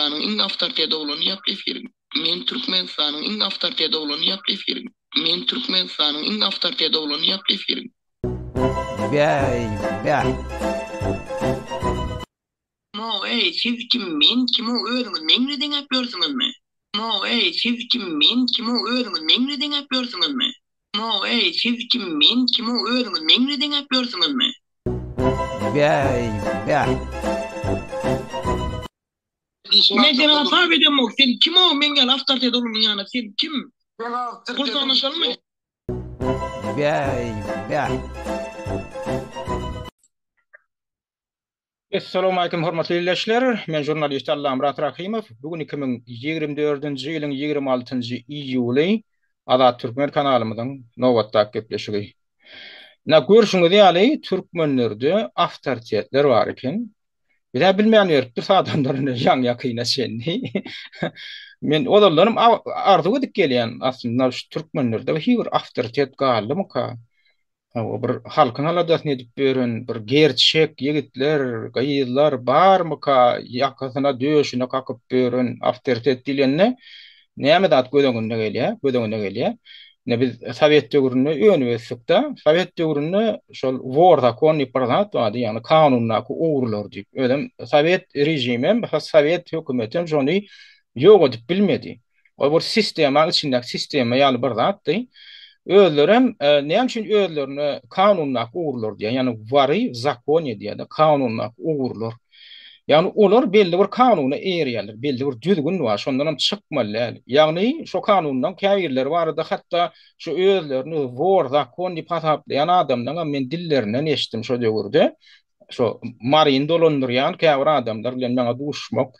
Türkmenistanyň iň awtoritet oglany ýap efiriň. Men Türkmenistanyň iň awtoritet oglany ýap efiriň. Men Türkmenistanyň iň awtoritet oglany ýap efiriň. Bäý bäh. Mo eý siz kim men kimo özüňiz meň bilen deňäp ýörsüňizmi? Mo eý siz kim men kimo özüňiz meň bilen deňäp ýörsüňizmi? Mo eý siz kim men kimo özüňiz meň bilen deňäp ýörsüňizmi? Bäý bäh. Men seni hasap edemok sen kimo meň ýaly awtoritet oglanyň ýanyna sen kim? Pul sanaşalymy? Bäý bäh. Essalawmalikim hormatly ildeşler! Men žurnalist Allamyrat Rahymow. Bu gün 2024-nji ýylyň 26-njy iýuly Azat Türkmen kanalymyzyň nobatdaky gepleşigi. Ine görşüňiz ýaly türkmenlerde awtoritetler bar eken. Biz-ä bilmän beripdiris adamlar ine ýaňy-ýakyna çenli. Men ozaldanam arzuw edip gelýän aslynda şu türkmenlerde bir bir awtoritet galdymyka? Hawa, bir halkyň aladasyny edip ýören bir gerçek ýigitler, gyzlar barmyka, ýakasyna, döşüne kakyp ýören awtoritet diýlende näme zat göz öňüne gelýär, göz öňüne gelýär. Ine biz sowet döwründe önüp ösdük-de, sowet döwründe şol wor zakon diýip bir zat bardy, ýagny kanundaky ogrular diýip. Özem sowet režimem, sowet hökümetem şony ýok edip bilmedi. Ol bir sistemaň içindäki sistema ýaly bir zatdy. Özlerem näme üçin özlerine kanundaky ugurlar diýýär, ýagny wary w zakone diýýär-de, kanundaky ugurlar. Ýagny olar belli bir kanuna eýerýärler, belli bir düzgün bar, şondanam çykmaly däl. Ýagny şo kanundan käbirleri barada hatda şu özlerini wor zakon diýip hasaplaýan adamlaňam men dillerinden eşitdim şo döwürde. Şo Maryny dolandyrýan käbir adamlar bilen maňa duşmak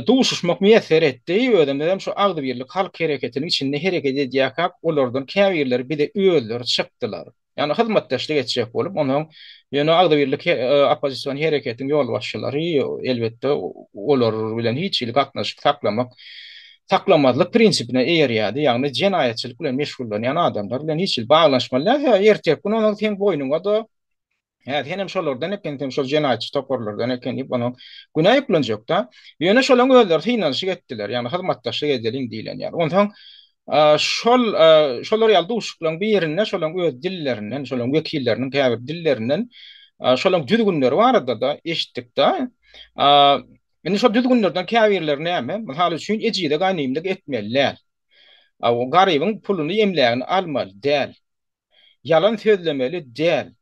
Duşuşmak miýesser etdi. Özümizem şu Agzybirlik halk hereketiniň içinde hereket edýärkäk, olardan käbirleri bize özleri çykdylar. Ýagny hyzmatdaşlyk etjek bolup, onsoň ýöne Agzybirlik oppozision hereketiň ýolbaşçylary elbetde olar bilen hiç hili gatnaşyk saklamak, saklamazlyk prinsipine eýerýärdi. Ýagny jenaýatçylyk bilen meşgullanýan adamlar bilen hiç hili baglanyşmaly däl. Sebäbi erteki gün onuň seň boýnuňa-da Hä, senem şolardan eken, sen şol jenaýatçy toparlardan eken diýip, onuň günä ýüklenjek-dä. Ýöne şolaň özleri synanyşyk etdiler, ýagny hyzmatdaşlyk edeliň diýlen ýaly. Onsoň şol şolar ýaly duşuşyklaryň birinde şolaň öz dillerinden, şolaň wekilleriniň käbir dillerinden şolaň düzgünleri barada-da eşitdik-dä. Indi şol düzgünlerden käbirleri näme? Mysal üçin, ejize ganymlyk etmeli däl. Garybyň puluny, emlägini almaly däl. Ýalan sözlemeli däl.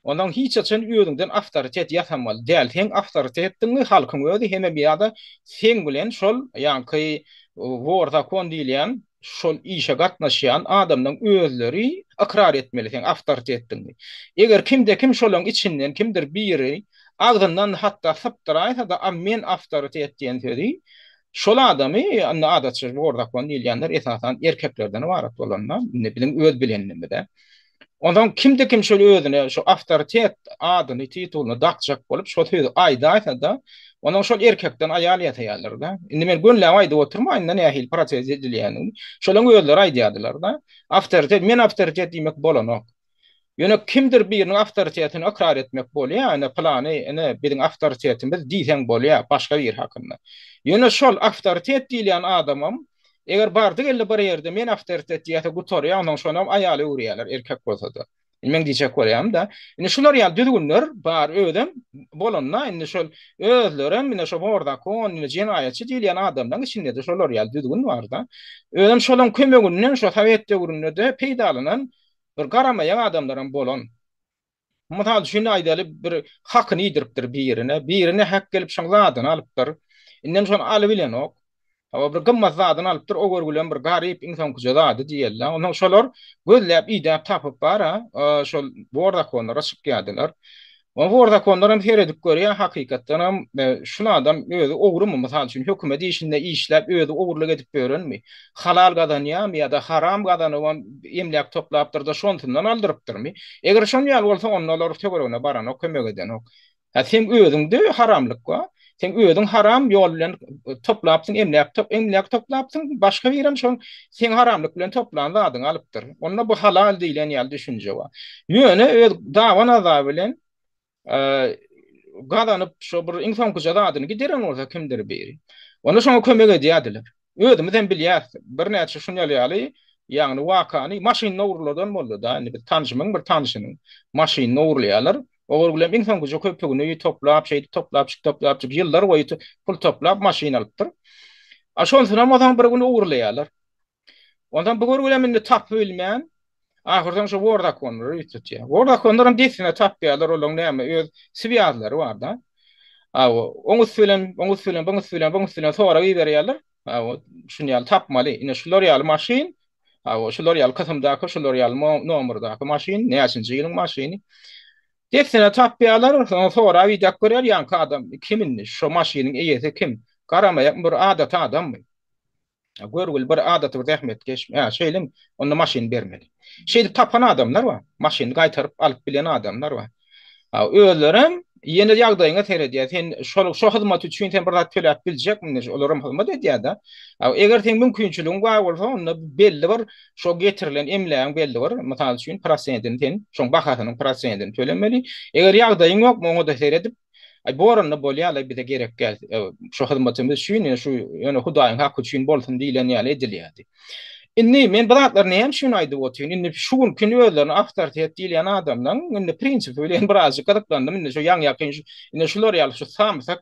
Ondan hiç haçan özüňden awtoritet ýasamaly däl. Seň awtoritetdiňi halkyň özi hemem ýa-da seň bilen şol ýaňky wor zakon diýilýän şol işe gatnaşýan adamlaň özleri ykrar etmeli seň awtoritetdiňi. Eger kimde-kim şolaň içinden kimdir biri agzyndan hatda sypdyraýsa-da a men awtoritet diýen sözi Şol adamy, indi adatça wor zakon diýilýänler esasan erkeklerden ybarat bolanda, indi biziň öz bilenimiz-ä. Onsoň kimde-kim şol özüne şu awtoritet adyny, titulyny dakjak bolup şo sözi aýdaýsa-da, onuň şol erkekden aýal ýasaýarlar-da. Indi men gönüläp aýdyp oturmaýyn-da nähili proses edilýändigini. Şolaň özleri aýdýardylar-da. Awtoritet, men awtoritet diýmek bolanok. Ýöne kimdir biriniň awtoritetini ykrar etmek bolýar, ine pylany, ine biziň awtoritetimiz diýseň bolýar başga biri hakynda. Ýöne şol awtoritet diýilýän adamam eger bardy-geldi bir ýerde men awtoritet diýýärse gutarýar, onsoň şonam aýala öwürýärler erkek bolsa-da. Indi meň diýjek bolýanym-da, indi şular ýaly düzgünler bar özem bolanda indi şol özlerem ine şo bor zakon, ine jenaýatçy diýilýän adamlaryň içinde-de şolar ýaly düzgün bar-da. Özem şolaň kömeginden şo sowet döwründe-de peýdalanan Bir garamaýak adamlaram bolan. Mysal üçin aýdaly bir hakyny iýdiripdir birine, birine hak gelip şoň zadyny alypdyr. Indem şony alybilenok. Hawa bir gymmat zadyny alypdyr, o görgülem bir garyp iň soňkuja zady diýeli. Onsoň şolar gözläp idäp tapyp bara şol bor zakonlara çykýardylar. O wor zakonlar hem seredip görýär, hakykatdan hem şul adam özi ogrumy, mysal üçin, hökümet işinde işläp özi ogurlyk edip ýörenmi, halal gazanýarmy ýa-da haram gazanybam emläk toplapdyr-da şonsyndan aldyrypdyrmy? Eger şon ýaly bolsa onda olar töweregine baranok, kömek edenok. Hä seň özüňde haramlyk bar. Seň özüň haram ýol bilen toplapsyň, emläk emläk toplapsyň, başga birem şol seň haramlyk bilen toplan zadyňy alypdyr. Onda bu halal diýlen ýaly düşünje bar. Ýöne öz dawa naza bilen. gazanyp şo bir iň soňkuja zadyny gideren bolsa kimdir biri, onda şoňa kömek edýärdiler. Özümiz hem bilýäris, birnäçe şunýaly ýaly, ýagny wakany maşynyny ogurladan boldy-da, indi biz tanşymyň bir tanşynyň maşynyny ogurlaýarlar. Ogurgulem iň soňkuja köpügini toplap, şeýdip toplapjyk, toplapjyk ýyllar boýy pul toplap maşyn alypdyr. A şonsunam onsoň bir gün ogurlaýarlar. Onsoň bu görgülem indi tapyp bilmän, ahyrsoň şo wor zakonlara ýüz tutýar. Wor zakonlaram dessine tapýarlar, olaryň näme öz swýazlary bar-da. Hawa, oň üsti bilen, oň üsti bilen, buň üsti bilen, buň üsti bilen sorag iberýärler. Hawa, şuny ýaly tapmaly. Ine şular ýaly maşyn, hawa, şular ýaly kysymdaky, şular ýaly nomerdaky maşyn, näçinji ýylyň maşyny. Dessine tapýarlar, soň sorap idäp görýär, ýaňky adam kim indi, şo maşynyň eýesi kim? Garamaýakmy bir adaty adammy? Görgüli bir adaty bir zähmetkeş, hä, şeýlemi? Onda maşyny bermeli. Şeýdip tapan adamlar bar. Maşyny gaýtaryp alyp bilen adamlar bar. Ha, özlerem ýene ýagdaýyňa seredýär. Sen şol şo hyzmat üçin sen bir zat töläp biljekmi? Olaram hyzmat edýär-de. Ha, eger seň mümkinçiligiň bar bolsa, onda belli bir şo getirilen emlägiň belli bir, mysal üçin, prosentini sen, şoň bahasynyň prosentini tölemeli. Eger ýagdaýyň ýokmy, oňa-da seredip, Aý boranda bolýalaý bize gerek däl şu hyzmatymyz üçin ýöne şu ýöne hudaýyň haky üçin bolsun diýlen ýaly edilýärdi. Indi men bu zatlary näme üçin aýdyp otyryn indi şu günki özlerine awtoritet diýilýän adamlaryň indi prinsipi bilen birazjyk gyzyklandym indi şu ýaňy ýakyn indi şular ýaly şu samsyk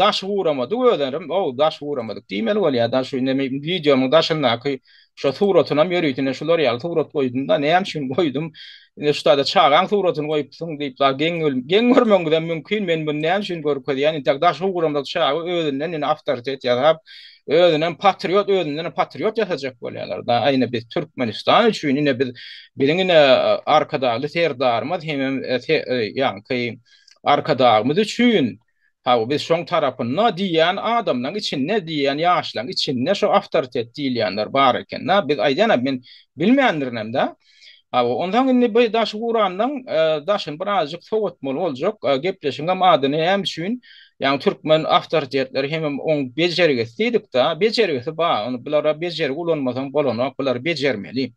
daş guramadyk özlerim ow daş guramadyk diýmeli bolýar da şu indi wideomyň daşyndaky şo suratynam ýörite ine şular ýaly surat goýdum-da näme üçin goýdum Indi şu taýda çagaň suratyny goýupsyň diýip zat geň geň görmegiňizem mümkin. Men muny näme üçin görkezýän? Intäk daşy ugramda çaga özünden indi awtoritet ýasap, özünem patriot, özünden patriot ýasajak bolýarlar. Da ine biz Türkmenistan üçin ine biz biziň ine Arkadagly Serdarymyz hemem ýaňky Arkadagymyz üçin Hawa, biz şoň tarapynda diýýän adamlaň içinde, diýýän ýaşlaň içinde şo awtoritet diýilýänler bar eken-dä. Biz aýdýan-a, men bilmändirinem-dä. Hawa, onsoň indi bu daşy guranlaň daşyny birazjyk sowatmaly boljak. Gepleşigiňem adyny näme üçin, ýagny türkmen awtoritetleri hemem oň bejergisi diýdik-dä. Bejergisi bar, ony bulara bejergi ulanmasaň bolanok, bulary bejermeli.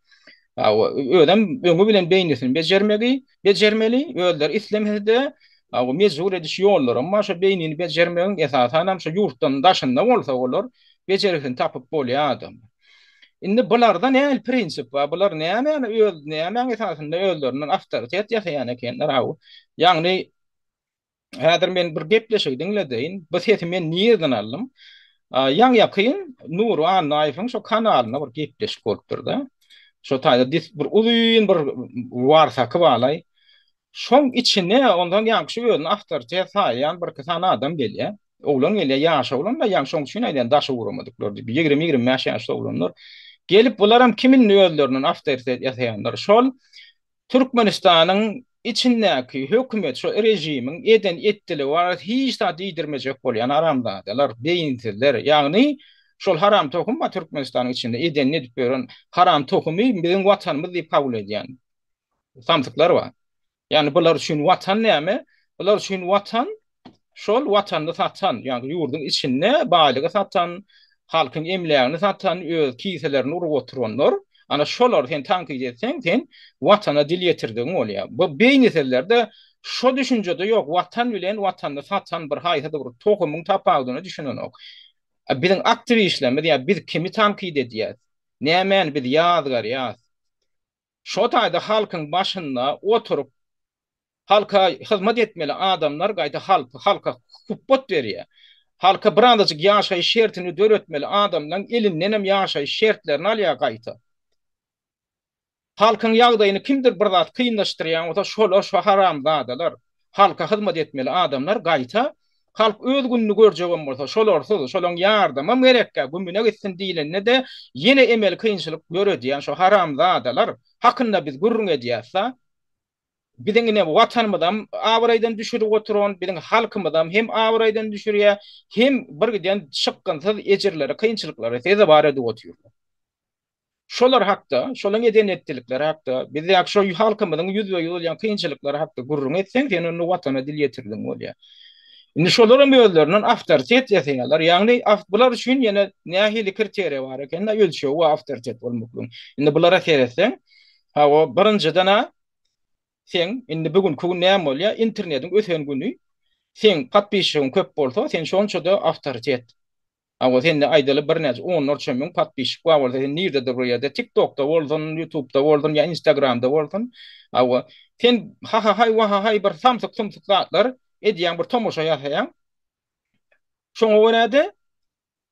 Hawa, özem öňi bilen beýnisini bejermegi, bejermeli, özleri islemese-de, hawa, mejbur ediş ýollaram bar, şo beýnini bejermegiň, esasanam şo ýurtdan daşynda bolsa olar, bejergisini tapyp bolýar adamlar. Indi bularda nähili prinsip bar, bular nämäni öz, nämäň esasynda özlerinden awtoritet ýasaýan ekenler, hawa. Ýagny, Häzir men bir gepleşigi diňledeýin. Bu sesi men nirden aldym? Ýaňy-ýakyn Nury Annaýewiň şo kanalynda bir gepleşik bolupdyr-da. Şo taýda dis bir uzyn bir warsaky balaý. Şoň içine ondan ýaňky şu özüni awtoritet saýýan birki sany adam gelýär. Oglan gelýär, ýaş oglan-da, ýaňy şoň üçin aýdýan daşy guramadyklar diýip, 20-25 ýaşly oglanlar. Gelip bularam kim indi özlerinden awtoritet ýasaýanlar? Şol Türkmenistanyň içindäki hökümet şo režimiň eden etdiligi barada hiç zat diýdirmejek bolýan haramzadalar, beýinsizler, ýagny şol haram tohum bar Türkmenistanyň içinde edenini edip ýören haram tohumy biziň watanymyz diýip kabul edýän samsyklar bar. Ýagny bular üçin watan näme? Bular üçin watan Şol watanyny satan, ýagny ýurduň içinde baýlygy satan, halkyň emlägini satan, öz kiselerini urup oturanlar, ana şolary sen tankyt etseň, sen watana dil ýetirdigiň bolýar. Bu beýnisizlerde şo düşünje-de ýok, watan bilen watanyny satan bir haýsydyr bir tohumyň tapawudyna düşünenok. Biziň aktiwistlerimiz ýa biz kimi tankyt edýäs? Nämäni biz ýazgarýas? Şo taýda halkyň başynda oturyp Halka hyzmat etmeli adamlar gaýta halky halka hupbat berýär. Halka birazajyk ýaşaýyş şertini döretmeli adamlaň elindenem ýaşaýyş şertlerini alýar gaýta. Halkyň ýagdaýyny kimdir bir zat kynlaşdyrýan bolsa şolar şo haramzadalar. Halka hyzmat etmeli adamlar gaýta halk öz gününi görjegem bolsa şolarsyz şolaň ýardamam gerekkä gümüne gitsin diýlende-de ýene emeli kynçylyk döredýän şo haramzadalar hakynda biz gürrüň edýäs-da. Biziň ine watanymyzam abraýdan düşürip oturan, biziň halkymyzam hem abraýdan düşürýär, hem birgiden çykgynsyz ejirlere, kynçylyklara sezewar edip otyrlar. Şolar hakda, şolaryň eden-etdilikleri hakda, bizdäki şo halkymyzyň ýüzbe-ýüz bolýan kynçylyklary hakda gürrüň etseň, sen onda watana dil ýetirdiň bolýar. Indi şolaram özlerinden awtoritet ýasaýarlar. Ýagny bular üçin ýene nähili kriteriýa bar eken-de, ölçegi bar awtoritet bolmaklygyň. Indi bulara seretseň, Hawa, birinjiden-ä seň indi bu günki gün näme bolýar? Internetiň ösen güni. Seň podpisçigiň köp bolsa, sen şonça-da awtoritet. Hawa, sende aýdaly birnäçe onlarça müň podpisçik bar bolsa, sen nirededir bir ýerde, TikTokda bolsun, YouTubeda bolsun ýa Instagramda bolsun, hawa, sen ha-ha-haý, wa-ha-haý bir samsyk-sumsuk zatlar edýäň, bir tomaşa ýasaýaň. Şoňa görä-de,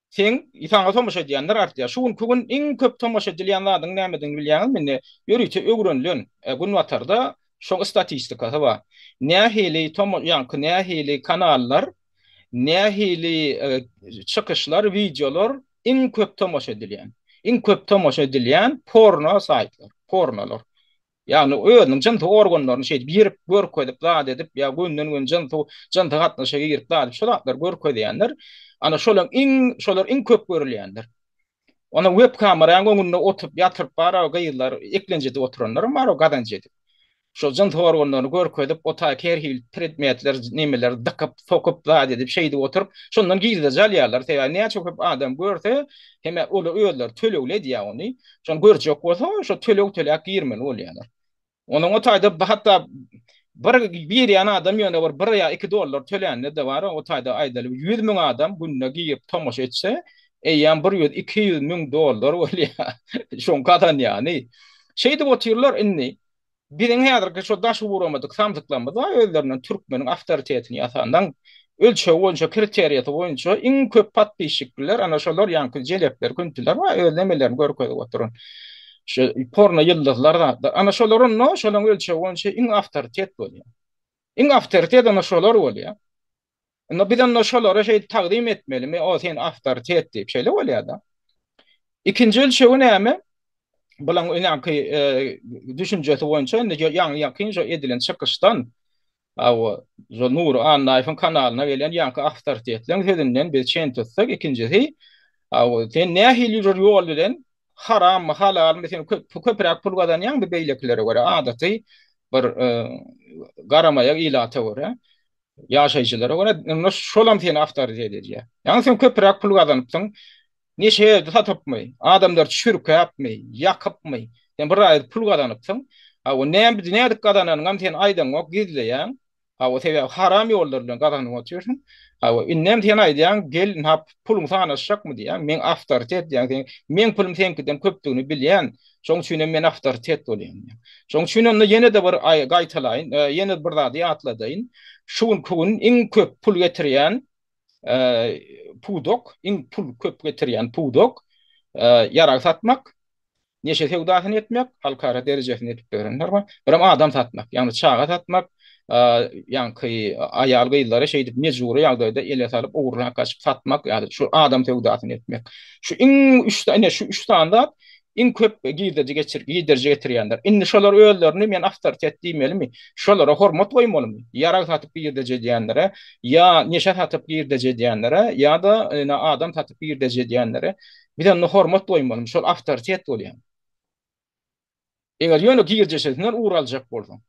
Seň saňa tomaşa edýänler artýar. Şu günki gün iň köp tomaşa edilýän zadyň nämedigini bilýäňizmi? Indi ýörite öwrenilen, günbatarda şoň statistikasy bar. Nähili toma ýaňky nähili kanallar, nähili çykyşlar, wideolar iň köp tomaşa edilýän. Iň köp tomaşa edilýän porno saýtlar, pornolar. Ýagny özüniň jynsy organlaryny şeýdip ýyryp görkezip zat edip ýa gönden-göni jynsy jynsy gatnaşyga girip zat edip şo zatlary görkezýänler. Ana şolaň iň şolar iň köp görülýänler. Ona web kameraň öňünde oturyp ýatyryp bar-a gyzlar eklenç edip oturanlaram bar o gazanç edip. Şo jynsy organlaryny görkezip o taýky her hili predmetler nemeler dykyp sokup zat edip şeýdip oturyp şondan girdeji alýarlar. Sebäbi näçe köp adam görse hem olar özleri tölegli edýär ony. Şony görjek bolsa, şo töleg töläp girmeli bolýarlar. Onuň o taýda hatda bir girýän adam ýöne bir bir ýa 2 dollar tölände-de bar, o taýda aýdaly 100 müň adam günde girip tomaşa etse, eýýäm bir ýüz, 200 müň dollar bolýar. Şoň gazanýany. Şeýdip otyrlar indi. Biziň häzirki şo daşy guramadyk samsyklarymyz bar, özlerinden türkmeniň awtoritetini ýasandan ölçegi boýunça, kriteriýasy boýunça iň köp podpisçikliler ana şolar ýaňky jelepler, küntiler bar, öz nemelerini görkezip oturan. Şu porno ýyldyzlar zatlar. Ana şolar onda şolaryň ölçegi boýunça iň awtoritet bolýar. Iň awtoritet ana şolar bolýar. Onda biz onda şolara şeýdip tagzym etmelimi? O sen awtoritet diýip, şeýle bolýar-da. Ikinji ölçegi näme? Bulaň öňki e, düşünjesi boýunça indi ýaňy ýakyn şo edilen çykyşdan hawa, şo Nury Annaýewiň kanalyna gelen ýaňky awtoritetleriň sözünden biz çen tutsak, ikinjisi, hawa, sen nähili bir ýol bilen harammy, halalmy, sen köp köpräk pul gazanýaňmy beýlekilere görä, adaty bir e, garamaýak ilata görä. Ýaşaýjylara görä, onda şolam seni awtoritet edýär. Ýagny sen köpräk pul gazanypsyň, neşe satypmy, adamlary çürkäpmi, ýakypmy, sen bir aýda pul gazanypsyň. Hawa, näme nädip gazananyňam sen aýdaňok, gizleýäň. Hawa, sebäbi haram ýollar bilen gazanyp otyrsyň. Hawa, indem sen aýdýaň, gel, ynha, puluň sanaşjakmy diýýäň, men awtoritet diýýäň, sen meň pulum seňkiden köpdügini bilýän. Şoň üçin hem men awtoritet bolýan diýýär. Şoň üçin onda ýene-de bir gaýtalaýyn, ýene bir zady ýatladaýyn. Şu günki gün iň köp pul getirýän pudak, iň pul köp getirýän pudak ýarag satmak, neşe söwdasyny etmek, halkara derejesinde edip ýörenler bar. Birem adam satmak, ýagny çaga satmak, ýaňky aýal-gyzlary şeýdip mejbury ýagdaýda ele salyp ogurlap gaçyp satmak ýa-da şu adam söwdasyny etmek. Şu iň üç ine şu üç sany zat iň köp girdeji geçir girdeji getirýänler. Indi şolar özlerini men awtoritet diýmelimi? Şolara hormat goýmalymy? Ýarag satyp girdeji edýänlere, ýa neşe satyp girdeji edýänlere, ýa-da ine adam satyp girdeji edýänlere biz onda hormat goýmalymy? Şol awtoritet bolýar. Eger ýöne girdeşesinden ugur aljak bolsaň.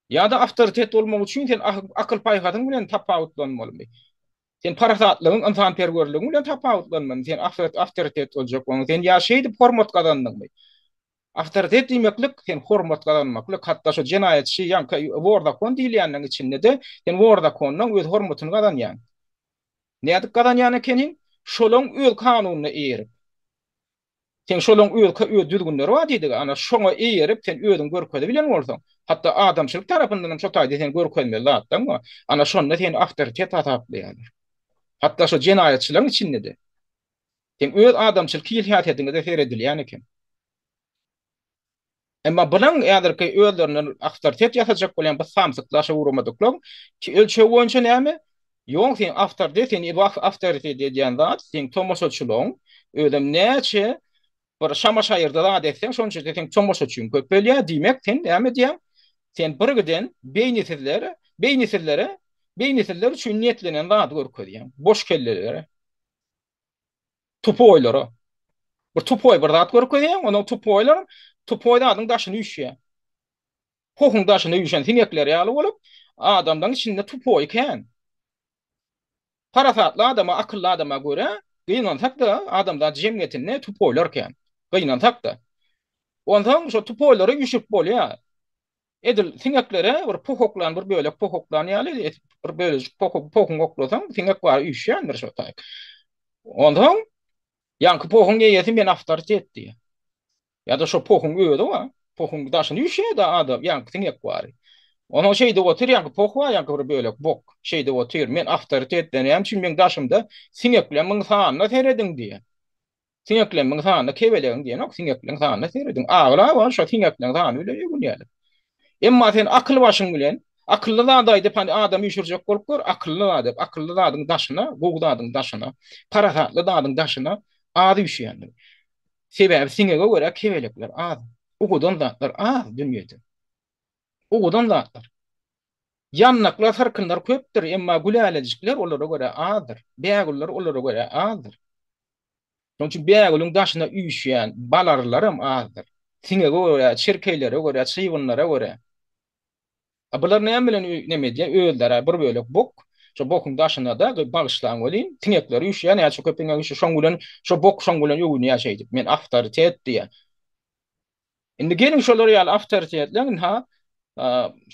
Ýa-da awtoritet bolmak üçin sen akyl-paýhasyň bilen tapawutlanmalymy? Sen parasatlygyň, ynsanperwerligiň bilen tapawutlanmalymy? Sen awtoritet boljak bolsaň, sen ýa şeýdip hormat gazandyňmy? Awtoritet diýmeklik, sen hormat gazanmaklyk, hatda şo jenaýatçy, ýaňky wor zakon diýilýänleň içinde-de sen wor zakondan öz hormatyny gazanýaň. Nädip gazanýan ekeniň? Şolaň öz kanunyna eýerip. Seň şolaň öz öz düzgünleri bar diýdigi, ana şoňa eýerip sen özüňi görkezibilen bolsaň, hatda adamçylyk tarapyndanam şo taýda seni görkezmeli zatlaň bar. Ana şonda seni awtoritet hasaplaýarlar. Hatda şo jenaýatçylaryň içinde-de. Seň öz adamçylyk hil-häsiýetiňe-de seredilýän eken. Emma bulaň häzirki özlerinden awtoritet ýasajak bolýan bu samsyklaşa ugramadyklaň ölçegi boýunça näme? Ýok sen awtoritet seni awtoritet edýän zat seň tomaşaçylygyň özem näçe bir şama-şaýyrda zat etseň şonça-da seň tomaşaçyň köpelýär diýmek sen näme edýäň? Sen birgiden beýnisizlere beýnisizlere beýnisizler üçin niýetlenen zady görkezýäň boş kellelere. Tupoýlara. Bir tupoý bir zat görkezýäň, onuň tupoýlar tupoý zadyň daşyny üýşýär. Pohuň daşyna üýşen siňekler ýaly bolup, adamlaryň içinde tupoý kän. Parasatly adama, akylly adama görä, gynansak-da, adamzat jemgyýetinde tupoýlar kän. Gynansak-da. Onsoň şo tupoýlara üýşüp bolýar. Edil siňeklere bir poh oklan, bir bölek poh oklan ýaly, bir bölejik pohuň oklasaň, siňek bar üýşýändir şo taýy. Onsoň ýaňky pohuň eýesi men awtoritet diýýär. Ýa-da şo pohuň özi bar. Pohuň daşyny üýşýär-de adam, ýaňky siňek bary. Onsoň şeýdip otyr, ýaňky poh bar, ýaňky bir bölek bok. Şeýdip otyr, men awtoritet diýýär. Näme üçin meň daşymda siňekleriň sanyna serediň diýýär. Siňekleriň sanyna kebelegiň diýenok, siňekleriň sanyna serediň. Aglaba şo siňekleriň sany bilen öwünýärler. Emma sen akyl başyň bilen, akylly zat aýdyp, hany adam üýşürjek bolup gör, akylly zat aýdyp, akylly zadyň daşyna, gowy zadyň daşyna, parasatly zadyň daşyna az üýşýändir. Sebäbi siňege görä kebelekler az. Owadan zatlar az dünýede. Owadan zatlar. Ýandaklar, syrkynlar köpdür, emma gülälejikler olara görä azdyr. Bägüller olara görä azdyr. Şonuň üçin bägülüň daşyna üýşýän balarylaram azdyr. Siňege görä, çirkeýlere görä, çybynlara görä. A bular näme bilen neme edýär? Özleri bir bölek bok. Şo bokuň daşyna-da, bagyşlaň welin, siňekler üýşýär, näçe köp siňek üýşse, şoň bilen, şo bok şoň bilen öwünýär şeýdip. Men awtoritet diýýär. Indi geliň şolar ýaly awtoritetleň ynha,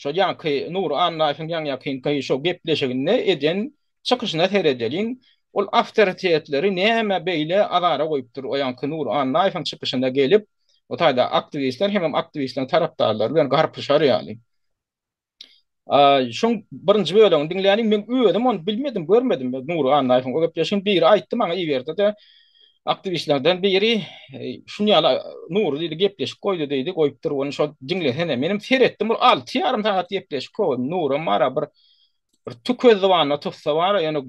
şo ýaňky Nury Annaýewiň ýaňy-ýakynky şo gepleşiginde eden çykyşyna seredeliň. Ol awtoritetleri nämä beýle azara goýupdyr o ýaňky Nury Annaýewiň çykyşyna gelip, o taýda aktiwistler hemem aktiwistleriň tarapdarlary bilen garpyşar ýaly. Şoň birinji bölegini diňläliň. Men özüm ony bilmedim, görmedim. Nury Annaýewiň o gepleşigini biri aýtdy maňa iberdi-de. Aktiwistlerden biri şuny ýaly Nury diýdi, gepleşik goýdy diýdi, goýupdyr ony şo diňlesene. Menem seretdim, bir 6,5 sagat gepleşik goýdy. Nuram bar-a bir Bir tükezdi zybanyna tutsa bar, ýöne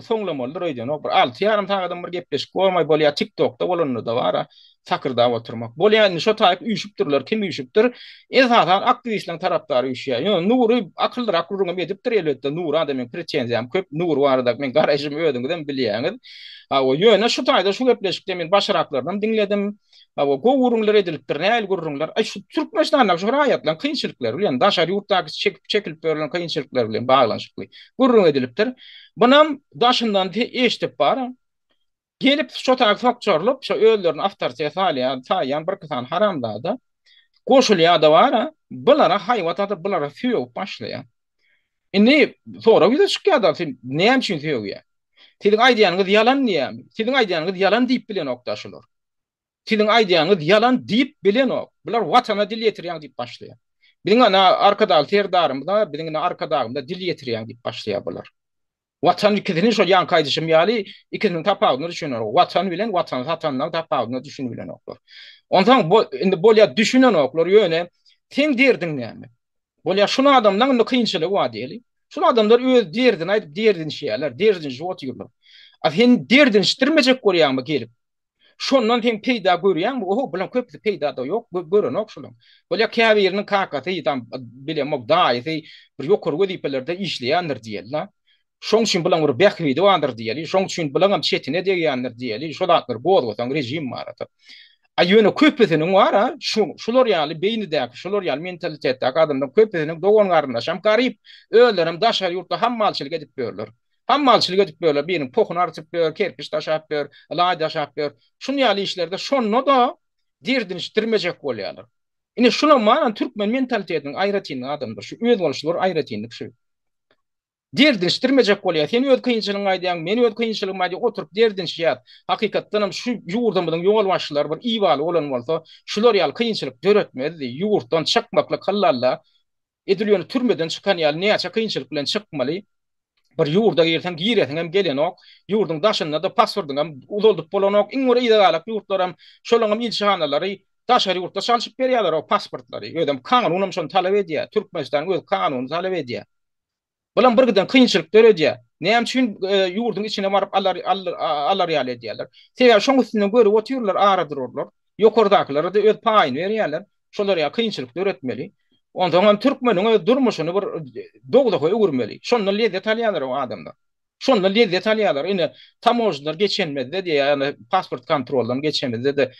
soňlamalydyr öýdenok. Bir 6,5 sagadam bir gepleşik bolmaý bolýar, TikTokda bolanda-da bar, sakyrdap oturmak. Bolýar indi şo taýyk üýşüpdirler, kim üýşüpdir? Esasan aktiwistleriň tarapdary üýşýär. Ýöne Nury akyllyrak gürrüňem edipdir elbetde, Nura-da meň pretenziýam köp, Nury barada meň garaýşymy özüňizem bilýäňiz. Hawa, ýöne şu taýda şu gepleşikde men başyraklarynam diňledim. Hawa, gowy gürrüňler edilipdir, nähili gürrüňler? Aý, şu Türkmenistandaky şu raýatlaryň kynçylyklary bilen, daşary ýurtdaky çekip çekilip berlen kynçylyklar bilen baglanyşykly gürrüň edilipdir. Bunam daşyndan eşidip bar. Gelip şo taýy sokjarylyp, şo özlerini awtoritet saýlaýan, saýýan birki sany haramzada goşulýar-da bar, bulara haýbat atyp, bulara sögüp başlaýar. Indi sorag ýüze çykýar-da, sen näme üçin sögýäň? Siziň aýdýanyňyz ýalan diýýärmi? Siziň aýdýanyňyz ýalan diýip bilenok-da şular. Siziň aýdýanyňyz ýalan diýip bilenok. Bular watana dil ýetirýäň diýip başlaýar. Biziň ana Arkadagly Serdarymyza, biziň ine Arkadagymyza dil ýetirýäň diýip başlaýar bular. Watan ikisini şol ýaňky aýdyşym ýaly ikisiniň tapawudyna düşünenok. Watan bilen watany satanlaryň tapawudyna düşünibilenoklar. Onsoň bu indi bolýar düşünenoklar ýöne seň derdiň näme? Bolýar şul adamlaň indi kynçylygy bar diýeli. Şul adamlar öz derdini aýdyp derdinişýärler, derdinişip otyrlar. A sen derdinişdirmejek bolýaňmy gelip? Şondan sen peýda görýäňmi? Oho, bulaň köpüsi peýda-da ýok, görenok şulaň. Bolýar käbiriniň kakasy, tam bilemok, daýysy bir ýokary wezipelerde işleýändir diýeli-la. Şoň üçin bulaň bir bähbidi bardyr diýeli, şoň üçin bulaňam çetine degýändir diýeli, şo zatlary gozgasaň režim barada. A ýöne köpüsiniň bar-a, şu, şular ýaly beýnidäki, şular ýaly mentalitetdäki adamlaryň köpüsiniň dogan-garyndaşam garyp, özlerem daşary ýurtda hammalçylyk edip ýörler. Hammalçylyk edip ýörler, biriniň pohuny artyp ýör, kerpiç daşap ýör, laý daşap ýör. Şuny ýaly işlerde şonda-da derdinişdirmejek bolýarlar. Ine şulam bar, türkmen mentalitetiniň aýratynlygy adamlar, şu özboluşly bir aýratynlyk şu. Derdinişdirmejek bolýar. Sen öz kynçylygyňy aýdýaň, men öz kynçylygymy aýdýan, oturyp derdinişýäs. Hakykatdanam şu ýurdumyzyň ýolbaşçylary bir ibaly bolan bolsa, şular ýaly kynçylyk döretmezdi. Ýurtdan çykmaklyk hallalla edil ýöne türmeden çykan ýaly näçe kynçylyk bilen çykmaly. Bir ýurda girseň giresiňem gelenok. Ýurduň daşynda-da pasportyňam uzaldyp bolanok. Iň bir yza galak ýurtlaram şolaňam ilçihanalary daşary ýurtda çalşyp berýärler o pasportlary. Özem kanunam şony talap edýär. Türkmenistanyň öz kanuny talap edýär. Bulam bir giden kynçylyk döredýär. Näme üçin ýurduň içine baryp alar alar ýaly edýärler? Sebäbi şoň üstünden görüp otyrlar, ara durarlar. Ýokardakylara-da öz paýyny berýärler. Şolar ýaly kynçylyk döretmeli. Onsoň hem türkmeniň öz durmuşyny bir dowzaha öwürmeli. Şondan lezzet alýarlar o adamlar. Şondan lezzet alýarlar. Ine, tamožnylar geçenmezde diýýär, ýagny pasport kontroldan geçemizde-de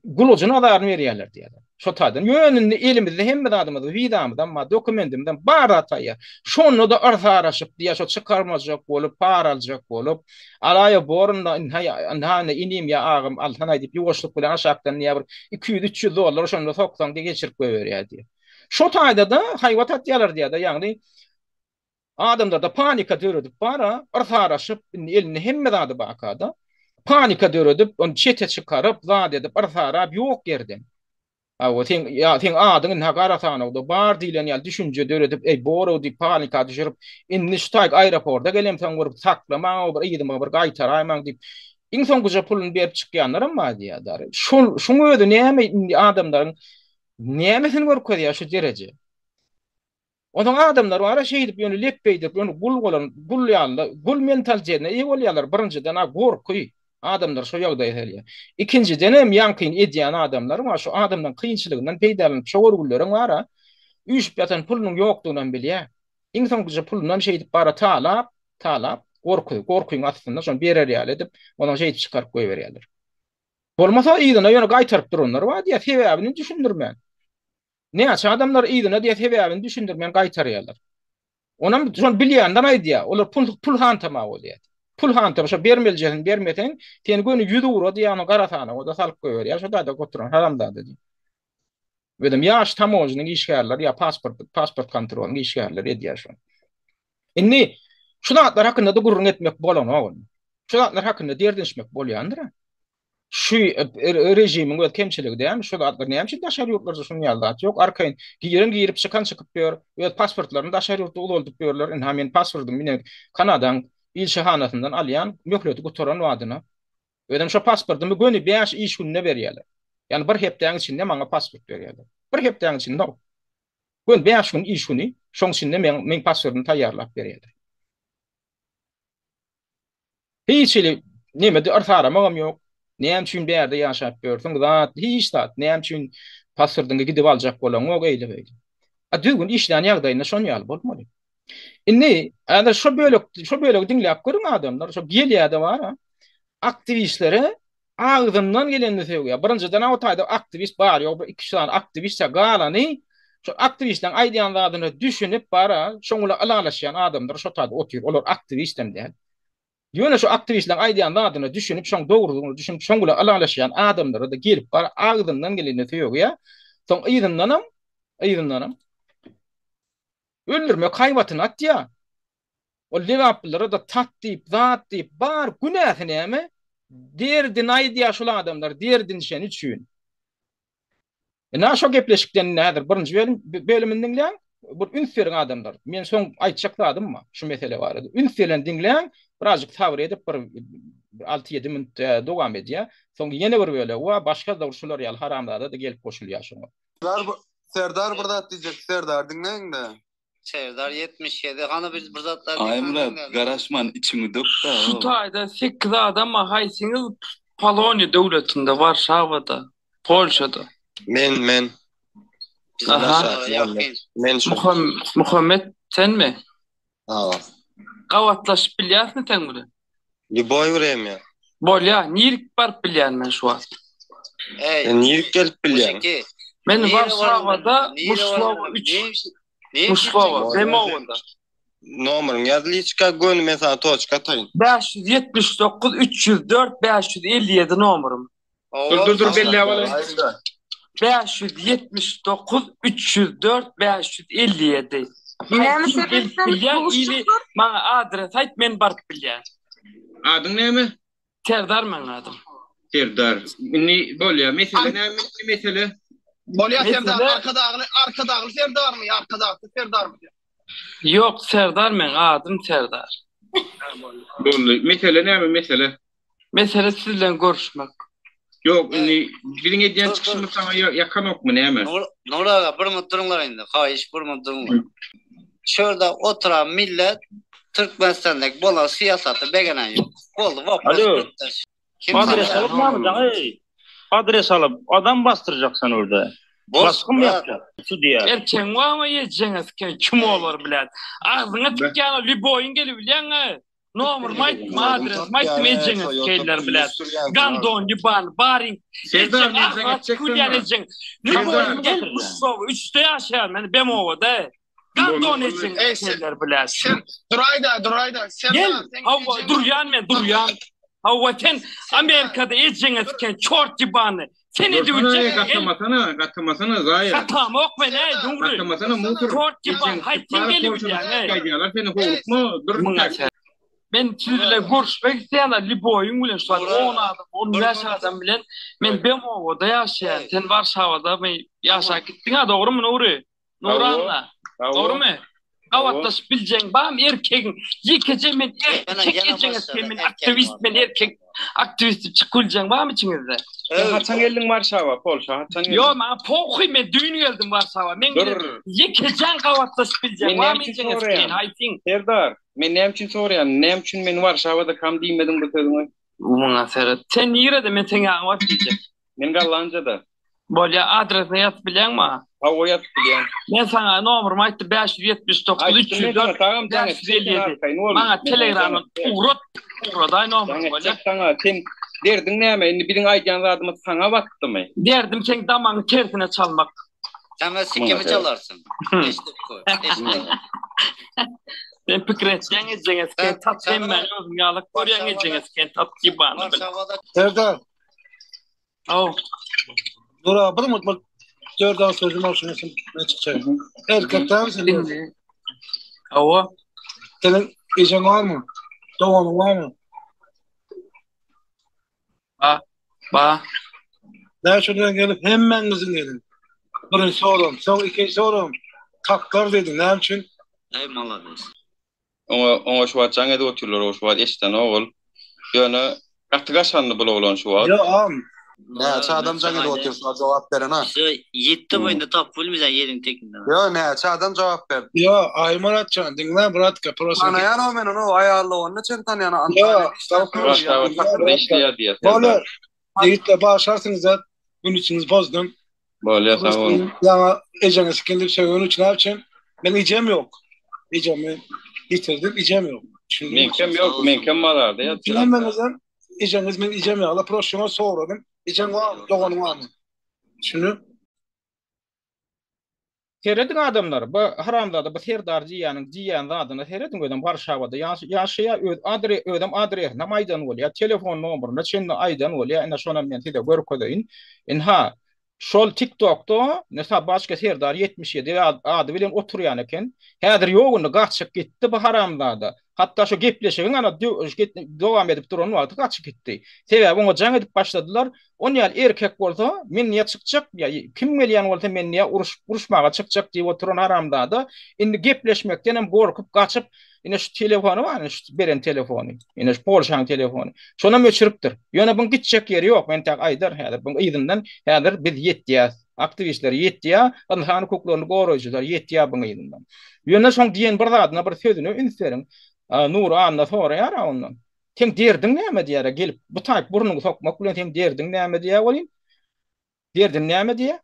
gulajyny azaryny berýärler diýýärler. Şo taýdan. Ýöne indi elimizde hemme zadymyz, wizamyzam bar, dokumentimizem bar zat taýýar. Şonda-da yrsaraşyp diýýär, şo çykarmajak bolup, para aljak bolup, alaýa borunda ynha, ynha indi inim ýa agam alsanaý diýip ýuwaşlyk bilen aşakdan diýýär bir 200-300 dollar şonda soksaň diýip geçirip goýberýär diýýär. Şo taýda-da haýbat atýarlar diýýär-de, ýagny adamlarda panika döredip bar-a, yrsaraşyp, indi elinde hemme zady barka-da, panika döredip, ony çete çykaryp, zat edip, yrsarap ýok ýerden. Hawa, seň, ýa seň adyň indi gara sanawda bar diýlen ýaly düşünje döredip, eý, bor-ow diýip panika düşürip, indi şu taýy aeroporta gelemsoň bir saklamaň-ow, bir yzyma bir gaýtaraýmaň diýip, iň soňkuja puluny berip çykýanlaram bar diýýär dary. Şol, şuň özi näme indi adamlaryň nämesini görkezýär şu dereje? Onsoň adamlar bar-a şeýdip ýöne lepbeýdip ýöne gul bolan, gul ýaly, gul mentalitetine eýe bolýarlar. Birinjiden-ä gorky adamlary şo ýagdaýa salýar. Ikinjidenem ýaňkyny edýän adamlar bar, şu adamlaryň kynçylygyndan peýdalanyp şo görgülleriň bar-a üýşüp ýatan pulunyň ýokdugynam bilýär. Iň soňkuja pulunam şeýdip bar-a talap, talap, gorky, gorkyň astynda şony berer ýaly edip, onam şeýdip çykaryp goýberýärler. Bolmasa yzyna ýöne gaýtaryp duranlar bar diýýär, sebäbini düşündirmän. Näçe adamlar yzyna diýe sebäbini düşündirmän gaýtarýarlar. Onam şony bilýänler aýdýar. Olar pul pul hantama bolýar. Pul hantama şo bermelijesini bermeseň, seni göni ýüzugra diýýär, ony gara sanawa-da salyp goýberýär. Şo taýda oturan haramzada diýip. Özem ýaş tamožnyň işgärleri ýa pasport pasport kontrolyň işgärleri edýär şony. Indi şu zatlar hakynda-da gürrüň etmek bolanok indi. Şu zatlar hakynda derdinişmek bolýandyr-a. Şu režimiň öz kemçiligi dälmi? Şu zatlar näme üçin daşary ýurtlarda şunuň ýaly zat ýok? Arkaýyn giren girip, çykan çykyp ýör. Öz pasportlaryny daşary ýurtda uzaldyp ýörler. Ynha men pasportymy ine Kanadaň ilçihanasyndan alýan, möhleti gutaran badyna. Özem şo pasportymy göni bäş iş gününde berýärler. Ýagny bir hepdäň içinde maňa pasport berýärler. Bir hepdäň içinde. Göni bäş gün iş güni, şoň içinde meň meň pasportymy taýýarlap berýärler. Hiç hili nemede yrsaramagam ýok. Näme üçin bärde ýaşap ýörsüň, zat, hiç zat. Näme üçin pasportyňy gidip aljak bolaňok, eýle-beýle. A düzgün işlän ýagdaýynda şon ýaly bolmaly. Indi häzir şo bölek, şo bölegi diňläp görüň adamlar, şo gelýär-de bar-a. Aktiwistlere agzyndan gelenini sögýär. Birinjiden-ä o taýda aktiwist bar, ýok bir iki-üç sany aktiwist, galany şo aktiwistleriň aýdýan zadyna düşünip bar-a, şoň bilen ylalaşýan adamlar şo taýda otyr. Olar aktiwistem däl. Ýöne şo aktiwistleriň aýdýan zadyna düşünip, şoň dogrudygyna düşünip, şoň bilen ylalaşýan adamlara-da gelip bar, agzyndan gelenini sögýär. Soň yzyndanam, yzyndanam öldürmek haýbatyny atýar. Ol lebaplylara-da tat diýip, zat diýip, bar günäsi näme? Derdini aýdýar şul adamlar, derdinişeni üçin. Ine şo gepleşikden indi häzir birinji bölüm bölümini diňläň. Bir üns beriň adamlar. Men soň aýtjak zadym bar şu mesele barada. Üns bilen diňläň, birazjyk sabyr edip bir 6-7 minut e, dowam edýär. Soň ýene bir bölegi bar, başga-da şular ýaly haramzada-da gelip goşulýar şoňa. Serdar, Serdar bir zat diýjek, Serdar diňläň-de. Serdar 77 hany biz bir zatlar Aýmyrat garaşman içiňi dök da. Şu taýda 8 adam bar haýsyňyz Poloniýa döwletinde Warşawada Polşada. Men men. Aha. Men şu. Muhammet senmi? Hawa. Gabatlaşyp bilýäsmi sen bilen? Lýuboý wremýa. Bolýa, nirik baryp bilýän men şu wagt? Eý. Sen nirik gelip bilýäň? Men Warşawada Muşlowa 3. Muşlowa, Demowada. Nomeryňy ýaz liçka göni men saňa toçka ataýyn. 579 304 557 nomerym. Dur dur dur belläp alaýyn. 579 304 557. Näme Kim gelip sebäpden bilýän ili duşuşyklar? maňa adres aýt men baryp bilýän. Adyň näme? Serdar meň adym. Serdar. Indi bolýa. Mesele näme indi mesele? Bolýa Serdar Mesele Arkadagly Arkadagly Serdarmy ýa Arkadagsyz Serdarmy? Ýok Serdar meň adym Serdar. Boldy. Mesele näme mesele? Mesele siz bilen görüşmek. Ýok indi biziň edýän çykyşymyz saňa ýakanokmy näme? Nury aga bir minut duruňlar indi haýyş bir minut duruňlar. Şurada oturan millet Türkmenistandaki bolan syýasata begenen ýok. Boldy wopros Alo. bitdi. Kim Adres tanýar? alyp näme jaň eý. Adres alyp adam basdyrjak sen orada. Bos Basgyn brat. ýapjak. Şu diýýär. Erkegiň wagma ýejeňe siken kim olar bilen. Agzyňa tikýän lýuboýyň gelip bilýäňä. Nomerymy aýtdym, adresimi aýtdym, ejeňe sikeýinler bilen. Gandon ýuban, baryň. Serdar Ejeň men jaň agzyňa etjek tükürýän saňa. ejeň. Serdar. Lýuboýyň gel Muşsowa, üçde ýaşaýan men Bemowada. Gandon ejeňe Eý sen sikeýinler bilen. sen duraýda duraýda Gel, Serdar seň hawa ejeň durýan men, durýan. Hawa sen Amerikada ejeňe siken çort ýybany. Sen edibiljek Gatamasana, gatamasana zaýa. Gatamok men eý Nury. Gatamasana musor. Çort ýyban, haý sen gelibilýäň eý. Gaýdýarlar seni howlukma, dur. Men siz bilen görüşmek isleýän liboýyň bilen şu wagt 10 adam, 15 adam bilen men Bemowoda ýaşaýan. Sen Warşawada my ýaşap gitdiň-a dogrymy Nury? Nuranna. Dogrymy? Gabatlaşyp biljeň barmy erkegiň? Ýekeje men erkek ejeňe sen men aktiwist men erkek aktiwist diýip çykyp biljeň barmy içiňizde? Sen haçan geldiň Warşawa, Polşa haçan geldiň? Ýok maňa pohuý men düýn geldim Warşawa. Men Dur. ýekejeň gabatlaşyp biljeň barmy ejeňe sen haýsyň? Serdar, men näme üçin soraýan? Näme üçin men Warşawadakam diýmediň bu sözüňi? Muňa seret. Sen nirede men seň ýanyňa baryp diýjek. Men Gollandiýada. Bolýa adresini ýazyp bilýäňmi maňa? Hawa ýazyp bilýän. Men saňa nomerymy aýtdym 579 304 557. Maňa telegramdan ugrat ugradaý nomeryňy bolýa. Jaň etjek saňa sen derdiň näme indi biziň aýdýan zadymyz saňa batdymy? Derdim seň damagyňy tersine çalmak. Saňa sikimi çalarsyň. Eşidip goý. Eşidip. Sen pikir etýäň ejeňe siken tat hemmäni özüň ýalyk görýäň ejeňe siken tat ýybany bil. Serdar. Aw. Dur abi bir mutlu dört az sözüm olsun sen ne çıkacak. Erkek däl sen. Indi. Hawa. Senin ejeň barmy? Doganyň barmy? Ba. Ba. Näme üçin gelip hemmäňiziň gelin. Birinji soram, soň ikinji soram. Taklar dedim. Näme üçin? Ey malades. Oňa oňa şu wagt jaň edip otyrlar, o şu wagt eşidenok ol. Ýöne gaty gaşandy bul oglan şu wagt. Ýo am. Näçe adam jaň edip otyr şuna jogap berena. Şo ýetdi bu indi tapyp bilmeýän ýeriň tekinden. Ýo näçe adam jogap berdi. Ýo Aýmyratjan diňle bratka prosta. Tanaýan o men ony aýally onda çen tanýan Ýo Antalýada işleýär. Işleýär diýýär. Bolýar. Ýigitler bagyşlarsyňyz zat gün içiňizi bozdum. Bolýar sag boluň. Ýaňa ejeňe sikin diýip sögeni üçin näme üçin? Men ejem ýok. Ejemi ýitirdim, ejem ýok. Meňkem ýok, meňkem mazarda ýatyr. Hemmeňizem ejeňiz men ejem ýok. La prosta şoňa soradym. Ejeň barmy, doganyň barmy? Düşündiň? Serediň adamlar, bu haramzada bu Serdar diýýäniň diýýän zadyna serediň özem Warşawada ýaşaýar öz adre özem adresinem aýdan bolýar telefon nomeryna çenli aýdan bolýar ine şonam men size görkezeýin inha şol tik tokda ine Sabaçka Serdar 77 ady bilen oturýan eken häzir ýok indi gaçyp gitdi bu haramzada hatda şo gepleşigiň ana dowam edip duran wagty gaçyp gitdi sebäbi oňa jaň edip başladylar On ýaly erkek bolsa, men niýe çykjak, ýa kim gelýän bolsa men niýe uruş, uruşmaga çykjak diýip oturan haramzada indi gepleşmekdenem gorkup gaçyp, ine şu telefony bar, ine şu beren telefony, ine şu Polşaň telefony. Şonam öçüripdir. Ýöne buň gitjek ýeri ýok, men entäk aýdar häzir. Buň yzyndan häzir biz ýetýäs. Aktiwistler ýetýär, ynsan hukuklaryny goraýjylar ýetýär buň yzyndan. Ýöne şoň diýen bir zadyna, bir sözüne üns beriň. Nury Anna soraýar-a ondan. Seň derdiň näme diýýär-ä, gelip bu taýyp burnuňy sokmak bilen seň derdiň näme diýýär welin, derdim näme diýýär?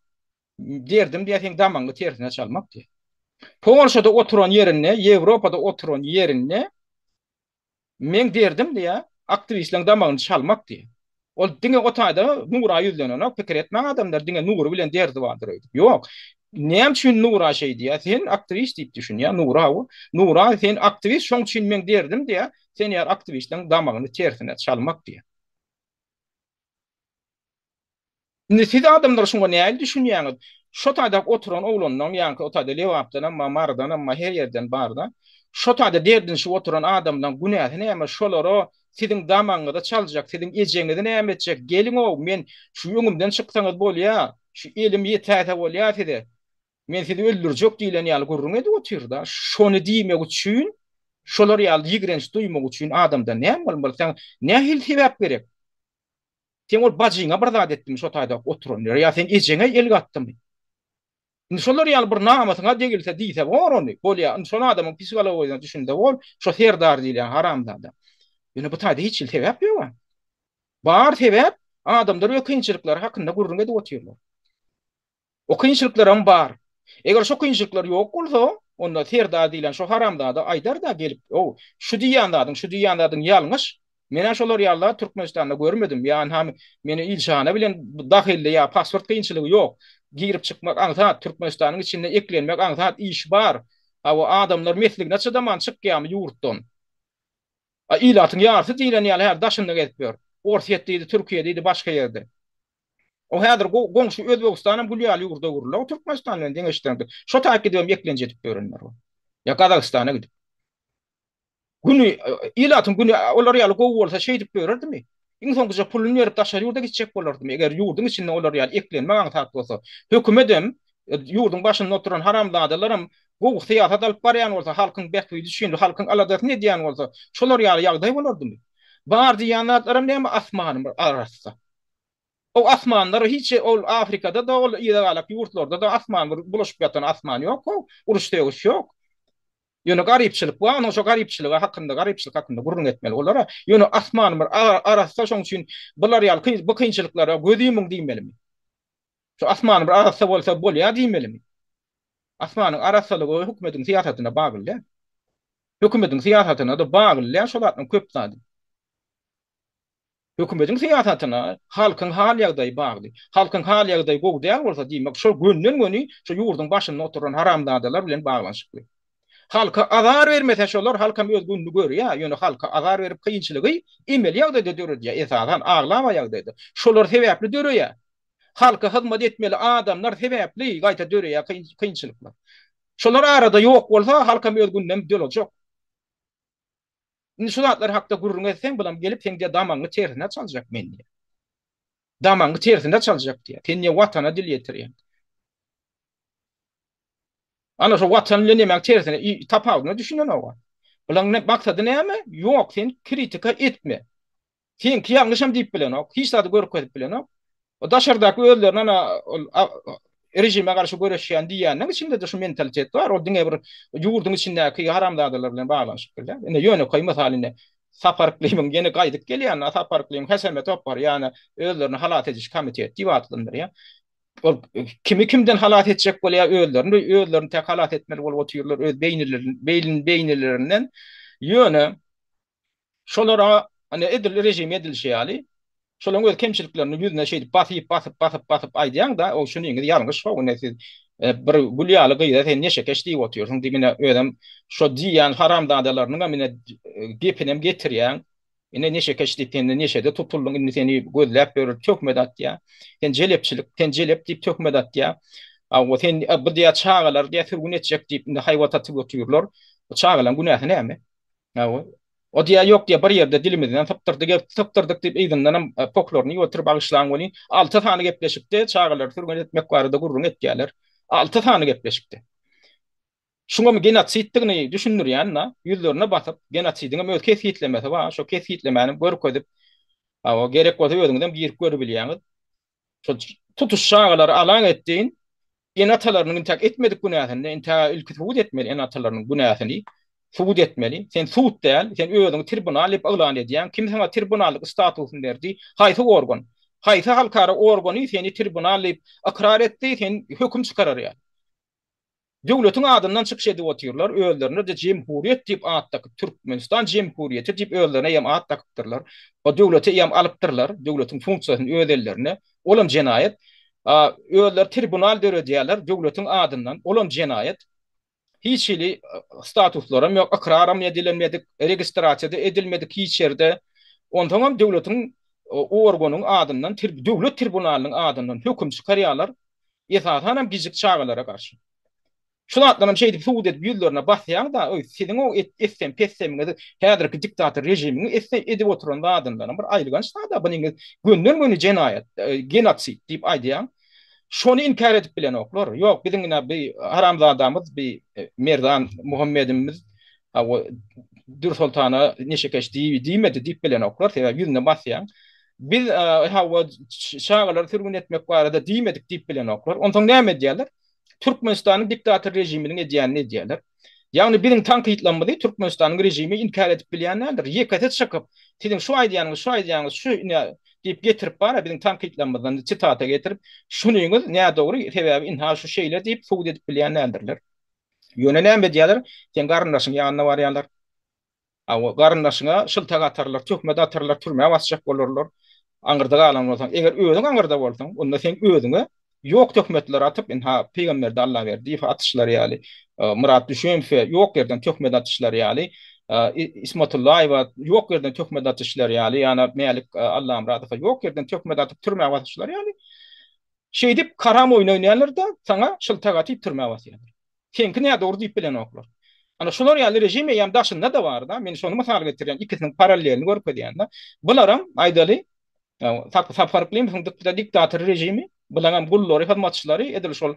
Derdim diýýär seň damagyňy tersine çalmak diýýär. Polşada oturan ýerinde, Ýewropada oturan ýerinde meň derdim diýýär, aktiwistleriň damagyny çalmak diýýär. Ol diňe o taýda Nura ýüzlenenok, pikir etmäň adamlar diňe Nury bilen derdi bardyr öýdüp. Ýok. Näme üçin Nura şeý diýýär? Sen aktiwist diýip düşünýär Nura o. Nura sen aktiwist şoň üçin meň derdim diýýär. Sen ýaly aktiwistleriň damagyny tersine çalmak diýýär. Indi siz adamlar şuňa nähili düşünýäňiz? Şo taýda oturan oglanlaň ýaňky o taýda Lebapdanam bar, Marydanam bar, her ýerden barda. Şo taýda derdinişip oturan adamlaň günäsi näme? Şolara siziň damagyňyzy çaljak, siziň ejeňizi näme etjek? Geliň-ow, men şu öňümden çyksaňyz bolýa, şu elim ýetäýse bolýa size. Men sizi öldürjek diýlen ýaly gürrüň edip otyr-da. Şony diýmek üçin, şolar ýaly ýigrenç duýmak üçin adamda näme bolmaly? Saňa nähili sebäp gerek? Seň ol bajyňa bir zat etdimi şo taýda oturan ýere ýa seň ejeňe el gatdymy? Indi şolar ýaly bir namysyňa degilse diýse bor ony. Bolýa, indi şol adamyň psihologiýasyna düşünse bor, şo Serdar diýilýän haramzada. Ýöne bu taýda hiç hili sebäp ýog-a. Bar sebäp adamlar öz kynçylyklary hakynda gürrüň edip otyrlar. O kynçylyklaram bar. Eger şo kynçylyklar ýok bolsa, onda Serdar diýlen şo haramzada aýdar-da gelip, Ow, şu diýýän zadyň, şu diýýän zadyň ýalňyş. Men-ä şolar ýaly zat Türkmenistanda görmedim. Ýa ynha meni ilçihana bilen dahylly ýa pasport kynçylygy ýok. Girip çykmak aňsat, Türkmenistanyň içinde eklenmek aňsat, iş bar. Hawa, adamlar mesligine çydaman çykýarmy ýurtdan? A ilatyň ýarysy diýlen ýaly häzir daşynda gezip ýör. Orsýet diýdi, Türkiýe diýdi, başga ýerde. O häzir goňşy Özbegistanam gül ýaly ýurda öwrüldi. O Türkmenistan bilen deňeşdireňde. Şo taýyp gidibem eklenç edip ýörenler bar. Ýa Gazagystana gidip. Güni, ilatyň güni olar ýaly gowy bolsa şeýdip ýörerdimi? Iň soňkuja puluny berip daşary ýurda gitjek bolardymy? Eger ýurduň içinde olar ýaly eklenmek aňsat bolsa, hökümedem, ýurduň başynda oturan haramzadalaram gowy syýasat alyp barýan bolsa, halkyň bähbidi üçin, halkyň aladasyny edýän bolsa, şolar ýaly ýagdaý bolardymy? Bar diýýän zatlaram näme asmany bir arassa. O asmanlar hiç ol Afrikada-da ol yza galak ýurtlarda-da asman bir bulaşyp ýatan asman ýok-ow, uruş-sögüş ýok. Ýöne garypçylyk bar, onuň şo garypçylygy hakynda, garypçylyk hakynda gürrüň etmeli olara. Ýöne asman bir arassa şoň üçin bular ýaly bu kynçylyklara göz ýumuň diýmelimi? Şu asman bir arassa bolsa bolýar diýmelimi? Asmanyň arassalygy hökümetiň syýasatyna bagly däl. Hökümetiň syýasatyna-da bagly däl şo zatlaryň köp zady. Hökümetiň syýasatyna halkyň hal-ýagdaýy bagly. Halkyň hal-ýagdaýy gowy däl bolsa, diýmek, şol gönden-göni şu ýurduň başynda oturan haramzadalar bilen baglanyşykly. Halka azar bermese şolar, halkam öz gününi görýär, ýöne halka azar berip kynçylygy emeli ýagdaýda döredýär, esasan aglaba ýagdaýda şolar sebäpli döreýär. Halka hyzmat etmeli adamlar sebäpli gaýta döreýär kynçylyklar. Şolar arada ýok bolsa, halkam öz gününem dolajak. Indi şu zatlar hakda gürrüň etseň, bulam gelip seň diýýär damagyňy tersine çaljak men diýýär. Damagyňy tersine çaljak diýýär. Sen diýýär watana dil ýetirýäň. Ana şu watan bilen nemäň tersine tapawudyna düşünenok. Bulaň maksady näme? Ýok, sen kritika etme. Seňki ýalňyşam diýip bilenok, hiç zady görkezip bilenok. O daşardaky özlerini ana ol režime garşy göreşýän diýýänleň içinde-de şu mentalitet bar. Ol diňe bir ýurduň içindäki haramzadalar bilen baglanyşykly däl. Ine ýönekeý mysal ine Sapar Yklymyň ýene gaýdyp gelýän Sapar Yklym HSM topary ýa-ni özlerini halas ediş komiteti diýip atlandyrýar. Ol kimi kimden halas etjek bolýar özlerini özlerini tek halas etmeli bolup otyrlar öz beýnilerin beýnilerinden. Ýöne Şolara ine edil režim edilişi ýaly, şolaryň öz kemçiliklerini ýüzüne şeýdip basyp, basyp, basyp, basyp aýdýaň-da, o şunyňyz ýalňyş how, ine siz bir gül ýaly gyza sen neşekeş diýip otyrsyň diýip, ine özem şo diýýän haramzadalarynyňam ine gepinem getirýäň. Ine neşekeş diýip sen neşede tutuldyň, indi seni gözläp ýörür, töhmet atýar. Sen jelepçilik, sen jelep diýip töhmet atýar. Hawa, sen bu diýýär çagalary diýýär sürgün etjek diýip indi haýbat atyp otyrlar. Bu çagalaryň günäsi näme? Hawa. O diýýär, ýok diýýär, bir ýerde dilimizden sypdyrdyk, sypdyrdyk diýip yzyndanam poklaryny iýip oturyp bagyşlaň welin, alty sany gepleşikde çagalary sürgün etmek barada gürrüň etýärler. Alty sany gepleşikde. Şuňam genosiddigini düşündirýän-de, ýüzlerine basyp, genosidiňem öz kesgitlemesi bar, şo kesgitlemäni görkezip, hawa, gerek bolsa özüňizem girip görübilýäňiz. Şo tutuş çagalary alaň etdiň, Ene-atalarynyň intäk etmedik günäsini, intäk ilki subut etmeli ene-atalarynyň günäsini subut etmeli. Sen sud däl, sen özüňi tribunal diýip yglan edýäň. Kim saňa tribunallyk statusyny berdi? Haýsy organ? Haýsy halkara organy seni tribunal diýip ykrar etdi, sen höküm çykarar ýaly? Döwletiň adyndan çykyş edip otyrlar, özlerine-de jemhuriýet diýip at dakyp, Türkmenistan jemhuriýeti diýip özlerine eýýäm at dakypdyrlar. O döwleti eýýäm alypdyrlar, döwletiň funksiýasyny öz ellerine. Olam jenaýat. Özleri tribunal döredýärler döwletiň adyndan, olam jenaýat. Hiç hili statuslaram ýok, ykraram edilenmedik, registrasiýa-da edilmedik hiç ýerde. Onsoňam döwletiň organyň adyndan, döwlet tribunalynyň adyndan höküm çykarýarlar. Esasanam gijik çagalara garşy. Şu zatlaram şeýdip subut edip ýüzlerine basýaň-da, öý, siziň o etsem-pessemiňizi, häzirki diktator režimiň etse edip oturan zadyndanam bir aýylganç zad-a, bunyňyz gönden-göni jenaýat, genosid diýip aýdýaň. Şony inkär edip bilenoklar. Ýok, biziň ine bi haramzadamyz, bi Merdan Muhammedimiz hawa Dürsoltana neşekeş diýmedi diýip bilenoklar, sebäbi ýüzüne basýaň. Biz hawa çagalary sürgün etmek barada diýmedik diýip bilenoklar. Onsoň näme edýärler? Türkmenistanyň diktator režiminiň edýänini edýärler. Ýagny biziň tankytlamyzy Türkmenistanyň režimi inkär edip bilýän däldir. Ýekesi çykyp, siziň şu aýdýanyňyz, şu aýdýanyňyz şu ine diýip getirip bar-a biziň tankytlamyzdan sitata getirip, şunyňyz nädogry, sebäbi ynha şu şeýle diýip subut edip bilýän däldirler. Ýöne näme edýärler? Seň garyndaşyň ýanyna barýarlar. Hawa, garyndaşyňa şyltak atarlar, töhmet atarlar, türmä basjak bolarlar. Aňyrda galan bolsaň, eger özüň aňyrda bolsaň, onda seň özüňe ýok töhmetler atyp, ynha, Pygamberdi Allaberdiýewe atyşlary ýaly, Myrat Düşemowe ýok ýerden töhmet atyşlary ýaly, Ismatullaýewa ýok ýerden töhmet atyşlary ýaly, ýa-da Mälik Allamyradowa ýok ýerden töhmet atyp türmä basyşlary ýaly. Şeýdip karam oýun oýnaýarlar-da, saňa şyltak atyp türmä basýarlar. Seňki nädogry diýip bilenoklar. Ana şular ýaly režim eýýäm daşynda-da bar-da, men şony mysal getirýän, ikisiniň parallelini görkezýän-de. Bularam aýdaly, Sapar Yklymowň diktator režimi, bulaňam gullary, hyzmatçylary edil şol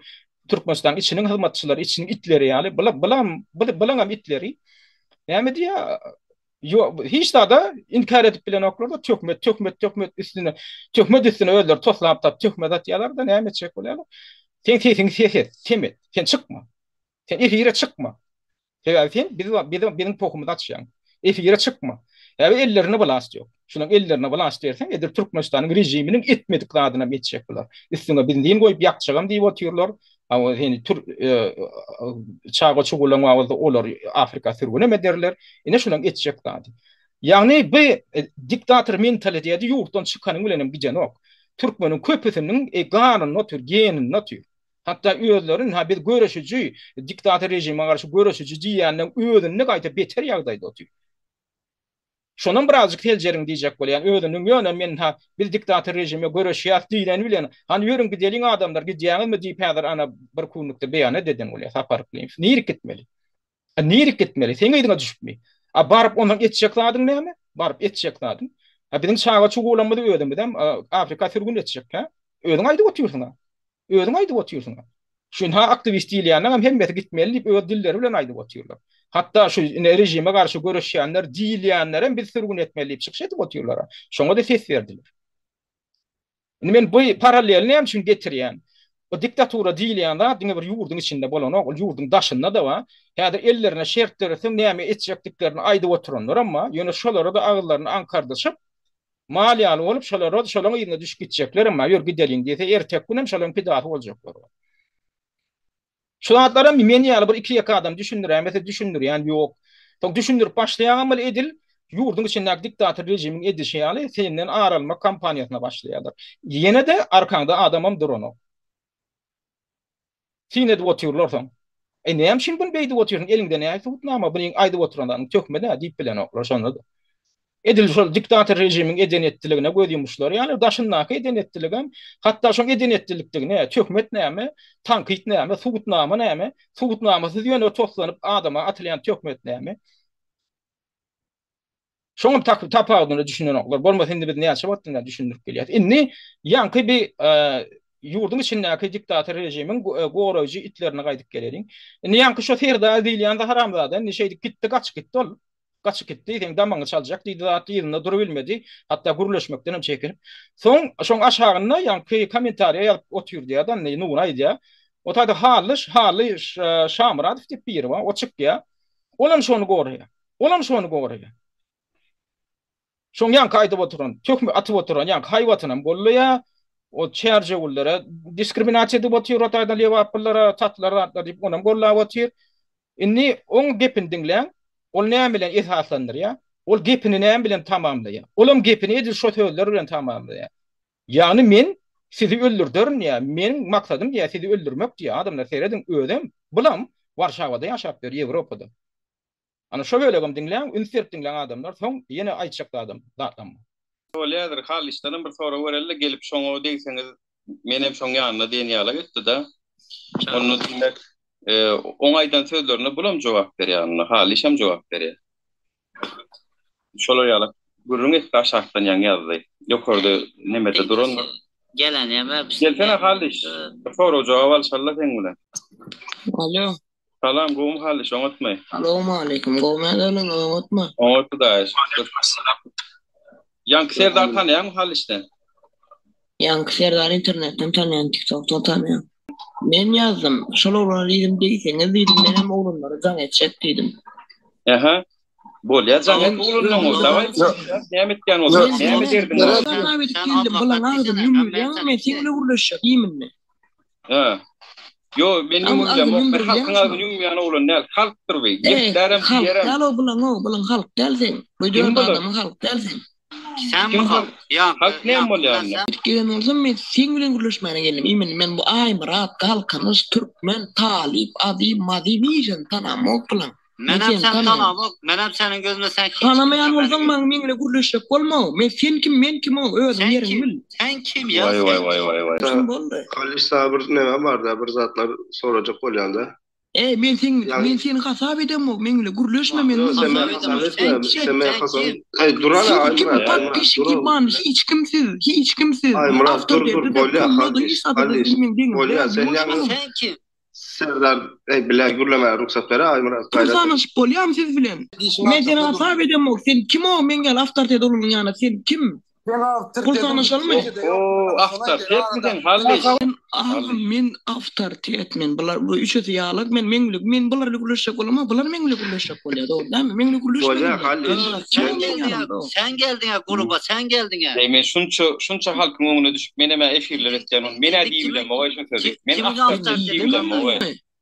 Türkmenistanyň içiniň hyzmatçylary, içiniň itleri ýaly, bulam, bulaňam itleri. Näme diýýär? Ýok, hiç zada inkär edip bilenoklar-da, töhmet, töhmet, töhmet üstüne, töhmet üstüne özleri toslap tap, töhmet atýarlar-da, näme etjek bolýarlar? Seň sesiňi ses et, sem et, sen çykma. Sen efire çykma. Sebäbi sen biz biz biziň pohumyzy açýaň. Efire çykma. Sebäbi ellerinde wlast ýok. Şulaň ellerine wlast berseň, edil Türkmenistanyň režiminiň etmedik zadynam etjek bular. Üstüňe benzin goýup ýakjagam diýip otyrlar. Hawa seni tür çaga çugulaň bar bolsa olary Afrika sürgünem ederler. Ine şulaň etjek zady. Ýagny bu diktator mentaliteti ýurtdan çykanyň bilenem gidenok. Türkmeniň köpüsiniň ganynda otyr, geninde otyr. Hatda özleri ynha biz göreşiji, diktator režime garşy göreşiji diýýänleň özünde gaýta beter ýagdaýda otyr. Şonam birazjyk seljeriň diýjek bolýan özüniň ýöne men ha biz diktator režime göreşýäs diýleni bilen hany ýörüň gideliň adamlar gidýäňizmi diýip häzir ana bir kunlukda beýanat eden bolýar Sapar Yklymow. Nirik gitmeli? A nirik gitmeli? Seň yzyňa düşüpmi? A baryp ondan etjek zadyň näme? Baryp etjek zadyň? A biziň çaga çugulamyzy özümizem Afrika sürgün etjek hä? Özüň aýdyp otyrsyň-a. Özüň aýdyp otyrsyň. Şu ynha aktiwist diýilýänleňem hemmesi gitmeli diýip öz dilleri bilen aýdyp otyrlar. Hatda şu ine režime garşy göreşýänler diýilýänlerem biz sürgün etmeli diýip çykyş edip otyrlar. Şoňa-da ses berdiler. Indi men bu paralleli näme üçin getirýän? Bu diktatura diýilýän zat diňe bir ýurduň içinde bolanok, ol ýurduň daşynda-da bar. Häzir ellerine şert döretseň näme etjekdiklerini aýdyp oturanlaram bar. Ýöne şolara-da agyzlaryny aňkardyşyp, Mal ýaly bolup şolara şolaň yzyna düşüp gitjeklerem bar, ýör gideliň diýse erteki günem şolaň pidasy boljaklar bar. Şu zatlaram men ýaly bir iki-ýeke adam düşündiräýmese düşündirýän ýok. Soň düşündirip başlaýaňam ol edil ýurduň içindäki diktator režimiň edişi ýaly senden ar almak kampaniýasyna başlaýarlar. Ýene-de arkaňda adamam duranok. Syn edip otyrlar soň. Eý näme üçin buny beýdip otyrsyň eliňde näme subutnama bunyň aýdyp oturan zadyň töhmet hä diýip bilenoklar şonda-da. Edil şol diktator režimiň eden etdiligine göz ýumuşlary ýaly daşyndaky eden etdiligem hatda şoň eden etdilikdigine töhmet näme tankyt näme subutnama näme subutnamasyz ýöne toslanyp adama atylýan töhmet näme. Şoňam tapawudyna düşünenoklar. Bolmasa indi biz näçe wagtdan bäri düşündirip gelýäs. Indi ýaňky bir ýurduň içindäki diktator režimiň goraýjy itlerine gaýdyp geleliň. Indi ýaňky şo Serdar diýilýän haramzada indi şeýdip gitdi, gaçyp gitdi ol. Gaçyp gitdi, seň damagyňy çaljak diýdi zat yzynda durubilmedi. Hatda gürleşmekden hem çekinip. Soň şoň aşagynda ýaňky kommentariýa ýazyp otyr diýýär-de, indi Nury aýdýar. O taýda Hally, Hally Şamyradow diýip biri bar, o çykýar. Olam şony goraýar. Olam şony goraýar. Şoň ýaňky aýdyp oturan, töhmet atyp oturan ýaňky haýbatynam gollaýar. O çärjewüllere diskriminasiýa edip otyr, o taýdan lebaplylara, tatlar zatlar diýip onam gollap otyr. Indi oň gepini diňläň, ol näme bilen esaslandyrýar? Ol gepini näme bilen tamamlaýar? Olam gepini edil şo sözler bilen tamamlaýar. Ýagny men sizi öldürderin diýýär, meniň maksadym diýýär sizi öldürmek diýýär. Adamlar serediň özem, bulam Warşawada ýaşap ýör, Ýewropada. Ana şo bölegem diňläň, üns berip diňläň adamlar, soň ýene aýtjak zadym, zatlam bar. Bolýadyr, Hallyşdanam bir sorag bereli-de, gelip şoňa degseňiz, menem şoň ýanynda diýen ýalak etdi-de. Onda diýmek, oň aýdan sözlerine bulam jogap berýär onda, Hallyşam jogap berýär. Şolar ýalak gürrüň etdi aşakdan ýaňy ýazdy. Ýokarda nemede durandyr. Gelen ýa Gelsene Hallyş, bir sorag-jogap alyşaly-la seň bilen. Alo. Salam gowmy Hallyş oňatmy? Salowmaleýkim gowmy ýagdaýlaryňyz oňatmy? Oňat Hudaýa şükür. Ýaňky Serdary tanaýaňmy Hallyş sen? Ýaňky Serdary internetden tanaýan tiktokdan tanaýan. Men ýazdym şol oglana diýdim diýseňiz diýdim menem oglanlara jaň etjek diýdim. Ähä. Bolýa jaň et oglanlaňa dawaý näme etýän bolsaň näme derdiň bar. Sen bilen agzyny ýumulýaň men seň bilen gürleşjek iýminde. Hä. Ýo, men ýumulýamok. Men halkyň agzyny ýumýan oglan däl. Halkdyr bu. Geplärem, diýerem. Halk däl o bulaň o, bulaň halk däl seň. Bu dört adamyň halk däl seň. Sen halk? Halk näme bolýar onda? Gidip gelen bolsam men seň bilen gürleşmäne geldim. Imенно men bu Aýmyrat, Galkynyş, Türkmen, Talyp, Azy, Mazy nijeni tanamok bulaň. Men Menem seni sen tanaýan. tanamok. Menem seniň gözüňde sen hiç Tanamaýan kimsen bolsaň meniň maňa meň bilen gürleşjek bolma. Men sen kim men kim o özüň Sen ýeriňi kim? bil. Sen kim ya? Waý waý Sen waý kim? waý waý. Kim boldy? Halyş saňa bir neme barda bir zatlar sorajak bolýanda. Eý men seň Ýagny men seni hasap edemok meň bilen gürleşme men Ýok sen Hasap meni hasap edemok. Sen etme. kim? Sen meni Sen hasap kim? Eý durana Siz kim Aýmyrat Aýmyrat podpisçik dur. ýyban hiç kim siz hiç kim siz Aýmyrat dur dur awtoritetde-de bolýa pulda-da Halyş hiç zada-da Halyş siz meň deňim bolýa däl sen ýuwaş ýaňy boluň. Sen kim? Serdar eý bile gürlemäge rugsat ber Aýmyrat Pul gaýrat et. sanaşyp bolýamy siz bilen? Dişiň Men seni altynda hasap dur. edemok sen kim o meň ýaly awtoritet oglunyň ýanyna sen kim? Sen Pul awtoritet sanaşalmy? Oho, awtoritetmi sen Hallyş? Men agam men awtoritet men bular bu üçüsi ýalak men meň bilen men bular bilen gürleşjek bolamok bular meň bilen gürleşjek bolýar dogry dälmi meň bilen Bolýa gürleşmesinler Hallyş Sen kim men meň geldiň ýanymda. Sen geldiň gruba sen geldiň Eý men şunça şunça halkyň öňüne düşüp menem-ä efirler etýän ony men-ä Indi diýibilemok kimiň oý şu sözi. Men kimiň awtoritet awtoriteti diýibilemok oý.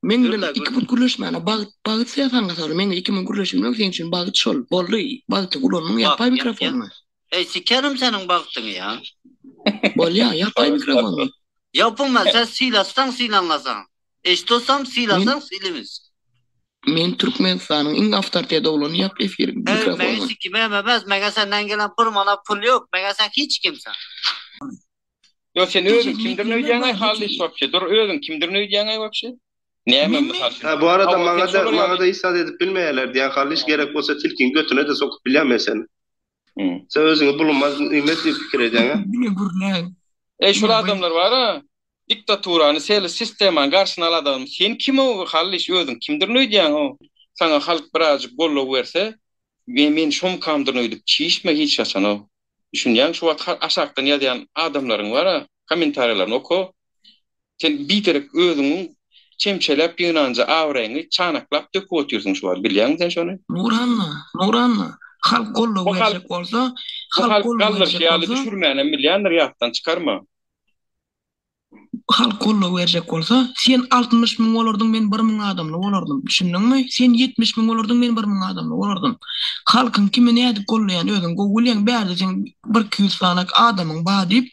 Meň bilen Gürle iki gürle. put gürleşmäne bagt bagt sen saňa sor meň bilen iki müň gürleşip bilmek seň üçin bagt şol boldy bagty ulandyň Bak ýapaý ýa ýa. mikrofonyňy. Eý sikerim seniň bagtyňy ýa. Bolýa ýapaý mikrofonyňy. Ýapyňma sen sylasaň sylanlasaň. Eşitosam Men sylasaň sylymyz. men Türkmenistanyň iň awtoritet oglany ýap efiriň Eý meňe mikrofonyňy. sikimem emez meňe senden gelen bir manat pul ýok meňe sen hiç kimsen. Ýok sen özüň Eje kimdirin mekdebe öýdýäňaý bar Hallyş wapşe dur özüň kimdirin öýdýäňaý wapşe näme Menmi? mysal üçin Ha bu arada hawa sen maňa-da şolar ýaly maňa-da hiç zat edip bilmeýärler diýýän Hallyş gerek bolsa tilkiň götüne-de sokup bilýän men seni. Sen özüňi bulunmaz nimet diýip pikir edýäň-ä? Diňe gürläň. Eý şul Diňe adamlar bara diktaturany seli sistemany garşyna al adam sen kim o Hallyş özüň kimdirin öýdýäň o saňa halk birazjyk goldaw berse men men şomkamdyryn öýdüp çişme hiç haçan o Düşünýäň şu wagt aşakdan ýazýan adamlaryň bara kommentariýalaryny oka sen biderek özüňiň çemçeläp ýygnanja abraýyňy çanaklap döküp otyrsyň şu wagt bilýäňmi sen şony? Nuranna, Nuranna, halk goldaw Bu halk berjek bolsa, bu halk halk goldaw galdyryşy berjek ýaly bolsa, düşürmänem bilýändir ýatdan çykarma. Halk goldaw berjek bolsa, sen 60 müň bolardyň, men 1000 adamly bolardym. Düşündiňmi? Sen 70 müň bolardyň, men 1000 adamly bolardym. Halkyň kimi nädip gollaýany özüň gowy bilýäň. Bärde seň bir 200 sany adamyň bar diýip,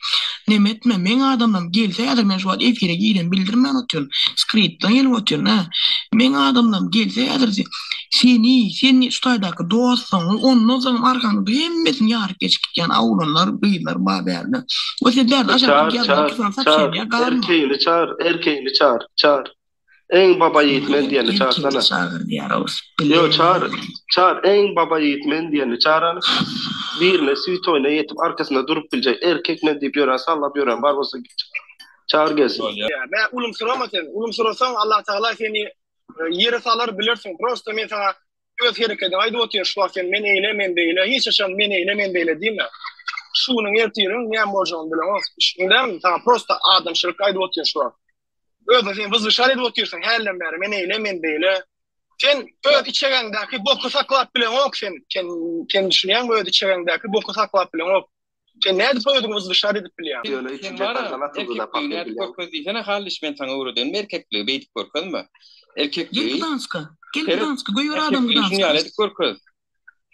neme etme. Meň adamlarym gelse häzir men şu wagt efire gireni bildirmän otyryn. Skritden gelip otyryn, hä. Meň adamlarym gelse häzir Seni, sen şu taýdaky dostlaryňy, ondan soňam arkaňda hemmesini ýaryp geçip gitýän oglanlar, gyzlar bar bärde. O sen bärde aşakda Çar, ýazmaly çar, tutan çar, sapşenýa galma. erkeğini çar, erkeğini çar, çar. Eň baba ýigit men diýeni Erkeğini çarsana. çagyr diýär ors Ýo, çar, bile. çar, eň baba ýigit men diýeni çar hany. Birine switoýna ýetip arkasynda durup biljek erkek men diýip ýören, sallap ýören bar bolsa git çar. Çar gelsin. Bolýar. Mä ulumsyrama sen. Ulumsyrasaň Allah Tagala seni Ýere salar bilersiň prosta men saňa öz herekediňi aýdyp otyryn şu wagt sen men eýle men beýle hiç haçan men eýle men beýle diýme şu günüň ertiriň näme boljagyny bileňok düşündämi saňa prosta adamçylyk aýdyp otyryn şu wagt özüňi sen wyzwyşar edip otyrsyň hälden bäri men eýle men beýle sen öz içegeňdäki boky saklap bileňok sen sen sen düşünýäňmi öz içegeňdäki boky saklap bileňok Sen nädip özüňi wyzwyşar edip bilýäň? Ýöne Sen üçünji bara etajdan atyldy-da erkekligi pahyr nädip bilýäň. görkez diýsene Hallyş men saňa öwredenmi erkekligi beýdip görkezme. Gel Erkekligi Gdanska. Gel seret Gdanska. Goýber adamy erkekligi şuny Gdanska. ýaly edip görkez.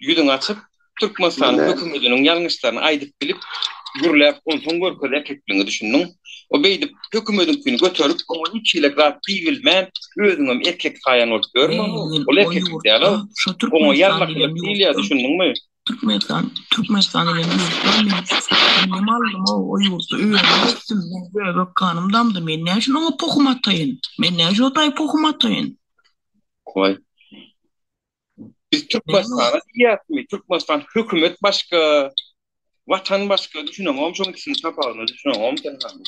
Ýüzüňi açyp Türkmenistanyň Mine. hökümediniň ýalňyşlaryny aýdyp bilip gürläp onsoň görkez erkekligiňi düşündiň. O beýdip hökümediňkini göterip oňa hiç hili zat diýibilmän özüňem erkek saýan bolup ýörme Eý, men ol o erkeklik däl-ow. ýurtda, şo Oňa Türkmenistan ýarlakylyk diýlen diýilýär ýurtda düşündiňmi? Türkmenistan, Türkmenistan diýlen ýurtda men dem aldym-ow, o ýurtda özüm ösdüm, meň böbek ganym damdy, men näme üçin oňa pohum ataýyn? Men näme üçin o taýy pohum ataýyn? Goý. Biz Türkmenistana diýýäsmi? Türkmenistan hökümet başga, Watan başga, düşüneňokmy şoň ikisiniň tapawydyna düşüneňokmy sen hany?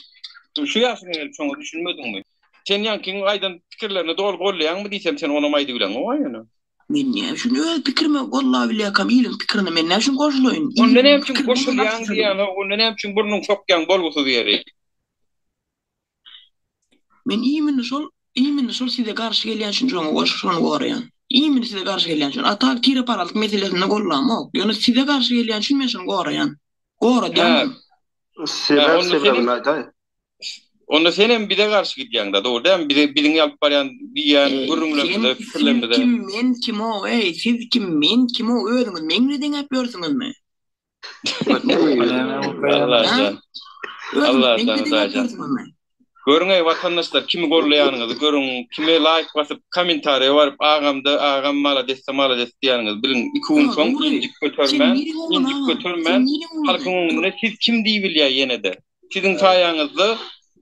Şu ýaşyňa gelip şoňa düşünmediňmi? Sen ýaňkyň aýdan pikirlerini doly goldaýaňmy diýsem sen onam aýdybileňok-a ýöne. Men näme üçin öz pikirime gollabilýärkäm iliň pikirine men näme üçin goşulaýyn? Onda Iliň näme üçin pikirini men goşulýaň garşy diýýän-ow, onda näme üçin burnuňy sokýaň bolgusyz ýeri? Men imini şol imini şol size garşy gelýän üçin şoňa goş şony goraýan. Imini size garşy gelýän üçin. A tak tireparazlyk meselesinde gollamok. Ýöne size garşy gelýän üçin men şony goraýan. Goradýanam. Hä, Sebäp onda senem sebäbini aýdaý. onda senem bize garşy gidýäňdä, dogry dälmi? Bize biziň alyp barýan diýýän Eý, sen gürrüňlerimize, siz pikirlerimize. kim men kimow eý siz kim men kimow özüňiz meň bilen deňäp ýörsüňizmi? Allajan. Özüňiz meň Allajan bilen deňäp Hudaýjan. ýörsüňizmi? Görüň-eý watandaşlar kimi gollaýanyňyzy görüň, kime laýk basyp kommentariýa baryp agamda agam maladesda malades diýýäniňizi biliň. Iki gün soň injik götermän, injik götermän halkyň öňünde siz kim diýibilýär ýene-de. Siziň saýaňyzda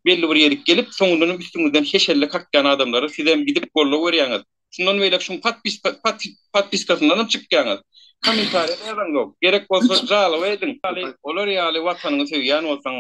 belli bir ýerik gelip soňundanam üstüňizden heşelle kakýan adamlara sizem gidip goldaw berýäňiz. Şundan beýläk şuň podpiskasyndanam çykýaňyz. Kommentariýa-da ýazaňzok. Gerek bolsa žaloba ediň. Olar ýaly watanyňy söýýän bolsaň,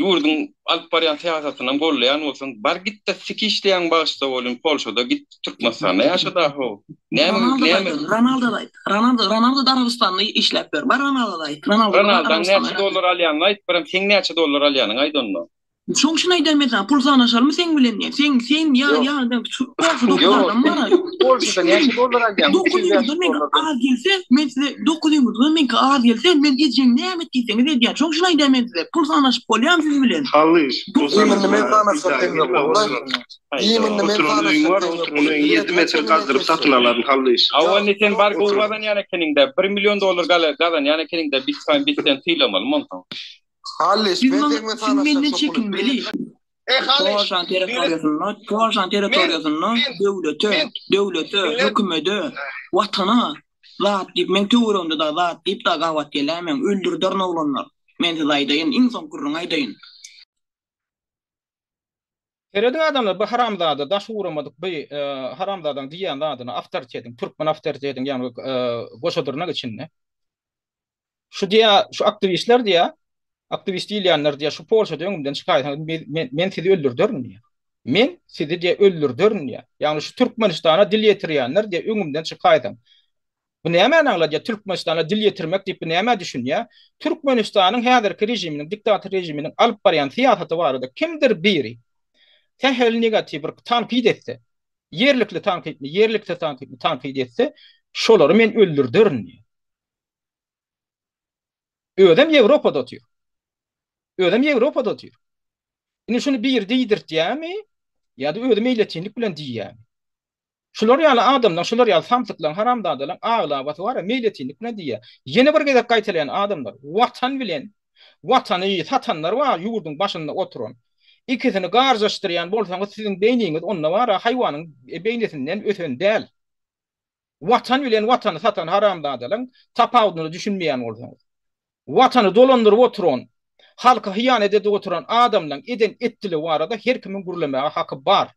ýurduň alyp barýan syýasatynam gollaýan bolsaň, bar git-de siki işleýäň bagyşla bolyn Polşada git Türkmenistanda ýaşa-da how. Näme näme. Ronaldo-da aýt. Ronaldo Ronaldo-da Arabystanda işläp ýör. Bar Ronaldo-da aýt. Ronaldaň näçe dollar alýanyny aýt, birem seň näçe dollar alýanyňy aýt onda. Şoň üçin aýdýan men saňa pul sanaşalymy seň bilen diýen. Sen sen ýa ýa şu Polşada dokuz adam bar. Polşada näçe dollar alýaň? 9 ýurtdan meňki az gelse, men size 9 ýurtdan meňki az gelse, men ejeň näme et diýseňiz edýän. Şoň üçin aýdýan men size pul sanaşyp bolýamy siz bilen? Hallyş, pul sanaşma. Men sanaşjak seň bilen bolmaz. Indi men Oturan öýüň bar, oturan öýüňi 7 metr gazdyryp satyn alaryn Hallyş. Hawa indi sen bar gowy gazanýan ekeniňdä, bir million dollar gazanýan ekeniňdä bitcoin biz seni sylamalymy onsoň? Hallyş, Siz men maňa seň bilen siz menden sanaşjak şo puly. çekinmeli. Eý Hallyş, Polşanyň biri territoriýasynda, Polşanyň men territoriýasynda men döwlete, men döwlete, millet hökümede, watana zat diýip, meň töweregimde dagy zat diýip dagy gabat geläýmäň, öldürderin oglanlar. Men size aýdaýyn, iň soňky gürrüňi aýdaýyn. Serediň adamlar bu haramzada daş ugramadyk bu haramzadaň diýýän zadyna awtoritetiň türkmen awtoritetiň ýagny goşa dyrnak içinde şu diýä şu aktiwistler diýä aktiwist diýilýänler diýä şu Polşada öňümden çykaýsaňyz men men sizi öldürderin diýä men sizi diýä öldürderin diýä ýagny şu Türkmenistana dil ýetirýänler diýä öňümden çykaýsaň Bu nämäni aňladýar? Türkmenistana dil ýetirmek diýip bu nämä düşünýär? Türkmenistanyň häzirki režiminiň, diktator režiminiň alyp barýan syýasaty barada kimdir biri sähel negatiw bir tankyt etse, ýerlikli tankytmy, ýerliksiz tankytmy tankyt etse, şolary men öldürderin diýýär. Özem Ýewropada otyr. Özem Ýewropada otyr. Indi şuny biri diýdirtýärmi ýa-da özi meýletinlik bilen diýýärmi? Şular ýaly adamlaň, şular ýaly samsyklaň, haramzadalaň aglabasy bar-a, meýletinlik bilen diýýär. Ýene bir gezek gaýtalaýan adamlar, Watan bilen Watany satanlar bar ýurduň başynda oturan. Ikisini garjaşdyrýan bolsaňyz siziň beýniňiz onda bar-a haýwanyň beýnisinden ösen däl. Watan bilen Watany satan haramzadalaň tapawudyna düşünmeýän bolsaňyz. Watany dolandyryp oturan, halka hyýanet edip oturan adamlaň eden etdiligi barada her kimiň gürlemäge haky bar.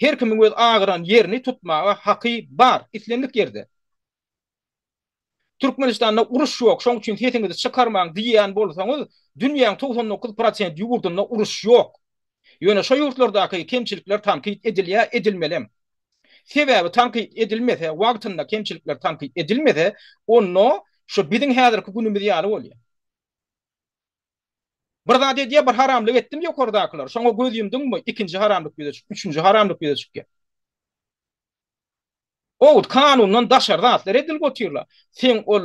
Her kimiň öz agyran ýerini tutmaga haky bar, islendik ýerde. Türkmenistanda uruş ýok, şoň üçin sesiňizi çykarmaň diýýän bolsaňyz, dünýäň 99 prosent ýurdunda uruş ýok. Ýöne şo ýurtlardaky kemçilikler tankyt edilýär, edilmelem. Sebäbi tankyt edilmese, wagtynda kemçilikler tankyt edilmese, onda şo biziň häzirki günümiz ýaly bolýar. Bir zat edýär, bir haramlyk etdim ýokardakylar. Şoňa göz ýumduňmy, ikinji haramlyk ýüze çyk, üçünji haramlyk ýüze çykýar. Owut kanundan daşary zatlar edilip otyrlar. Sen ol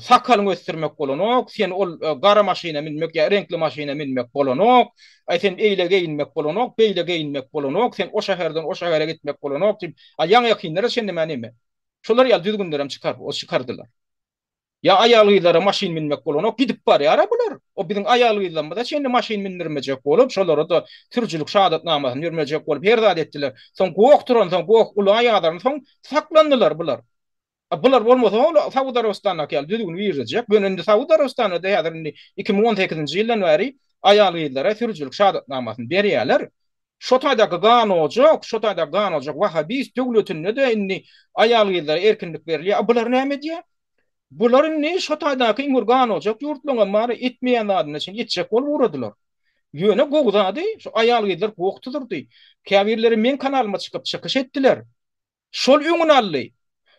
sakalyňy ösdürmek bolanok, sen ol e, gara maşyna münmek ýa reňkli maşyna münmek bolanok, aý sen eýle geýinmek bolanok, beýle geýinmek bolanok, sen o şäherden o şähere gitmek bolanok diýip, a ýaňy ýakynlara çenli mä neme. Şolar ýaly düzgünlerem çykar, o çykardylar. Ýa aýal-gyzlara maşyn münmek bolanok, gidip barýar-a bular. O biziň aýal-gyzlarymyza çenli maşyn mündürmejek bolup, şolara-da sürüjilik şahadatnamasyny bermejek bolup her zat etdiler. Soň goh turansoň, goh ula ýazaransoň saklandylar bular. A bular bolmasa ol Saud Arabystandaky ýaly düzgün girizjek. Ýöne indi Saud Arabystanda-da häzir indi 2018-nji ýyldan bäri aýal-gyzlara sürüjilik şahadatnamasyny berýärler. Şo taýdaky ganojak, şo taýdaky ganojak wahabist döwletinde-de indi aýal-gyzlara erkinlik berilýär. A bular näme edýär? Bular indi şo taýdaky iň bir ganojak ýurtlaryňam bary etmeýän zadyna çenli etjek bolup ugradylar. Ýöne gowy zady şu aýal-gyzlar goh tuzurdy. Käbirleri meň kanalyma çykyp çykyş etdiler. Şol öňüni aldy.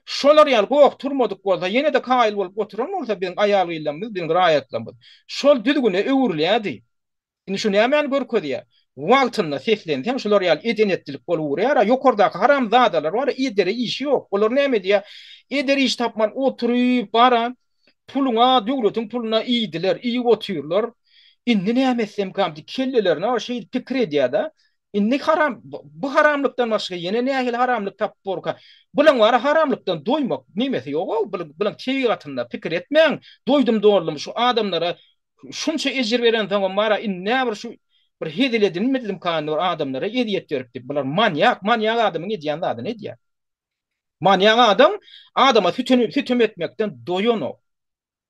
Şolar ýaly goh turmadyk bolsa, ýene-de kaýyl bolup oturan bolsa biziň aýal-gyzlarymyz, biziň raýatlarymyz şol düzgüne öwrülýärdi. Indi şu nämäni görkezýär? Wagtynda seslenseň şular ýaly eden-etdilik bolup urýar-a. Ýokardaky haramzadalar bar-a, edere işi ýok. Olar näme edýär? Edere iş tapman oturyp bar-a, puluňa, döwletiň puluna iýdiler, iýip otyrlar. Indi näme etsemkäm diýip kellelerine bar şeýdip pikir edýär-de. Indi haram, bu haramlykdan başga ýene nähili haramlyk tapyp borka? Bulaň bar-a haramlykdan doýmak nemesi ýog-ow, bulaň tebigatynda pikir etmäň, doýdum-doldum şu adamlara Şunça ejir berensoňam bar-a, indi näbir şu Bir hezil edinmedimkan bir adamlara ezýet berip diýip. Bular manýak, manýak adamyň edýän zadyny edýär. Manýak adam adama sütem, sütem etmekden doýanok.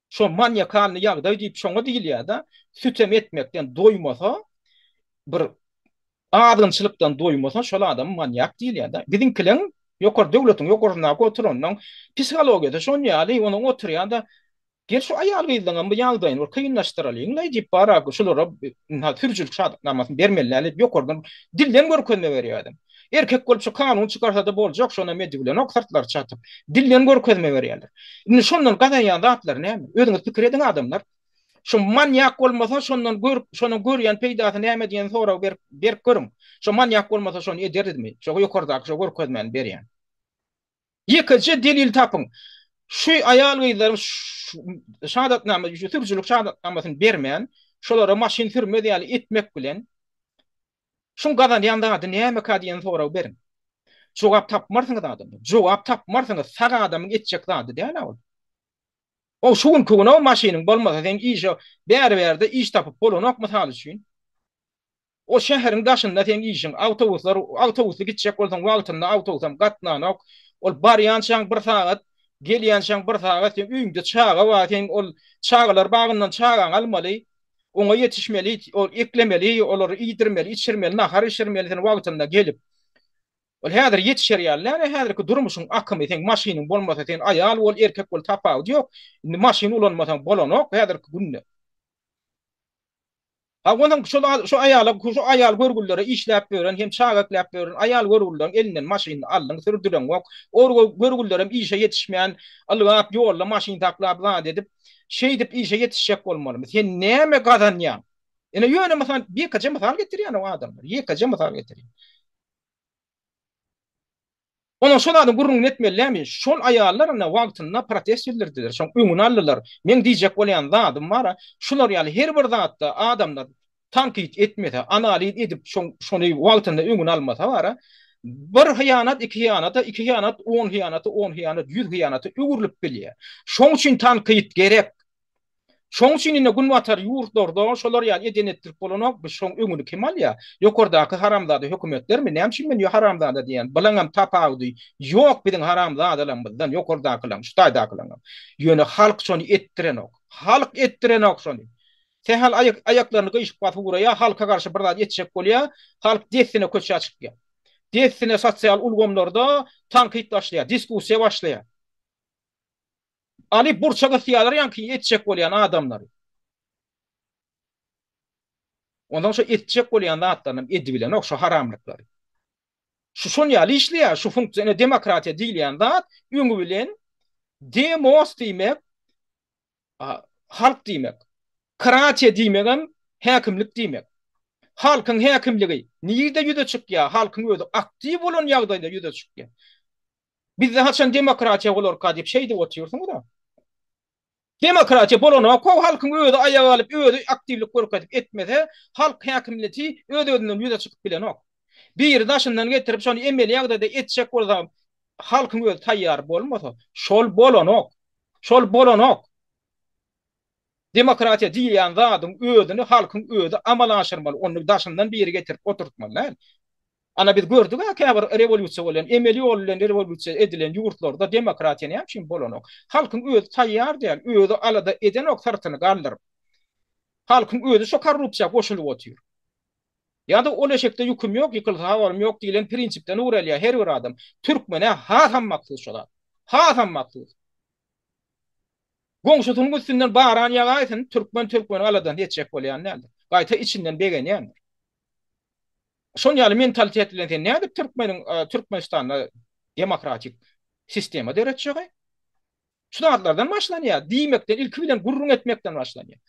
Şo manýakalny ýagdaý diýip şoňa diýilýär-de, sütem etmekden doýmasa, bir azgynçylykdan doýmasa şol adam manýak diýilýär-de. Biziňkileň ýokary döwletiň ýokarsyndaky oturanyň psihologiýasy şon ýaly, onuň oturýan-da gel şu aýal-gyzlaryňam bu ýagdaýyny bir kynlaşdyralyň-laý diýip bar-a şulara sürüjilik şahadatnamasyny bermeli däl diýip ýokardan dilden görkezme berýär adam. Erkek bolup şu kanun çykarsada boljak şonam edibilenok syrtlary çatyp. Dilden görkezme berýärler. Indi şondan gazanýan zatlary näme? Özüňiz pikir ediň adamlar. Şu manýak bolmasa şondan görüp şonuň görýän peýdasy näme diýen soragy berip berip görüň. Şo manýak bolmasa şony ederdimi? Şo ýokardaky şo görkezmäni berýän. Ýekeje delil tapyň. Şu aýal-gyzlaryň şahadatnama, sürüjilik şahadatnamasyny bermän, şolara maşyn sürmez ýaly etmek bilen Şuň gazanýan zady nämeka diýen soragy beriň. Jogap tapmarsyňyz adamlar. Jogap tapmarsyňyz. Sag adamyň etjek zady däl-ä ol. O şu günki gün o maşynyň bolmasa sen işe bäri-bärde iş tapyp bolanok mysal üçin. O şäheriň daşynda seň işiň, awtobuslar, awtobusly gitjek bolsaň wagtynda awtobusam gatnanok. Ol barýançaň bir sagat, gelýänçäň bir sagat seň öýüňde çaga bar, sen ol çagalar bagyndan çagaňy almaly. Oňa ýetişmeli, ol eklemeli, olary iýdirmeli, içirmeli, nahar bişirmeli sen wagtynda gelip. Ol häzir ýetişer ýaly däl, häzirki durmuşyň akymy, seň maşynyň bolmasa sen aýal bol, erkek bol tapawudy ýok. Indi maşyn ulanmasaň bolanok häzirki günde. Ha onsoň şol şu aýala şu aýal görgüllere işläp ýören hem çaga ekläp ýören aýal görgülleriň elinden maşynyny aldyň sürdüreňok. Ol görgüllerem işe ýetişmän ylgap ýolda maşyn saklap zat edip Şeýdip işe ýetişjek bolmalymy? Sen näme gazanýaň? Ine ýöne mysal, ýekeje mysal getirýän o adamlar. Ýekeje mysal getirýän. Onuň şol zadyň gürrüňini etmeli dälmi? Şol aýallar ine wagtynda protest bildirdiler, şoň öňüni aldylar. Meň diýjek bolýan zadym bar-a, şular ýaly her bir zatda adamlar Tankyt etmese, analiz edip şony wagtynda öňüni almasa bara, bir hyýanat iki hyýanata, iki hyýanat on hyýanata, on hyýanat ýüz hyýanata öwrülip bilýär. Şoň üçin tankyt gerek. Şoň üçin indi günbatar ýurtlarda şolar ýaly eden etdirip bolanok, biz şoň öňüni kim alýar? Ýokardaky haramzada hökümetlermi? Näme üçin men haramzada diýýän? Bulaňam tapawudy ýok biziň haramzadalarymyzdan, ýokardakylaň, şu taýdakylaňam. Ýöne halk şony etdirenok. Halk etdirenok şony. Sähel aýaklaryny gyşyk basyp ugraýar, halka garşy bir zat etjek bolýar, halk dessine köçä çykýar. Dessine sosial ulgamlarda tankyt başlaýar, diskussiýa başlaýar. Alyp burça gysýarlar ýaňky etjek bolýan adamlary. Onsoň şo etjek bolýan zatlaryny edibilenok şo haramlyklary. Şu şon ýaly işleýär, şu funksiýa, ine demokratiýa diýilýän zat öňi bilen demos diýmek, halk diýmek. Kratiýa diýmegem häkimlik diýmek. Halkyň häkimligi nirde ýüze çykýar? Halkyň özi aktiw bolan ýagdaýda ýüze çykýar. Bizde haçan demokratiýa bolarka diýip şeýdip otyrsyňyz-a. Demokratiýa bolanok-ow, halkyň özi aýaga galyp, özi aktiwlik görkezip etmese, halk häkimleti öz-özünden ýüze çykyp bilenok. Biri daşyndan getirip şony emeli ýagdaýda etjek bolsa, halkyň özi taýýar bolmasa, şol bolanok. Şol bolanok. Demokratiýa diýilýän zadyň özüni halkyň özi amala aşyrmaly, ony daşyndan biri getirip oturtmaly däl. Ana biz gördük-ä käbir rewolýusiýa bolýan, emeli ýol bilen rewolýusiýa edilen ýurtlarda demokratiýa näme üçin bolanok? Halkyň özi taýýar däl, özi alada edenok syrtyny galdyryp. Halkyň özi şo korrupsiýa goşulyp otyr. Ýa-da ol eşekde ýüküm ýok, ýykylsa habarym ýok diýlen prinsipden ugur alýar her bir adam. Türkmene hasam mahsus şo zat. Hasam mahsus. Goňşusynyň üstünden baran ýagaýsyn, türkmen türkmeniň aladasyny etjek bolýan däldir. Gaýta içinden begenýändir. Şon ýaly mentalitet bilen sen nädip türkmeniň Türkmenistanda demokratik sistema döretjegi? Şu zatlardan başlanýar. Diýmekden, ilki bilen gürrüň etmekden başlanýar.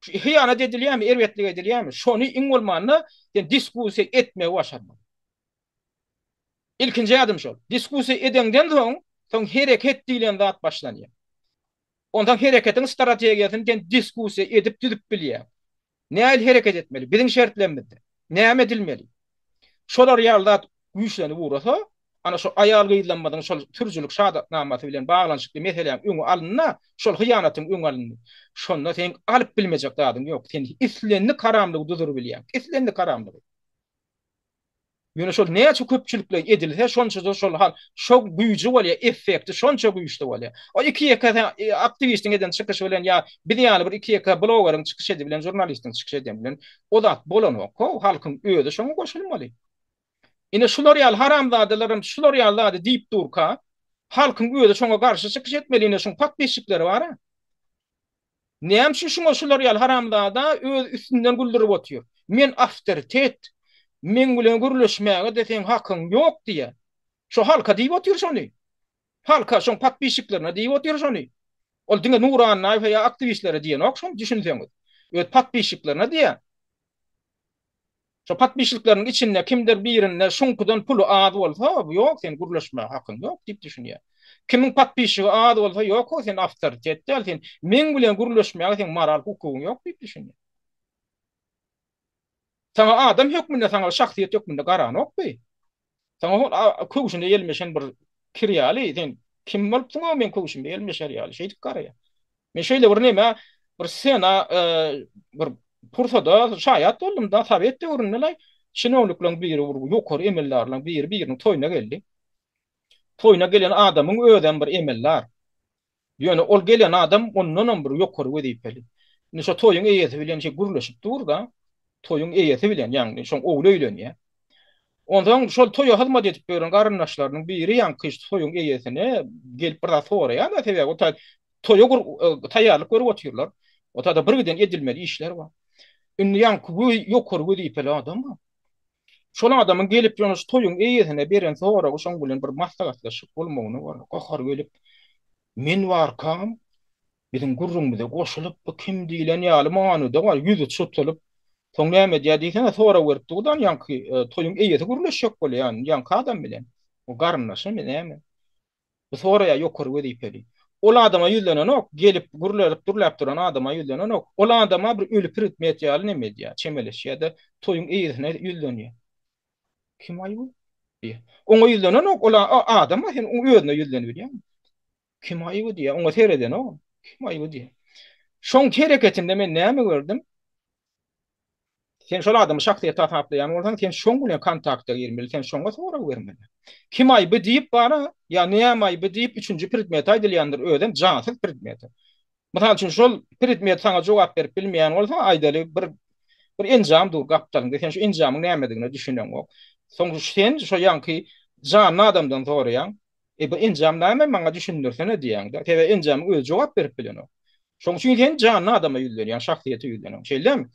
Şu hyýanat edilýärmi, erbetlik edilýärmi? Şony iň bolmanda sen diskussiýa etmegi başarmaly. Ilkinji ädim şol. Diskussiýa edeňden soň, soň hereket diýlen zat başlanýar. Onsoň hereketiň strategiýasyny sen diskussiýa edip düzüp bilýäň. Nähili hereket etmeli? Biziň şertlerimizde. Näme edilmeli? Şolar ýaly zat güýçlenip ugrasa, Ana şu aýal-gyzlarymyzyň şol sürüjilik şahadatnamasy bilen baglanyşykly meseläň öňi alynda, şol hyýanatyň öňi alyndy. Şonda seň alyp bilmejek zadyň ýok. Sen islendik haramlygy duzuryp bilýäň. Islendik haramlygy. Ýöne şol näçe köpçülikleýin edilse, şonça-da şol hal, şo güýji bolýar, effekti şonça güýçli bolýar. O iki-ýeke sen aktiwistiň eden çykyşy bilen ýa biz ýaly bir iki-ýeke blogeriň çykyş edi bilen, žurnalistiň çykyş edeni bilen o zat bolanok-how, halkyň özi şoňa goşulmaly. Ine şular ýaly haramzadalaram şular ýaly zady diýip durka, halkyň özi şoňa garşy çykyş etmeli, ine şuň podpisçikleri bar-a. Näme üçin şuňa şular ýaly haramzada öz üstünden güldürip otyr. Men awtoritet, meň bilen gürleşmäge-de seň hakyň ýok diýýär. Şo halka diýip otyr şony. Halka, şoň podpisçiklerine diýip otyr şony. Ol diňe Nury Annaýewe ýa aktiwistlere diýenok şony düşünseňiz. Öz podpisçiklerine diýýär. Şo podpisçikleriniň içinde kimdir birinde şuňkudan puly az bolsa, ýok sen gürleşmäge hakyň ýok diýip düşünýär. Kimiň podpisçigi az bolsa, ýok-ow sen awtoritet däl, sen meň bilen gürleşmäge seň moral hukugyň ýok diýip düşünýär. Saňa adam hökmünde, saňa şahsyýet hökmünde garanok bu. Saňa hol köwşüne ýelmeşen bir kir ýaly, sen kim bolupsyň-ow meň köwşüme ýelmeşer ýaly, şeýdip garaýar. Men şeýle bir nämä, bir sena, bir pursada şaýat boldum-da, sowet döwründe-laý, çinownikleriň biri bir ýokary emeldarlaryň biri biriniň toýuna geldi. Toýuna gelen adamyň özem bir emeldar. Ýöne ol gelen adam ondanam bir ýokary wezipeli. Indi şo toýuň eýesi bilen şeý gürleşip dur-da, toýuň eýesi bilen, ýagny şoň ogly öýlenýär. Onsoň şol toýa hyzmat edip ýören garyndaşlarynyň biri ýaňky toýuň eýesine gelip bir zat soraýar-da, sebäbi o taý toýa taýýarlyk görüp otyrlar. O taýda birgiden edilmeli işler bar. Indi ýaňky ýokary wezipeli adam bar. Şol adamyň gelip ýöne şu toýuň eýesine beren soragy şoň bilen bir maslahatlaşyp bolmagyna bar. Gahary gelip, men barkam biziň gürrüňimize goşulyp bu kim diýlen ýaly manyda bar, ýüzi çytylyp, soň näme edýär diýsene sorag berip durdan ýaňky toýuň eýesi gürleşjek bolýar ýaňky adam bilen. O garyndaşymy näme? Bu soraýar ýokary wezipeli. Ol adama ýüzlenenok, gelip gürlerip durlap duran adama ýüzlenenok. Ol adama bir öli predmet ýaly neme edýär, çemeleşýär-de, toýuň eýesine ýüzlenýär. Kim aý bu? diýýär. Oňa ýüzlenenok, ol adama sen oň özüne ýüzlenibilýäňmi? Kim aý bu diýýär, oňa seredenok. Kim aý bu diýýär. Şoň hereketinde men näme gördüm? Sen şol adamy şahsyýet hasaplaýan bolsaň, sen şoň bilen kontakta girmeli, sen şoňa sorag bermeli. Kim aýby diýip bara, ýa näme aýby diýip üçünji predmet aýdylýandyr, özem jansyz predmet. Mysal üçin, şol predmet saňa jogap berip bilmeýän bolsa, aýdaly bir bir enjam dur gapdalyňda, sen şu enjamyň nämedigine düşüneňok. Soň sen şo ýaňky janly adamdan soraýaň, E bu enjam näme maňa düşündirsene diýýäňdä. Sebäbi enjamyň özi jogap berip bilenok. Şoň üçin sen janly adama ýüzlenýäň, şahsyýete ýüzlenýäň. Şeýlemi?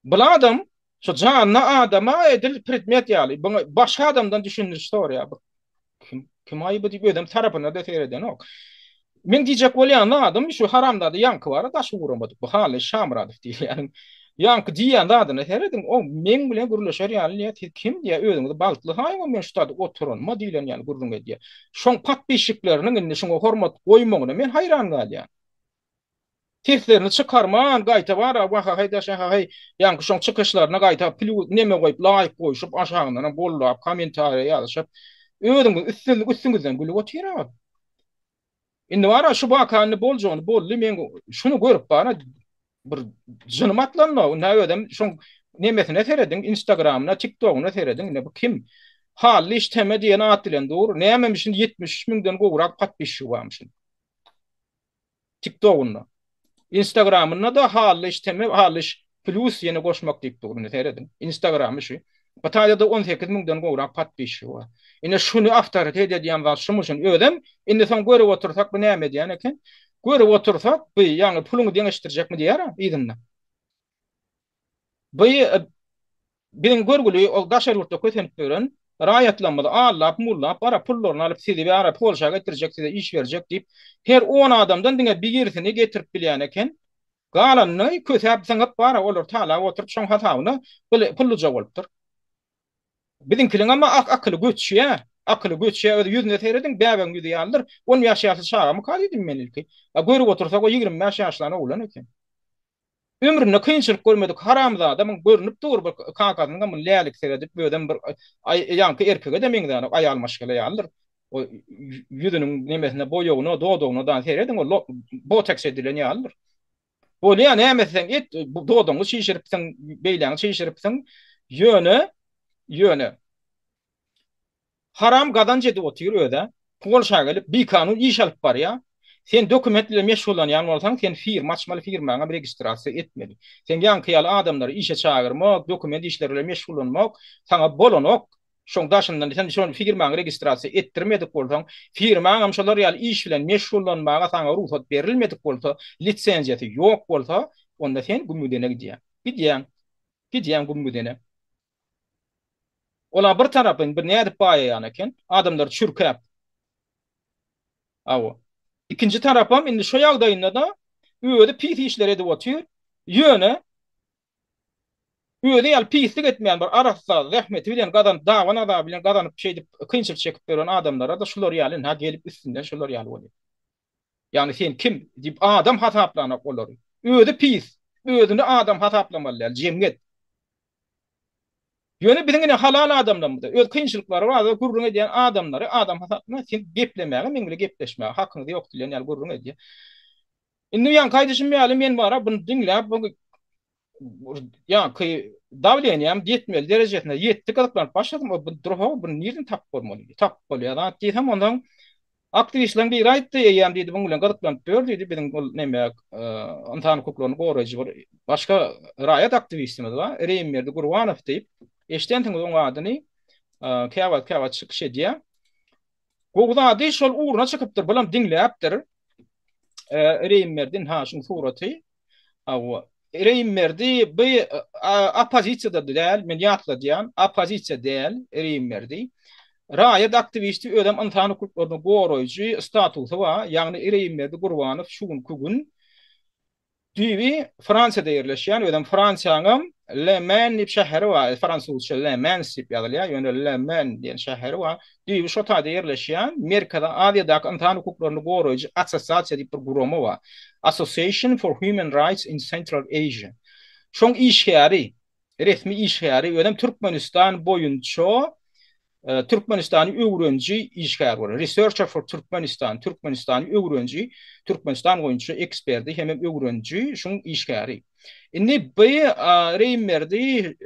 Bul adam şu janly adama edil predmet ýaly, buňa başga adamdan düşündiriş soraýar. Bu kim kim aýby diýip özem tarapyna-da seredenok. Men diýjek bolýan zadym şu haramzada ýaňky bar-a daşy guramadyk bu Hally Şamyradow diýilýäniň ýaňky diýýän zadyna serediň o meň bilen gürleşer ýaly diýýär siz kim diýýär özüňizi bagtly saýyň men şu taýda oturanyma diýlen ýaly gürrüň edýär. Şoň podpisçikleriniň indi şuňa hormat goýmagyna men haýran galýan. Seslerini çykarman gaýta bar-a wahahaý daşahahaý ýaňky şoň çykyşlaryna gaýta plýus neme goýup laýk goýşup aşagyndanam gollap kommentariýa ýazyşyp özüňiz üstüňizden gülüp otyr-a. Indi bara şu waka indi boljagyny boldy men şuny görüp bara bir jynym atlandy. Indi özem şoň nemesine serediň instagramyna tiktogyna serediň indi bu kim? Hally işteme diýen at bilen dur. Nämemişin 73 müňden gowrak podpisçigi barmyşyn. TikTogunda. Instagramynda-da Hallyş teme Hallyş plus ýene goşmak diýip dur indi serediň. Instagramy şu. Bu taýda-da 18 müňden gowrak podpisçigi bar. Ine şuny awtoritet edýän zat şumuşyn. Özem indi soň görüp otursak bu näme edýän eken? Görüp otursak bu ýaňy puluňy deňeşdirjekmi diýer-a yzynda. Bu Biziň görgüli ol daşary ýurtda kösenip ýören raýatlarymyzy aldap mullap bara pullaryny alyp sizi bara Polşa getirjek size iş berjek diýip her on adamdan diňe birisini getirip bilýän eken galanyny kösäp zyňyp bara olary talap oturyp şoň hasabyna pulluja bolupdyr. Biziňkiliňem akyly göçýä akyly göçýä özi ýüzüne serediň bäbegiň ýüzi ýalydyr on bäş ýaşly çagamyka diýdim men ilki a görüp otursak o 25 ýaşlan oglan eken. Ömründe kynçylyk görmedik haramzada muň görnüp dur bir kakasynyňam muny lälik seredip özem bir ýaňky erkege-de meňzänok aýal maşgala ýalydyr. O ýüzüniň nemesine boýagyna dodagyna da serediň o boteks edilen ýalydyr. Bolýa näme etseň et dodagyňy çişiripsiň beýläňi çişiripsiň ýöne ýöne Haram gazanç edip otyr özä. Polşa gelip bikanun iş alyp barýa. Sen dokument bilen meşgullanýan bolsaň sen firma açmaly firmaňam registrasiýa etmeli. Seň ýaňky ýaly adamlary işe çagyrmak, dokument işleri bilen meşgullanmak saňa bolanok. Şoň daşyndan sen şol firmaňy registrasiýa etdirmedik bolsaň, firmaňam şolar ýaly iş bilen meşgullanmaga saňa rugsat berilmedik bolsa, lisenziýasy ýok bolsa, onda sen gümgüdene gidýäň. Gidýäň. Gidýäň gümgüdene. Ola bir tarapyn bir nädip baýaýan eken, adamlary çürkäp. Hawa. Ikinji tarapam indi şo ýagdaýynda-da özi pis işler edip otyr. Ýöne özi ýaly pislik etmeýän bir arassa zähmeti bilen gazanyp, daban azaby bilen gazanyp şeýdip kynçylyk çekip ýören adamlara-da şular ýaly ynha gelip üstünden şular ýaly bolýar. Ýagny sen kim diýip adam hasaplanok olary. Özi pis. Özüni adam hasaplamaly däl jemgyýet. Ýöne biziň ine halal adamlarymyzda öz kynçylyklary barada gürrüň edýän adamlary adam hasapla sen geplemäge meň bilen gepleşmäge hakyňyz ýok diýlen ýaly gürrüň edýär. Indi ýaňky aýdyşym ýaly men bara buny diňläp bu ýaňky dawleniýam ýetmeli derejesine ýetdi gyzyklanyp başladym o bu dur-how buny nirden tapyp bolmaly tapyp bolýar zat diýsem onsoň Aktiwistleriň biri aýtdy, eýýäm diýdi, muň bilen gyzyklanyp ýör diýdi, biziň ol neme, ynsan hukuklaryny goraýjy bir başga raýat aktiwistimiz bar, Reýimberdi Gurbanow diýip, eşidensiňiz oň adyny, käwagt käwagt çykyş edýär. Gowy zady şol ugruna çykypdyr, bulam diňläpdir. Reýimberdi, ynha şuň suraty. Hawa. Reýimberdi bu oppozisiýada däl, men ýatladýan, oppozisiýa däl Reýimberdi. Raýat aktiwisti, özem ynsan hukuklaryny goraýjy statusy bar. Ýagny Reýimberdi Gurbanow şu günki gün düýbi Fransiýada ýerleşýän, özem Fransiýanyň Le Men diýip şäheri bar, fransuzça Le Mans diýip ýazylýar, ýöne Le Men diýen şäheri bar. Düýbi şo taýda ýerleşýän Merkezi Aziýadaky ynsan hukuklaryny goraýjy assosiasiýa diýip bir gurama bar. Association for Human Rights in Central Asia. Şoň işgäri, resmi işgäri, özem Türkmenistan boýunça Türkmenistany öwreniji işgär bolar. Researcher for Turkmenistan, Türkmenistany öwreniji, Türkmenistan boýunça eksperdi hemem öwreniji, şuň işgäri. Indi bu Reýimberdi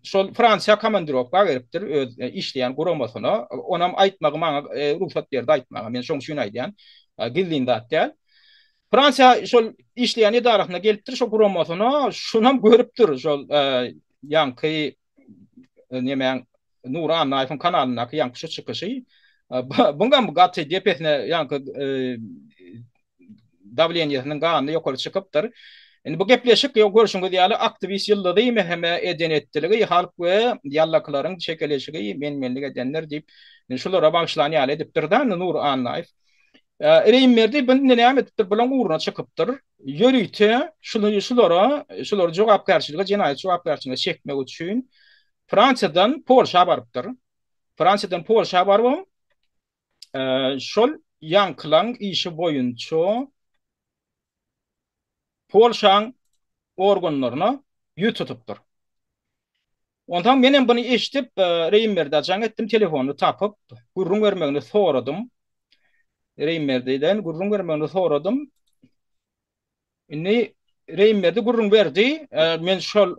şol Fransiýa komandirowka beripdir öz işleýän guramasyna. Onam aýtmagy maňa rugsat berdi aýtmaga. Men şoň üçin aýdýan. Gizlin zat däl. Fransiýa şol işleýän edarasyna gelipdir, şo guramasyna, şunam görüpdir şol ýaňky nemäň Nury Annaýewiň kanalyndaky ýaňky şu çykyşy. Buňam gaty depesine ýaňky dawleniýesiniň gany ýokary çykypdyr. Indi bu gepleşik ýok görşüňiz ýaly aktiwist ýyldyzy MHM eden etdiligi halk we ýallakylaryň çekeleşigi men-menlik edenler diýip indi şulara bagyşlan ýaly edipdir-de indi Nury Annaýew. Reýimberdi bu indi näme edipdir bulaň ugruna çykypdyr. Ýörite şuny şulara şulary jogapkärçilige jenaýat jogapkärçiligine çekmek üçin Fransiýadan Polşa barypdyr. Fransiýadan Polşa barybam şol ýaňkylaň işi boýunça Polşaň organlaryna ýüz tutupdyr. Onsoň menem buny eşidip, Reýimberdä jaň etdim, telefonyny tapyp, gürrüň bermegini soradym. Reýimberdiden gürrüň bermegini soradym. Indi Reýimberdi gürrüň berdi. Men şol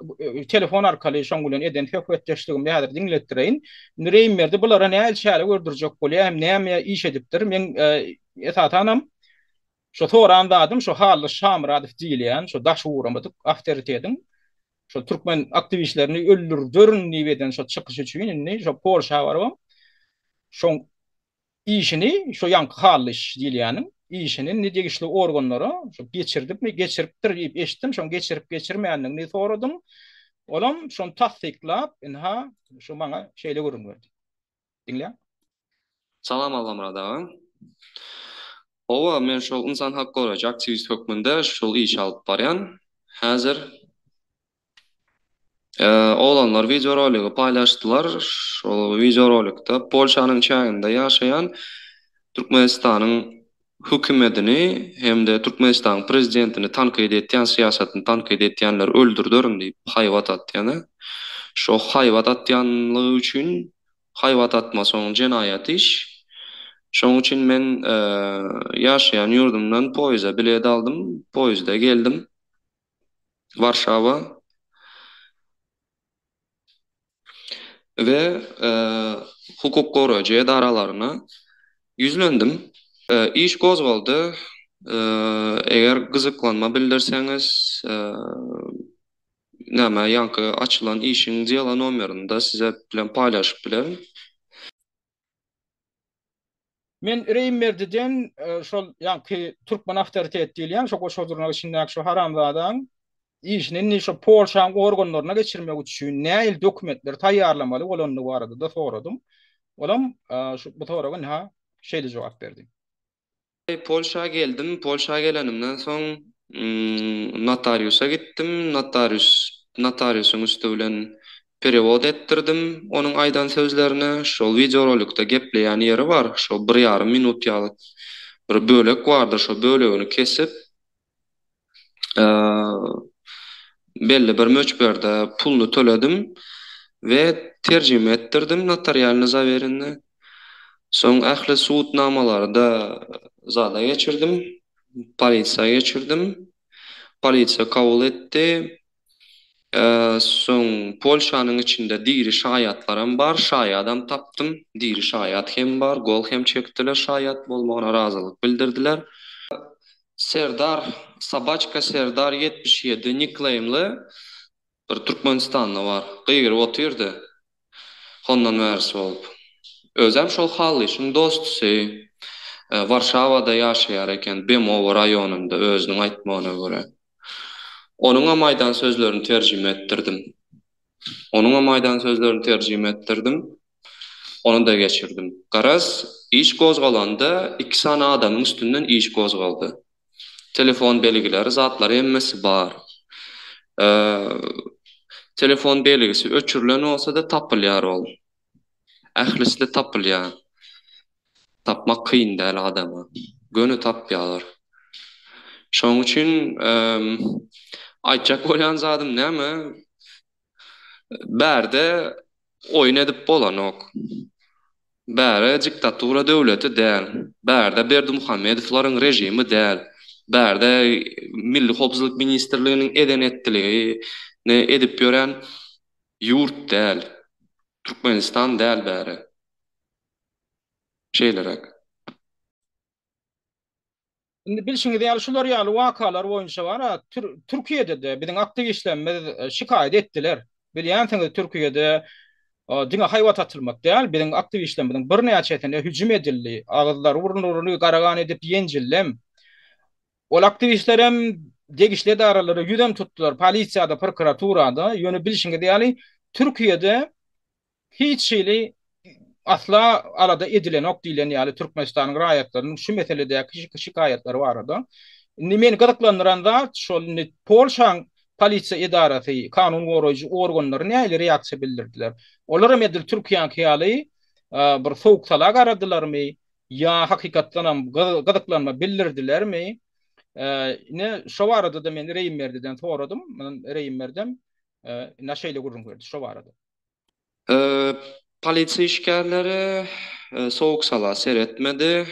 telefon arkaly şoň bilen eden söhbetdeşligimi häzir diňletdireýin. Indi Reýimberdi bulara nähili çäre gördürjek bolýar, hem näme iş edipdir. Men esasanam şo soran zadym şo Hally Şamyradow diýilýän şo daşy guramadyk awtoritetiň şol türkmen aktiwistlerini öldürderin diýip eden şo çykyşy üçin indi şo Polşa barybam şoň işini şo ýaňky Hallyş diýilýäniň işini indi degişli organlara şo geçirdipmi, geçiripdir diýip eşitdim, şoň geçirip geçirmändigini soradym. Olam şony tassyklap, ynha şu maňa şeýle gürrüň berdi. Diňläň. Salam Allamyrat aga. Hawa, men şol ynsan hak goraýjy aktiwist hökmünde şol işi alyp barýan. Häzir Oglanlar wideoroligi paýlaşdylar. Şol wideorolikde Polşanyň çäginde ýaşaýan Türkmenistanyň. Hökümetini hem-de Türkmenistanyň prezidentini tankyt etýän, syýasatyny tankyt etýänleri öldürderin diýip haýbat atýan-a. Şo haýbat atýanlygy üçin haýbat atmasy oň jenaýat iş. Şoň üçin men ýaşaýan ýurdumdan poýeza bilet aldym, poýezde geldim Warşawa. We hukuk goraýjy edaralaryna ýüzlendim. Iş gozgaldy. Eger gyzyklanma bildirseňiz, näme, ýaňky açylan işiň dela nomerini-de size bilen paýlaşyp bilerin. Men Reýimberdiden şol ýaňky türkmen awtoritet diýilýän şo goşa dyrnak içindäki şo haramzadaň işini indi şo Polşaň organlaryna geçirmek üçin nähili dokumentleri taýýarlamaly bolandygy barada-da soradym. Olam şu bu soraga ynha şeýle jogap berdi. Polşa geldim. Polşa gelenimden soň notariusa gitdim. Notarius notariusyň üsti bilen perewod etdirdim onuň aýdan sözlerini. Şol wideorolikde gepleýän ýeri bar. Şo bir ýarym minut ýaly bir bölek bardyr. Şo bölegini kesip belli bir möçberde puluny töledim we terjime etdirdim notarialny zawerenny. Soň ähli subutnamalary-da zada geçirdim, polisiýa geçirdim. Polisiýa kabul etdi. Soň Polşanyň içinde diri şaýatlaram bar, şaýadam tapdym. Diri şaýat hem bar, gol hem çekdiler, şaýat bolmagyna razylyk bildirdiler. Serdar, Sobaçka Serdar 77 nikleýmli bir Türkmenistanda bar. Gygyryp otyrdy. Hondan bärisi bolup. Özem şol Hallyşyň dostusy. Warşawada ýaşaýar eken, Bemowo raýonynda özüniň aýtmagyna görä. Onuňam aýdan sözlerini terjime etdirdim. Onuňam aýdan sözlerini terjime etdirdim. Ony-da geçirdim. Garaz, iş gozgalanda iki sany adamyň üstünden iş gozgaldy. Telefon belgileri, zatlary hemmesi bar. Telefon belgisi öçürilen bolsa-da tapylýar ol. Ählisi-de tapylýar. Tapmak kyn däl adama. Göni tapýarlar. Şonuň üçin aýtjak bolýan zadym näme? Bärde oýun edip bolanok. Bäre diktatura döwleti däl. Bärde Berdimuhamedowlaryň režimi däl. Bärde Milli howpsuzlyk ministrliginiň eden-etdiligini edip ýören ýurt däl. Türkmenistan däl bäri. Şeýleräk. Indi bilşiňiz ýaly şular ýaly wakalar boýunça bar-a Türkiýede-de biziň aktiwistlerimiz şikaýat etdiler. Bilýänsiňiz Türkiýede diňe haýbat atylmak däl, biziň aktiwistlerimiziň birnäçesine hüjüm edildi. Agyzlary burunlaryny garagan edip ýenjildem. Ol aktiwistlerem degişli edaralara ýüzem tutdular, polisiýada, prokuraturada. Ýöne bilşiňiz ýaly Türkiýede Hiç hili asla alada edilenok diýlen ýaly Türkmenistanyň raýatlarynyň şu meseledäki şikaýatlary barada. Indi meni gyzyklandyran zat şol indi Polşaň polisiýa edarasy, kanun goraýjy organlary nähili reaksiýa bildirdiler? Olaram edil Türkiýäňki ýaly bir sowuk-sala garadylarmy ýa hakykatdanam gyzyklanma bildirdilermi? Ine şo barada-da men Reýimberdiden soradym. Reýimberdem ine şeýle gürrüň berdi şo barada. Polisiýa işgärleri sowuk-sala seretmedi.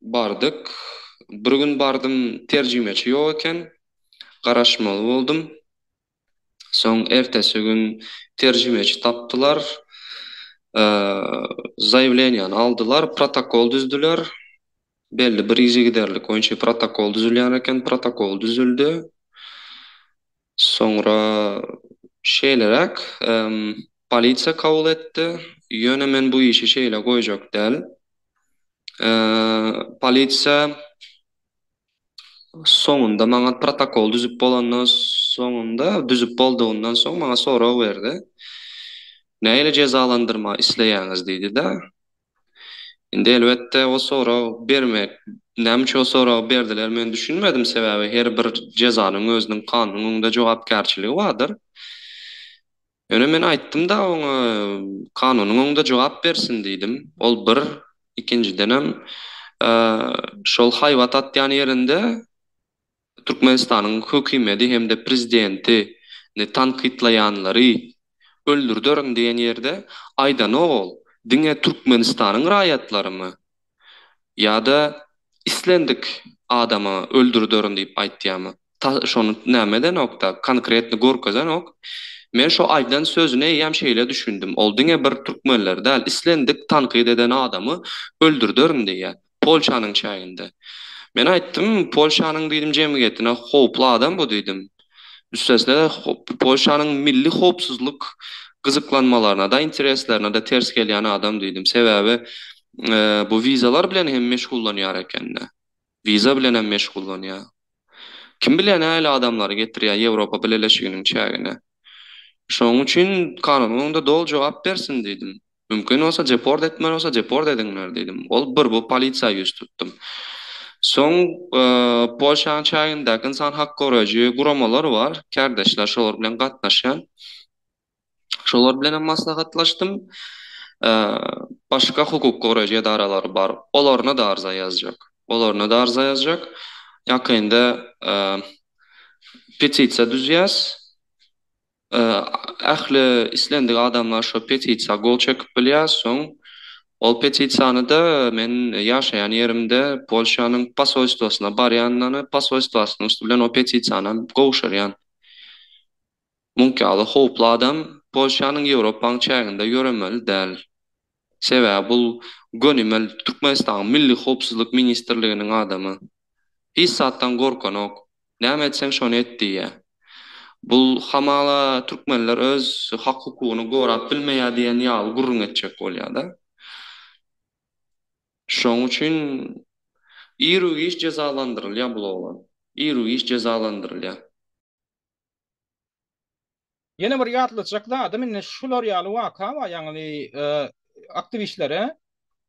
Bardyk. Bir gün bardym, terjimeçi ýok eken. Garaşmaly boldum. Soň ertesi gün terjimeçi tapdylar. Zaýawleniýany aldylar, protokol düzdüler. Belli bir yzygiderlik boýunça protokol düzülýän eken, protokol düzüldi. Soňra şeýleräk, polisiýa kabul etdi. Ýöne men bu işi şeýle goýjak däl. Polisiýa soňunda maňa protokol düzüp bolandan soňunda, düzüp boldugyndan soň maňa sorag berdi. Nähili jezalandyrma isleýäňiz diýdi-de. Indi elbetde o sorag bermek, näme üçin o soragy berdiler men düşünmedim, sebäbi her bir jezanyň özüniň kanunyň öňünde jogapkärçiligi bardyr. Ýöne men aýtdym-da oňa kanunyň öňünde jogap bersin diýdim. Ol bir, ikinjidenem. Şol haýbat atýan ýerinde Türkmenistanyň hökümedi hem-de prezidenti ni tankytlaýanlary öldürderin diýen ýerde aýdanok ol diňe Türkmenistanyň raýatlarymy ýa-da islendik adamy öldürderin diýip aýtýamy ta şony näme edenokda konkretny görkezenok men şo aýdan sözüne eýýäm şeýle düşündim ol diňe bir türkmenleri däl islendik tankyt eden adamy öldürderin diýýä Polşanyň çäginde. Men aýtdym, Polşanyň diýdim jemgyýetine howply adam bu diýdim. Üstesine-de Polşanyň milli howpsuzlyk gyzyklanmalaryna-da, intereslerine-de ters gelýän adam diýdim. Sebäbi bu wizalar bilen hem meşgullanýar eken-de. Wiza bilen hem meşgullanýar. Kim bilýär nähili adamlary getirýär Ýewropa Bileleşiginiň çägine. Şonuň üçin kanunyň öňünde doly jogap bersin diýdim. Mümkin bolsa deport etmeli bolsa deport ediňler diýdim. Ol bir bu polisiýa ýüz tutdum. Soň Polşanyň çägindäki ynsan hak goraýjy guramalar bar, kärdeşler şolar bilen gatnaşýan. Şolar bilen hem maslahatlaşdym. Başga hukuk goraýjy edaralary bar. Olaryna-da arza ýazjak. Olaryna-da arza ýazjak. Ýakynda petisiýa düzýäs. Ähli islendik adamlar şo petisiýa gol çekip bilýär. Soň ol petisiýany-da men ýaşaýan ýerimde Polşanyň posolstwasyna barýan, posolstwasynyň üsti bilen o petisiýanam gowşurýan. Muňky ýaly howply adam Polşanyň Ýewropaň çäginde ýöremeli däl. Sebäbi bul gönümel Türkmenistanyň Milli howpsuzlyk ministrliginiň adamy. Hiç zatdan gorkanok. Näme etseň şony et diýýä. Bul hamala türkmenler öz hak-hukugyny gorap bilmeýä diýen ýaly gürrüň etjek bolýada. Şoň üçin iru-giç jezalandyrylýa bul oglan. Iru-giç jezalandyrylýa. Ýene bir ýatlatjak zadym indi şular ýaly waka bar, ýagny aktiwistlere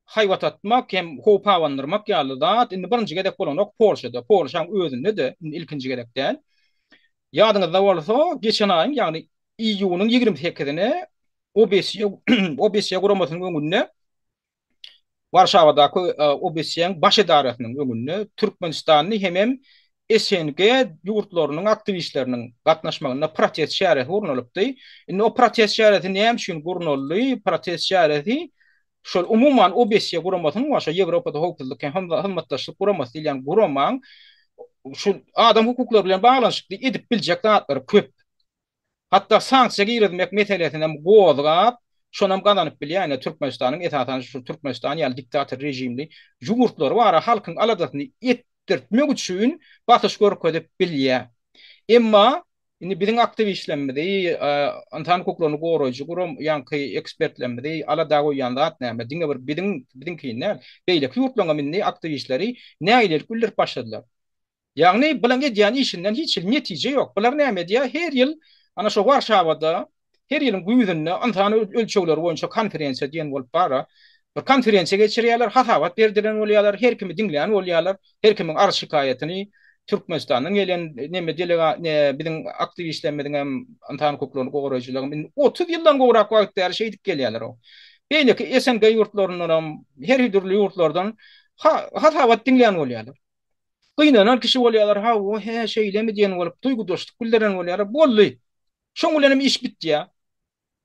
haýbat atmak hem howp abandyrmak ýaly zat indi birinji gezek bolanok Polşada, Polşaň özünde-de indi ilkinji gezek däl. Ýadyňyzda bolsa, geçen aýyň, ýagny iýunyň 28-ine OBSE OBSE guramasynyň öňünde Warşawadaky OBSE-niň baş edarasynyň öňünde türkmenistanly hemem SNG ýurtlarynyň aktiwistleriniň gatnaşmagynda protest çäresi gurnalypdy. Indi o protest çäresi näme üçin gurnaldy? Protest çäresi şol umuman OBSE guramasynyň we şo Ýewropada howpsuzlyk hem hyzmatdaşlyk guramasy diýilýän guramaň şu adam hukuklary bilen baglanyşykly edip biljek zatlary köp. Hatda sanksiýa girizmek meselesinem gozgap, şonam gazanyp bilýär. Ine, Türkmenistanyň, esasan şu Türkmenistan ýaly diktator režimli ýurtlary bar, halkyň aladasyny etdirtmek üçin basyş görkezip bilýär. Emma indi biziň aktiwistlerimizi, ynsan hukuklaryny goraýjy guram, ýaňky ekspertlerimizi alada goýýan zat näme? Diňe bir biziň, biziňkini däl, beýleki ýurtlaryňam indi aktiwistleri nägilelik bildirip başladylar. Ýagny bulaň edýän işinden hiç hili netije ýok. Bular näme edýär? Her ýyl ana şo Warşawada her ýylyň güýzünde ynsan ölçegleri boýunça konferensiýa diýen bolup bar-a. Bir konferensiýa geçirýärler, hasabat berdiren bolýarlar, her kimi diňlän bolýarlar, her kimiň arz-şikaýatyny Türkmenistandan gelen neme delega ne biziň aktiwistlerimiziň hem ynsan hukuklaryny goraýjylaryň indi 30 ýyldan gowrak wagt bäri şeýdip gelýärler. Beýleki SNG ýurtlaryndan hem her dürli ýurtlardan hasabat diňlän bolýarlar. Gynanan kişi bolýarlar, hawa, hä, şeýlemi diýen bolup, duýgudaşlyk bildiren bolýarlar. Boldy. Şoň bilenem iş bitýär.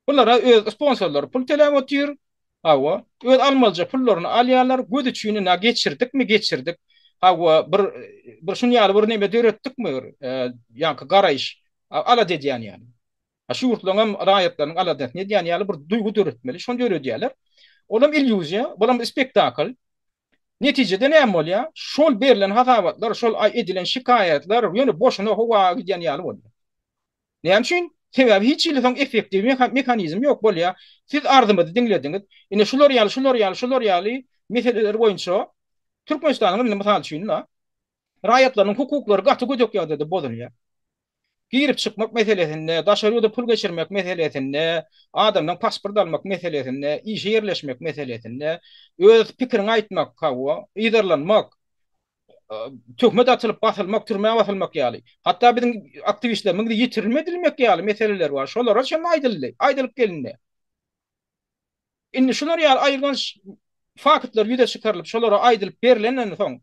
Bulara öz sponsorlary pul töläp otyr. Hawa, öz almalyja pullaryny alýarlar. Göz üçin ina geçirdikmi, geçirdik. Hawa, bir bir şuny ýaly bir neme döretdikmi bir, ýaňky garaýyş, alada edýän ýaly. Şu ýurtlaryň hem raýatlarynyň aladasyny edýän ýaly bir duýgy döretmeli. Şony döredýärler. Olam illýuziýa, bulam spektakl. Netijede näme bolýar? Şol berlen hasabatlar, şol edilen şikaýatlar ýöne boşuna howa gidýän ýaly bolýar. Näme üçin? Sebäbi hiç hili soň effektiw mehanizm ýok bolýar. Siz arzymyzy diňlediňiz. Ine şular ýaly, şular ýaly, şular ýaly meseleler boýunça Türkmenistanyň indi mysal üçin raýatlarynyň hukuklary gaty gödek ýagdaýda bozulýar. Girip-çykmak meselesinde, daşary ýurda pul geçirmek meselesinde, adamdan pasport almak meselesinde, işe ýerleşmek meselesinde, öz pikiriňi aýtmak, hawa, yzarlanmak, töhmet atylyp basylmak, türmä basylmak ýaly, hatda biziň aktiwistlerimiz ýitirim edilmek ýaly meseleler bar. Şolara çenli aýdyldy, aýdylyp gelindi. Indi şular ýaly aýylganç faktlar ýüze çykarylyp, şolara aýdylyp berlenden soň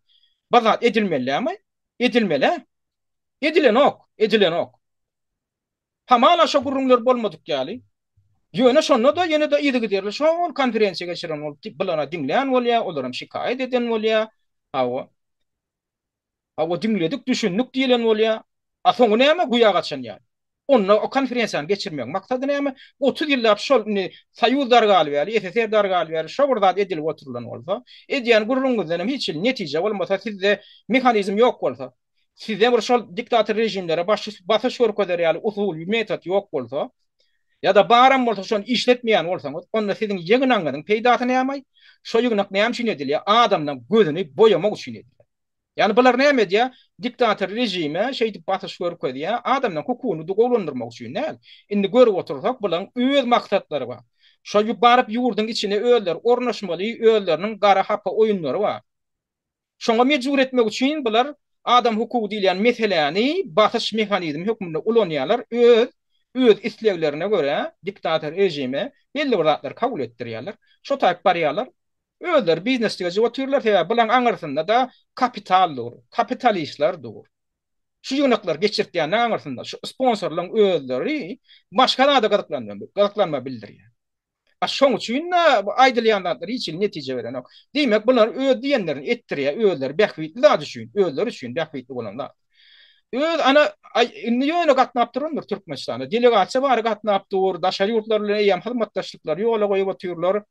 bir zat edilmeli dälmi? Edilmeli. Edilenok, edilenok. Hamala şo gürrüňler bolmadyk ýaly. Ýöne şonda-da ýene-de yzygiderli şol konferensiýa geçiren bolup bulara diňlän bolýar, olaram şikaýat eden bolýar. Hawa. Hawa diňledik, düşündik diýlen bolýar. A soňy näme? Guýa gaçan ýaly. Onda o konferensiýany geçirmegiň maksady näme? 30 ýyllap şol indi Soýuz dargaly bäri, SSR dargaly bäri şo bir zat edilip oturylan bolsa, edýän gürrüňiňizdenem hiç hili netije bolmasa, sizde mehanizm ýok bolsa, Sizde bir şol diktator režimlere basyş görkezer ýaly usul, metod ýok bolsa, ýa-da baram bolsa şony işletmeýän bolsaňyz, onda siziň ýygnagyňyzyň peýdasy näme? Şo ýygnak näme üçin edilýär? Adamlaryň gözüni boýamak üçin edilýär. Ýagny bular näme edýär? Diktator režime şeýdip basyş görkezýär, adamlaryň hukugyny gowulandyrmak üçin däl. Indi görüp otursak, bularyň öz maksatlary bar. Şo baryp ýurduň içine özleri ornaşmaly, özleriniň gara hapa oýunlary bar. Şoňa mejbur etmek üçin bular adam hukugy diýilýän meseläni basyş mehanizmi hökmünde ulanýarlar, öz öz isleglerine görä diktator režime belli bir zatlary kabul etdirýärler. Şo taýyp barýarlar. Özleri bizneslige jyp otyrlar, sebäbi bulaň aňyrsynda-da kapital dur, kapitalistler dur. Şu ýygnaklary geçirtýänleň aňyrsynda şu sponsorlaryň özleri başga zada gyzyklanma bildirýär. A şoň üçin-de bu aýdylýan zatlar hiç hili netije berenok. Diýmek, bular öz diýenlerini etdirýär, özleri bähbitli zat üçin, özleri üçin bähbitli bolan zat. Öz ana, indi ýöne gatnap durandyr Türkmenistana. Delegasiýa bary gatnap dur, daşary ýurtlar bilen eýýäm hyzmatdaşlyklary ýola goýup otyrlar.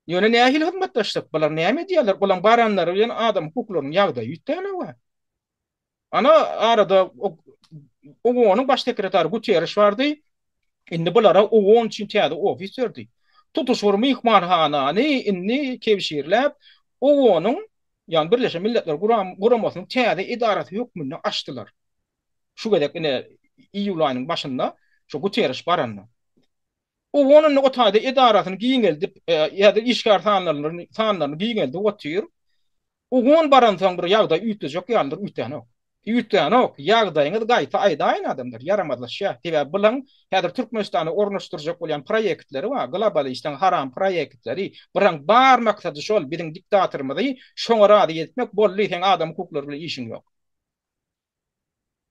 Ýöne nähili hyzmatdaşlyk? Bular näme edýärler? Bulaň baranlary bilen adam hukuklarynyň ýagdaýy üýtgänok-a. Ana arada OON-yň baş sekretary Guterriş bardy. Indi bulara OON üçin täze ofis berdi. Tutuş bir myhmanhanany indi kebşirläp OON-yň, ýagny Birleşen Milletler Guramasynyň täze edarasy hökmünde açdylar. Şu gezek ine iýul aýynyň başynda şu Guterriş baranda. OON indi o taýda edarasyny giňeldip, ýa-da işgär sanlaryny sanlaryny giňeldip otyr. OON baransoň bir ýagdaý üýtgejek ýalydyr, üýtgänok. Üýtgänok. Ýagdaýyňyz gaýta aýdaýyn adamlar, ýaramazlaşýar. Sebäbi bulaň häzir Türkmenistana ornaşdyrjak bolýan proýektleri bar, globalistiň haram proýektleri. Bulaň bar maksady şol, biziň diktatorymyzy şoňa razy etmek, boldy, seň adam hukuklary bilen işiň ýok.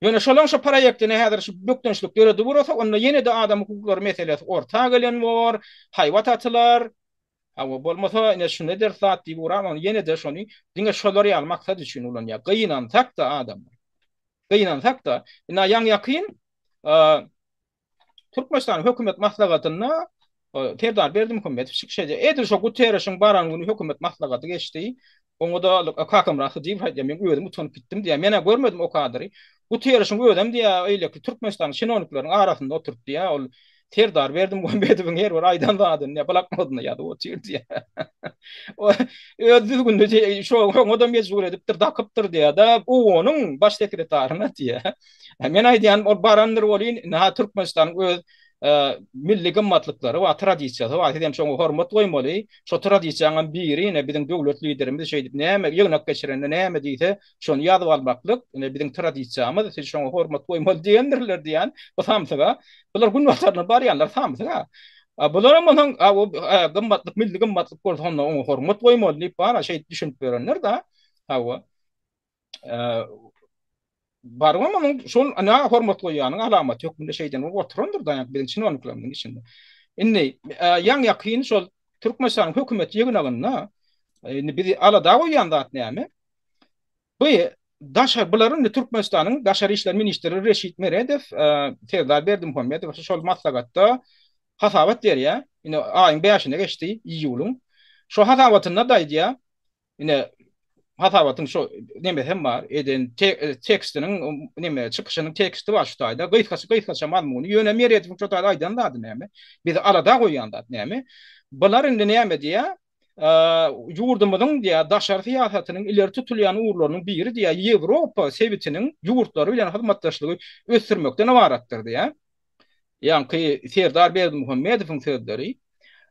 Ýöne şolaň şo proýektine häzir şu bökdençlik döredip ugrasa, onda ýene-de adam hukuklary meselesi orta gelen bor, haýbat atylar. Hawa, bolmasa ine şuny ederis zat diýip ugrar, ony ýene-de şony diňe şolar ýaly maksat üçin ulanýar. Gynansak-da adamlar. Gynansak-da, ine ýaňy-ýakyn Türkmenistanyň hökümet maslahatynda Serdar Berdimuhamedow çykyş edýär. Edil şo Guterreşiň baran güni hökümet maslahaty geçdi. Oňa-da Kakamyrat Hydyýew aýdýar, men özüm utanyp gitdim diýýär. Men-ä görmedim o kadry. Guterreşiň özem diýýär, eýleki Türkmenistanyň çinownikleriniň arasynda oturyp diýýär, ol Serdar Berdimuhamedowyň her bir aýdan zadyny diýýär, bloknodyna ýazyp otyr diýýär. Öz düzgünini şoňa-da mejbur edipdir, dakypdyr diýýär-de, OON-yň baş sekretaryna diýýär. Men aýdýan ol barandyr welin, ynha Türkmenistanyň öz milli gymmatlyklary bar, tradisiýasy bar. Siz hem şoňa hormat goýmaly. Şo tradisiýaňam biri ine biziň döwlet liderimiz şeýdip näme ýygnak geçirende näme diýse, şony ýazyp almaklyk, ine biziň tradisiýamyz, siz şoňa hormat goýmaly diýendirler diýýän bu samsyga. Bular günbatardan barýanlar samsyga. Bularam onuň gymmatlyk, milli gymmatlyk bolsa onda oňa hormat goýmaly diýip bar, şeýdip düşünip ýörenler-de. Hawa. Barybam onuň şol ana hormat goýýanyň alamaty hökmünde şeýden bolup oturandyr da biziň çinowniklerimiziň içinde. Indi ýaň ýakyn şol Türkmenistanyň hökümet ýygnagynda indi bizi alada goýýan zat näme? Bu daşary bular indi Türkmenistanyň daşary işler ministri Reşit Meredow Serdar Berdimuhamedow şol maslahatda hasabat berýär. Indi aýyň bäşine geçdi, iýulyň. Şo hasabatynda-da aýdýar, Ine, hasabatyň şo nemesi hem bar, eden tekstiniň neme çykyşynyň teksti bar şu taýda. Gysgaça gysgaça mazmuny. Ýöne Meredowyň şo taýda aýdan zady näme? Bizi alada goýýan zat näme? Bular indi näme diýýär? Ýurdumyzyň diýýär, daşary syýasatynyň ileri tutulýan ugurlarynyň biri diýýär, Ýewropa sebitiniň ýurtlary bilen hyzmatdaşlygy ösdürmekden ybaratdyr diýýär. Ýaňky Serdar Berdimuhamedowyň sözleri.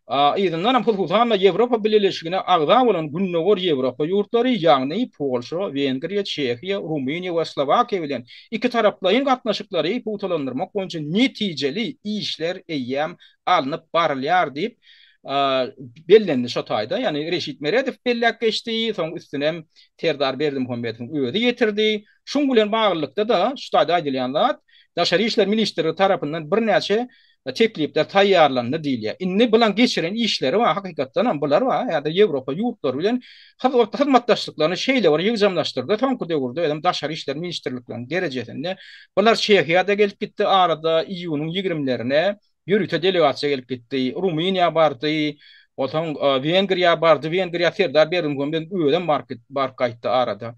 Yzyndanam hususan-da Ýewropa Bileleşigine agza bolan Gündogar Ýewropa ýurtlary, ýagny Polşa, Wengriýa, Çehiýa, Rumyniýa we Slowakiýa bilen ikitaraplaýyn gatnaşyklary pugtalandyrmak boýunça netijeli işler eýýäm alnyp barylýar diýip, Bellendi şo taýda, ýagny Reşit Meredow belläp geçdi, soň üstünem Serdar Berdimuhamedowyň özi ýetirdi. Şuň bilen baglylykda-da şu taýda aýdylýan zat, Daşary işler ministrligi tarapyndan birnäçe teklipler taýýarlandy diýilýär. Indi bulaň geçiren işleri bar, hakykatdanam bular bar, ýa-da Ýewropa ýurtlary bilen hyzmatdaşlyklaryny şeýle bir ýygjamlaşdyrdy soňky döwürde özem Daşary işler ministrlikleriniň derejesinde. Bular Çehiýa-da gelip gitdi arada iýunyň ýigrimlerine ýörite delegasiýa gelip gitdi. Rumyniýa bardy, onsoň Wengriýa bardy, Wengriýa Serdar Berdimuhamedowyň özem baryp gaýtdy arada.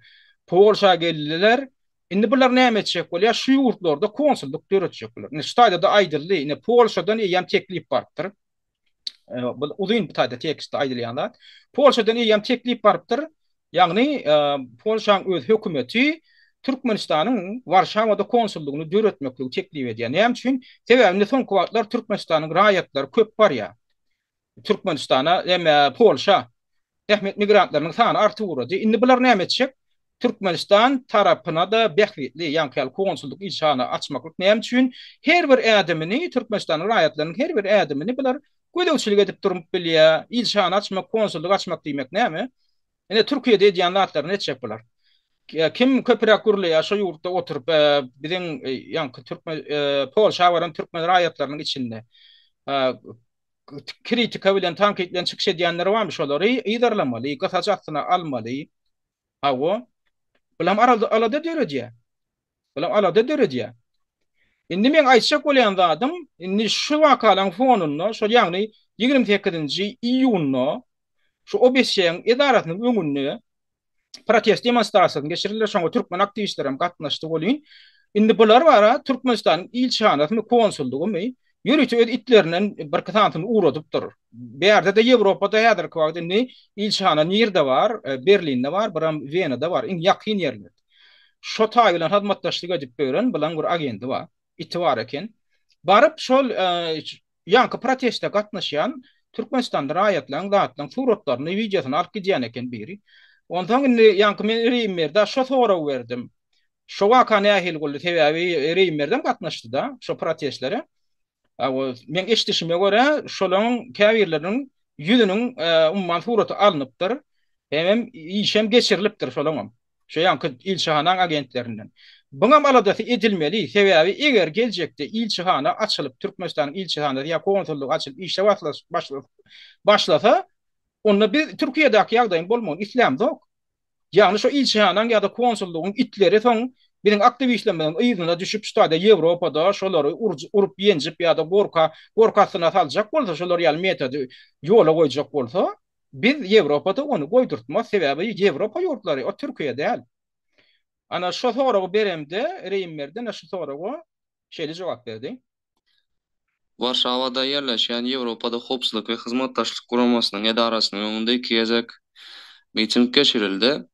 Polşa geldiler. Indi bular näme etjek bolýar? Şu ýurtlarda konsullyk döretjek bular. Indi şu taýda-da aýdyldy. Indi Polşadan eýýäm teklip barypdyr. Bu uzyn bu taýda tekstde aýdylýan zat. Polşadan eýýäm teklip barypdyr. Ýagny Polşaň öz hökümeti Türkmenistanyň Warşawada konsullygyny döretmekligi teklip edýär. Näme üçin? Sebäbi indi soňky wagtlar Türkmenistanyň raýatlary köp barýar. Türkmenistana, eme Polşa zähmet migrantlarynyň sany artyp ugrady. Indi bular näme etjek? Türkmenistan tarapyna-da bähbitli, ýaňky ýaly konsullyk ilçihana açmaklyk näme üçin? Her bir ädimini, Türkmenistanyň raýatlarynyň her bir ädimini bular gözegçilik edip durup bilýär. Ilçihana açmak, konsullyk açmak diýmek näme? Ine Türkiýede edýän zatlaryny etjek bular. Kim köpüräk gürleýär şo ýurtda oturyp biziň ýaňky türkmen Polşa baran türkmen raýatlarynyň içinde kritika bilen tankyt bilen çykyş edýänler barmy şolary yzarlamaly, gysaç astyna almaly. Hawa. Bulam alada döredýär. Bulam alada döredýär. Indi meň aýtjak bolýan zadym, indi şu wakalaryň fonunda, şol ýagny 28-nji iýunda şu OBSE-niň edarasynyň öňünde protest demonstrasiýasyny geçirdiler, şoňa türkmen aktiwistleri hem gatnaşdy welin, indi bular bara Türkmenistanyň ilçihanasymy, konsullygymy ýörite öz itlerinden birki sanysyny ugradypdyr. Bärde-de Ýewropada häzirki wagt indi ilçihana nirde bar? Berlinde bar, biram Wenada bar, iň ýakyn ýerlerde. Şo taý bilen hyzmatdaşlyk edip ýören bilaň bir agendi bar, iti bar eken. Baryp şol ýaňky proteste gatnaşýan Türkmenistanda raýatlaryň zatlaryň suratlaryny, wideosyny alyp gidýän eken biri. Onsoň indi ýaňky men Reýimberdä şo soragy berdim. Şo waka nähili boldy? Sebäbi Reýimberdem gatnaşdy-da şo protestlere. Meň eşidişime görä, şolaryň käbirleriniň ýüzüniň umuman suraty alnypdyr. Hemem işem geçirilipdir şolaňam. Şu ýaňky ilçihanaň agentlerinden. Buňam aladasy edilmeli, sebäbi eger geljekde ilçihana açylyp, Türkmenistanyň ilçihanasy ýa konsullygy açylyp işe başlasa, onda biz Türkiýedäki ýagdaýyň bolmagyny islämzok. Ýagny şo ilçihanaň ýa-da konsullygyň itleri soň biziň aktiwistlerimiziň yzyna düşüp şu taýda Ýewropada şolary urup ýenjip ýa-da gorka gorky astyna saljak bolsa şolar ýaly metody ýola goýjak bolsa biz Ýewropada ony goýdurtmaz sebäbi Ýewropa ýurtlary o Türkiýe däl. Ana şo soragy beremde Reýimberdi ene şu soraga şeýle jogap berdi. Warşawada ýerleşýän Ýewropada Howpsuzlyk we Hyzmatdaşlyk Guramasynyň edarasynyň öňünde iki gezek miting geçirildi.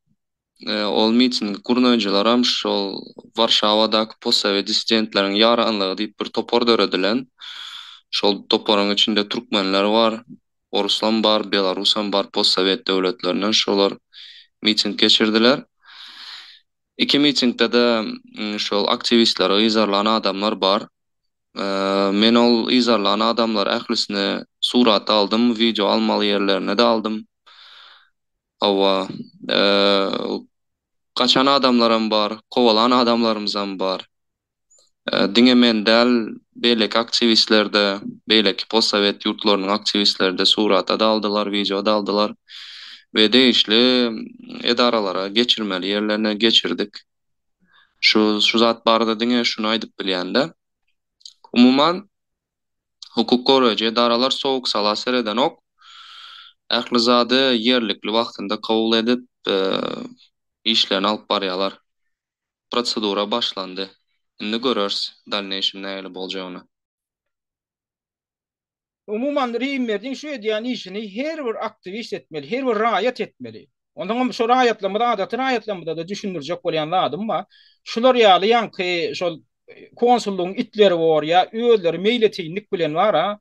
Ol mitingi gurnaýjylaram şol Warşawadaky postsowet dissidentleriň ýaranlygy diýip bir topar döredilen. Şol toparyň içinde türkmenler bar, oruslam bar, belarusam bar postsowet döwletlerinden şolar miting geçirdiler. Iki mitingde-de şol aktiwistleri yzarlan adamlar bar. Men ol yzarlan adamlary ählisini surata aldym, wideo almaly ýerlerine-de aldym. Hawa, gaçan adamlaram bar, kowalan adamlarymyzam bar. Diňe men däl, beýleki aktiwistler-de, beýleki postsowet ýurtlarynyň aktiwistleri-de surata-da aldylar, wideo-da aldylar we degişli edaralara geçirmeli ýerlerine geçirdik. Şu şu zat barada diňe şuny aýdyp bilýän-de. Umuman, hukuk goraýjy edaralar sowuk-sala seredenok. Ähli zady ýerlikli wagtynda kabul edip, işlerini alyp barýarlar. Prosedura başlandy. Indi göreris dalneýşim nähili boljagyny. Umuman Reýimberdiň şu edýän işini her bir aktiwist etmeli, her bir raýat etmeli. Onsoňam şu raýatlarymyza, adaty raýatlarymyza-da düşündirjek bolýan zadym bar. Şular ýaly ýaňky şol konsullygyň itleri bor ýa özleri meýletinlik bilen bar-a,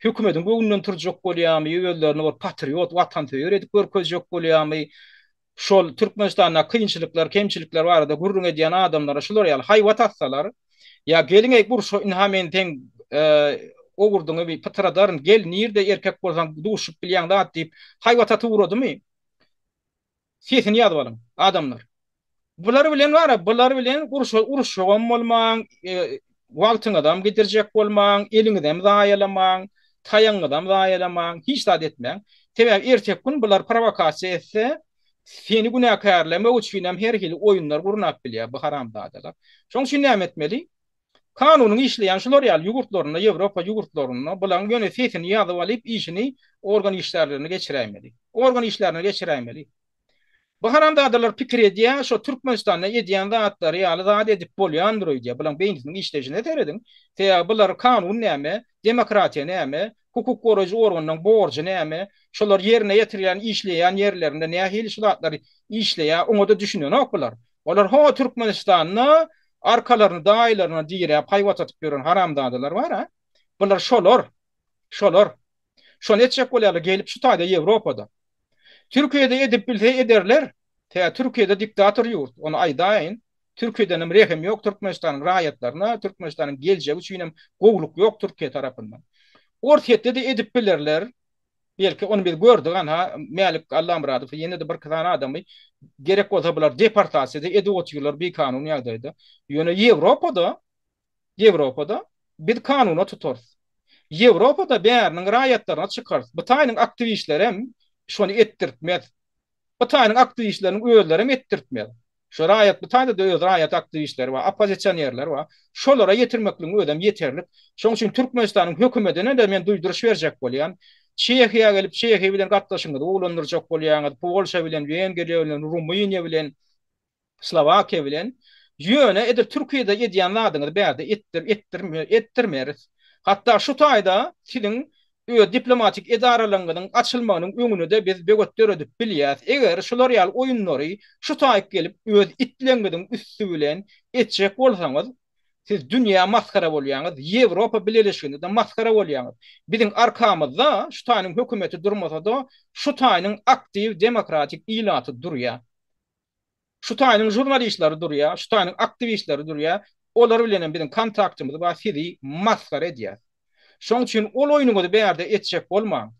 hökümediň göwnünden turjak bolýarmy, özlerini bir patriot, watansöýer edip görkezjek bolýarmy, şol Türkmenistanda kynçylyklar, kemçilikler barada gürrüň edýän adamlara şular ýaly haýbat atsalar, ýa geliň-eý urşa ynha men seň. Owurdyňy bir pytradaryn, gel, nirde erkek bolsaň duşup bilýäň zat diýip, haýbat atyp ugradymy? Sesini ýazyp alyň, adamlar. Bular bilen bar-a, bular bilen urşa uruşjagam bolmaň, wagtyňyzam gidirjek bolmaň, eliňizem zaýalamaň, taýagyňyzam zaýalamaň, hiç zat etmäň. Sebäbi erteki gün bular prowokasiýa etse, seni günäkärlemek üçinem her hili oýunlar gurnap bilýär bu haramzadalar. Şonuň üçin näme etmeli? Kanunyň işleýän şular ýaly ýurtlarynda, Ýewropa ýurtlarynda bulaň ýöne sesini ýazyp alyp işini organ işgärlerine geçiräýmeli. Organ işgärlerine geçiräýmeli. Bu haramzadalar pikir edýär, şo Türkmenistanda edýän zatlary ýaly zat edip bolýandyr öýdýär. Bulaň beýnisiniň işleýşine serediň. Sebäbi bular kanun näme, demokratiýa näme, hukuk goraýjy organynyň borjy näme, şolar ýerine ýetirýän işleýän ýerlerinde nähili şu zatlar işleýär, oňa-da düşünenok bular. Olar ho Türkmenistanda arkalaryny daýylaryna diräp haýbat atyp ýören haramzadalar bar-a. Bular şolar. Şolar. Şony etjek bolýarlar gelip şu taýda Ýewropada. Türkiýede edip bilse ederler. Tä Türkiýede diktator ýurt. Ony aýdaýyn. Türkiýedenem rehim ýok Türkmenistanyň raýatlaryna, Türkmenistanyň geljegi üçinem gowluk ýok Türkiýe tarapyndan. Orsýetde-de edip bilerler. Belki ony biz gördük anha Mälik Allamyradowy ýene-de birki sany adamy gerek bolsa bular deportasiýa-da edip otyrlar bikanun ýagdaýda. Ýöne Ýewropada Ýewropada biz kanuna tutarys. Ýewropada bäriniň raýatlaryna çykarys. Bu taýynyň aktiwistlerem şony etdirtmez. Bu taýynyň aktiwistleriniň özlerem etdirtmez. Şu raýat bu taýda-da öz raýat aktiwistleri bar, oppozisionerler bar. Şolara ýetirmekligiň özem ýeterlik. Şonuň üçin Türkmenistanyň hökümedine-de men duýduryş berjek bolýan. Çehiýa gelip Çehiýa bilen gatnaşygyňyzy gowulandyrjak bolýaňyz, Polşa bilen, Wengriýa bilen, Rumyniýa bilen, Slowakiýa bilen. Ýöne edil Türkiýede edýän zadyňyzy bärde etdir, etdirme, etdirmeris. Hatda şu taýda siziň öz diplomatik edaralaryňyzyň açylmagynyň öňüne-de biz böwet döredip bilýäs. Eger şular ýaly oýunlary şu taýyk gelip öz itleňiziň üsti bilen etjek bolsaňyz, siz dünýä masgara bolýaňyz, Ýewropa Bileleşiginde-de masgara bolýaňyz. Biziň arkamyzda şu taýynyň hökümeti durmasa-da, şu taýynyň aktiw demokratik ilaty durýar. Şu taýynyň žurnalistleri durýar, şu taýynyň aktiwistleri durýar. Olar bilen hem biziň kontaktymyz bar, sizi masgara edýäs. Şoň üçin ol oýnuňyzy bärde etjek bolmaň.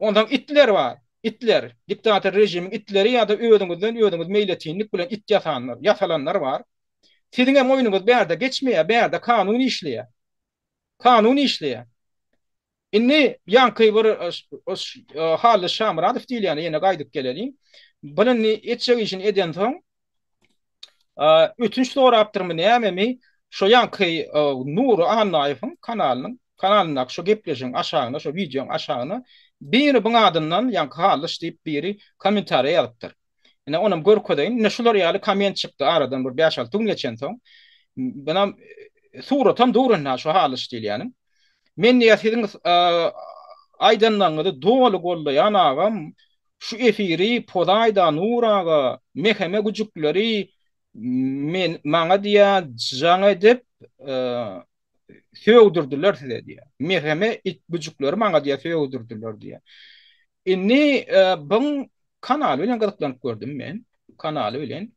Onsoň itler bar, itler, diktator režimiň itleri ýa-da özüňizden özüňiz meýletinlik bilen it ýasanlar, ýasalanlar bar. Siziň hem oýnuňyz bärde geçmeýär, bärde kanun işleýär. Kanun işleýär. Indi ýaňky bir Hally Şamyradow diýilýäne ýene gaýdyp geleliň. Bul indi etjek işini edensoň, ötünç sorapdyrmy nämemi, şo ýaňky Nury Annaýewiň kanalynyň kanalyndaky şo gepleşigiň aşagyna, şo wideoň aşagyna biri buň adyndan ýaňky Hallyş diýip biri kommentariýa ýazypdyr. Ine onam görkezeýin. Ine şular ýaly komment çykdy aradan bir bäş-alty gün geçensoň. Bunam suratam dur indi şu Hallyş diýilýäniň. Men diýýär siziň aýdanlaryňyzy doly goldaýan agam şu efiri pozaýda Nur aga meheme güjükleri men maňa diýýär jaň edip sögdürdiler size diýýär. Meheme it güjükleri maňa diýýär sögdürdiler diýýär. Indi buň kanaly bilen gyzyklanyp gördüm men. Kanaly bilen.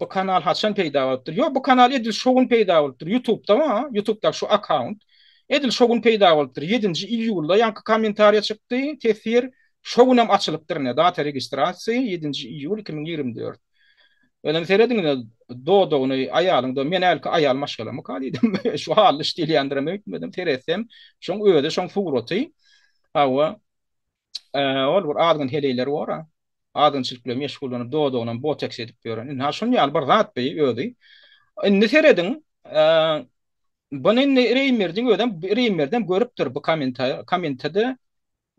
Bu kanal haçan peýda bolupdyr? Ýok, bu kanal edil şo gün peýda bolupdyr. Ýutubda bar, Ýutubdaky şu akkaunt. Edil şo gün peýda bolupdyr. Ýedinji iýulda ýaňky kommentariýa çykdy, teswir. Şo günem açylypdyr ine, data registrasiýa, ýedinji iýul 2024. Özem serediň ine, dodagyny aýalyň do, men hälki aýal maşgalamyka diýdim. Şu Hallyş diýilýändirem öýtmedim. Seretsem, şoň özi, şoň suraty. Hawa. Ol bir azgyn heleýler bor-a. Azgynçylyk bilen meşgullanyp, dodagynam boteks edip ýören. Indi ha şuny ýaly bir zat bi özi. Indi serediň, buny indi Reýmerdiň özem, Reýmerdem görüpdir bu kommentede.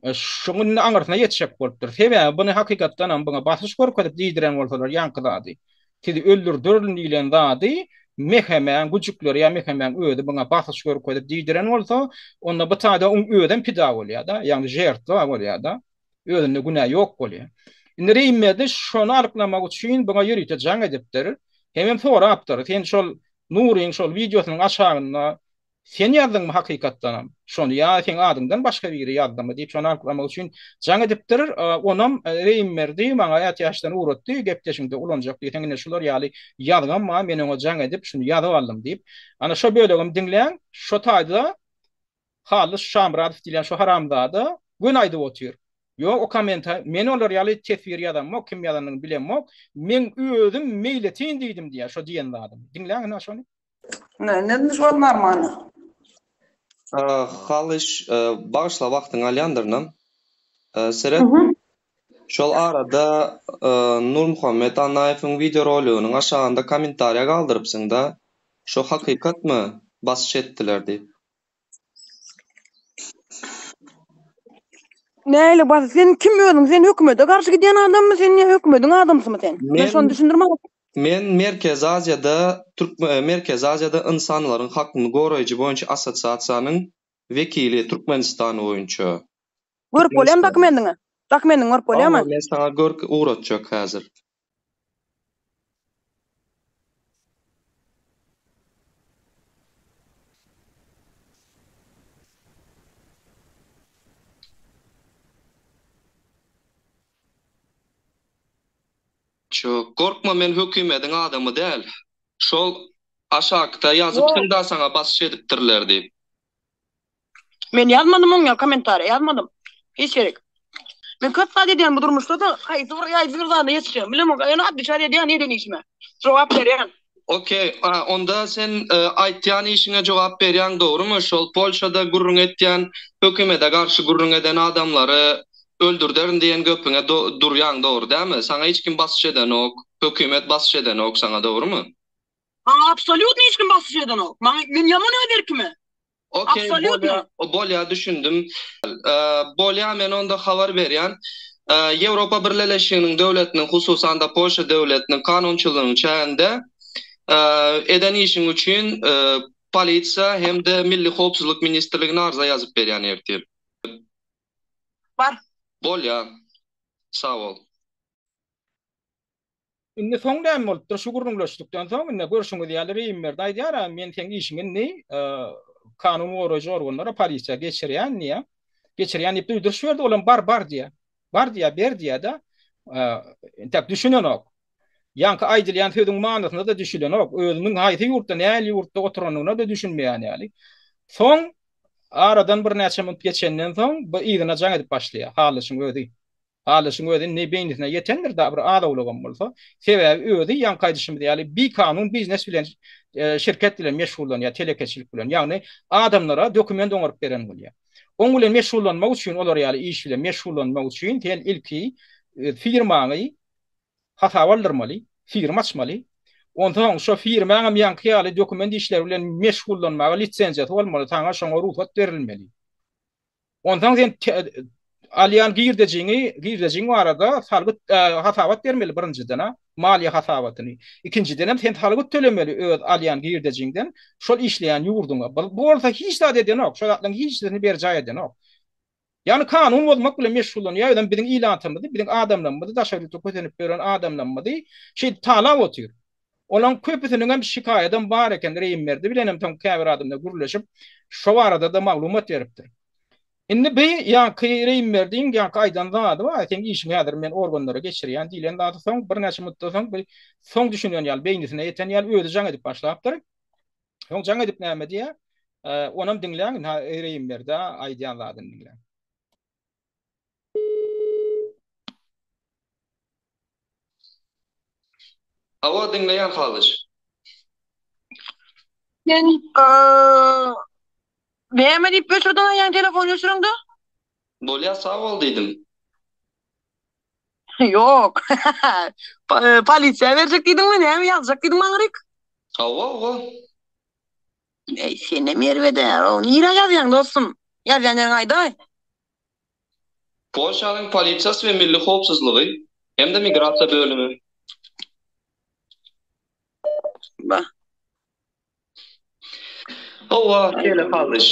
Şuň indi aňyrsyna ýetjek bolupdyr. Sebäbi buny hakykatdanam buňa basyş görkezip diýdiren bolsalar ýaňky zady. Sizi öldürderin diýlen zady Mehemäň güjükleri ýa Mehemäň özi buňa basyş görkezip diýdiren bolsa, onda bu taýda oň özem pida bolýar-da, ýagny žertwa bolýar-da. Özünde günä ýok bolýar. Indi Reýimberdi şony anyklamak üçin buňa ýörite jaň edipdir. Hemem sorapdyr, sen şol Nuryň şol wideosynyň aşagynda Sen ýazdyňmy hakykatdanam şony ýa seň adyňdan başga biri ýazdymy diýip şony anyklamak üçin jaň edipdir. Onam Reýimberdi maňa ätiýaçdan ugratdy, gepleşiňde ulanjak diýseň ine şular ýaly ýazgam bar, men oňa jaň edip şuny ýazyp aldym diýip. Ana şo bölegem diňläň, şo taýda. Hallyş Şamyradow diýlen şu haramzada göni aýdyp otyr. Ýok o kommenta men olar ýaly teswir ýazamok kim ýazanyny bilemok. Meň özüm meýletin diýdim diýýär şo diýen zadyny. Diňläň ine şony. Ne ne şu wagt normalny. Halyş bagyşla wagtyňy alýandyrynam. Seret şol arada Nurmuhammet Annaýewiň wideoroliginiň aşagynda kommentariýa galdyrypsyňda şo hakykatmy basyş etdiler diýip. Nähili basyş sen kim özüň sen hökümete garşy gidýän adammy sen ýa hökümediň adamsymy sen? Men şony düşündir maňa. Men Merkezi Aziýada Merkezi Aziýada ynsanlaryň hakyny goraýjy boýunça assosiasiýanyň wekili Türkmenistan boýunça. Görüp bolýamy dokumendiňi? Dokumendiňi görüp bolýamy? Hawa men saňa görk ugratjak häzir. Gorkma men hökümediň adamy däl. Şol aşakda ýazypsyňda saňa basyş edipdirler diýip. Men ýazmadym oň ýaly kommentariýa ýazmadym. Hiç gerek. Men köp zat edýän bu durmuşda-da haýsy bir haýsy bir zada ýetişýän bilemok. Ýöne otweçat edýän eden işime. Jogap berýän. Okey, onda sen aýtýan işiňe jogap berýäň dogrymy? Şol Polşada gürrüň etýän hökümede garşy gürrüň eden adamlary öldürderin diýen göpüňe durýaň dogry dämi? Saňa hiç kim basyş edenok, hökümet basyş edenok saňa dogrymy? Maňa absolýutno hiç kim basyş edenok. Maňa men ýaman öz erkime. Okey bolýa bolýa düşündim. Bolýa men onda habar berýän. Ýewropa Birleleşiginiň döwletiniň hususanda Polşa döwletiniň kanunçylygynyň çäginde eden işiň üçin polisiýa hem-de Milli howpsuzlyk ministrligine arza ýazyp berýän ertir. Bar. Bolýa. Sag bol. Indi soň näme bolupdyr? Şu gürrüňleşlikden soň indi görşüňiz ýaly Reýimberdi aýdýar-a, men seň işiňi indi kanun goraýjy organlara, polisiýa geçirýän diýýär. Geçirýän diýip duýduryş berdi, olam bar, bar diýýär. Bar diýýär, ber diýýär-de. Entäk düşünenok. Ýaňky aýdylýan sözüň manysyna-da düşünenok. Özüniň haýsy ýurtda, nähili ýurtda oturanyna-da düşünmeýän ýaly. Soň aradan birnäçe minut geçenden soň bu yzyna jaň edip başlaýar, Halyşyň özi. Halyşyň özi indi beýnisine ýetendir-dä bir az-owlagam bolsa. Sebäbi özi ýaňky aýdyşymyz ýaly bikanun biznes bilen, şirket bilen meşgullanýar, telekeçilik bilen. Ýagny adamlara dokument oňaryp beren bolýar. Oň bilen meşgullanmak üçin, olar ýaly iş bilen meşgullanmak üçin sen ilki firmaňy hasaba aldyrmaly, firma açmaly. Onsoň şo firmaňam ýaňky ýaly dokument işleri bilen meşgullanmaga lisenziýasy bolmaly, saňa şoňa rugsat berilmeli. Onsoň sen alýan girdejiňi, girdejiň barada salgyt hasabat bermeli birinjiden-ä, maliýe hasabatyny. Ikinjidenem sen salgyt tölemeli öz alýan girdejiňden şol işleýän ýurduňa. Bu bolsa hiç zat edenok, şo zatlaryň hiçisini berjaý edenok. Ýagny kanun bozmak bilen meşgullanýar, özem biziň ilatymyzy, biziň adamlarymyzy, daşary ýurtda kösenip ýören adamlarymyzy şeýdip talap otyr. Olaň köpüsiniňem şikaýadam bar eken, Reýimberdi bilenem soň käbir adamlar gürleşip, şo barada-da maglumat beripdir. Indi bi ýaňky Reýimberdiň ýaňky aýdan zady bar, seň işiňi häzir men organlara geçirýän diýlen zady soň birnäçe muddatdan soň bi soň düşünen ýaly, beýnisine ýeten ýaly özi jaň edip başlapdyr. Soň jaň edip näme diýýär? Onam diňläň, ynha Reýimberdä aýdýan zadyny diňläň. Hawa diňleýän Halyş. Sen näme diýip öçürdiň aýan telefony öçüreňde? Bolýa sag bol diýdim. Ýok. Polisiýa berjek diýdiňmi näme ýazjak diýdiň maňryk? Hawa hawa. Eý senem erbedä. Nirä ýazýaň dostum? Ýazýan ýeriňi aýdaý. Polşanyň polisiýasy we milli howpsuzlygy hem-de migrasiýa bölümi. Ba. Hawa, şeýle Halyş.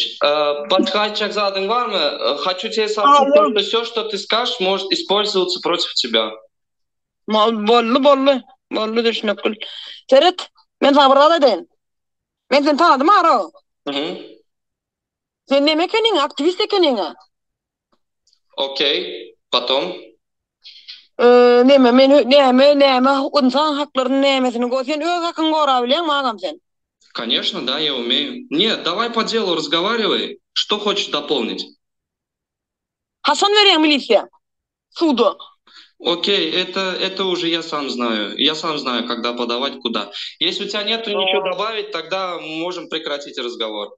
Başga aýtjak zadyň barmy? Haçu тебе soobşit to, što wsё, što ty skažeš, может ispolzowatsa protiv tebya. Boldy, boldy. Boldy, düşünip. Seret, men saňa bir zat aýdaýyn. Men seni tanadym ara. Mhm. Sen neme ekeniň, aktiwist ekeniň-ä. Okey, potom? Eee, neme, men näme, näme, ynsan haklaryny nämesini go, sen öz hakyňy gorabilýäňmi agam sen? Koneşno, da, ya umeýu. Net, daway po delu razgowariway. Что хочешь дополнить? Haçan berýäň milisiýa? Suda. Okey, это, это уже я сам знаю. Я сам знаю, когда подавать, куда. Если у тебя нету ничего добавить, тогда можем прекратить разговор.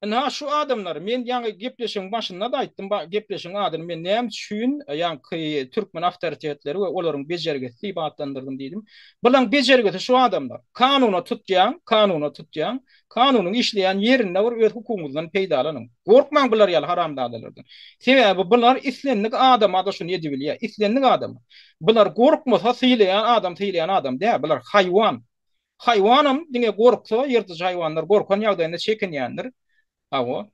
Ynha şu adamlar, men ýaňy gepleşigiň başynda-da aýtdym, gepleşigiň adyny men näme üçin ýaňky türkmen awtoritetleri we olaryň bejergisi diýip atlandyrdym diýdim. Bulaň bejergisi şu adamlar. Kanuna tutýaň, kanuna tutýaň, kanunyň işleýän ýerinde bir öz hukugyňyzdan peýdalanyň. Gorkmaň bular ýaly haramzadalardan. Sebäbi bular islendik adama-da şuny edibilýär, islendik adama. Bular gorkmasa sylaýan adam sylaýan adam däl, bular haýwan. Haýwanam diňe gorksa, ýyrtyjy haýwanlar gorkan ýagdaýynda çekinýändir. Hawa.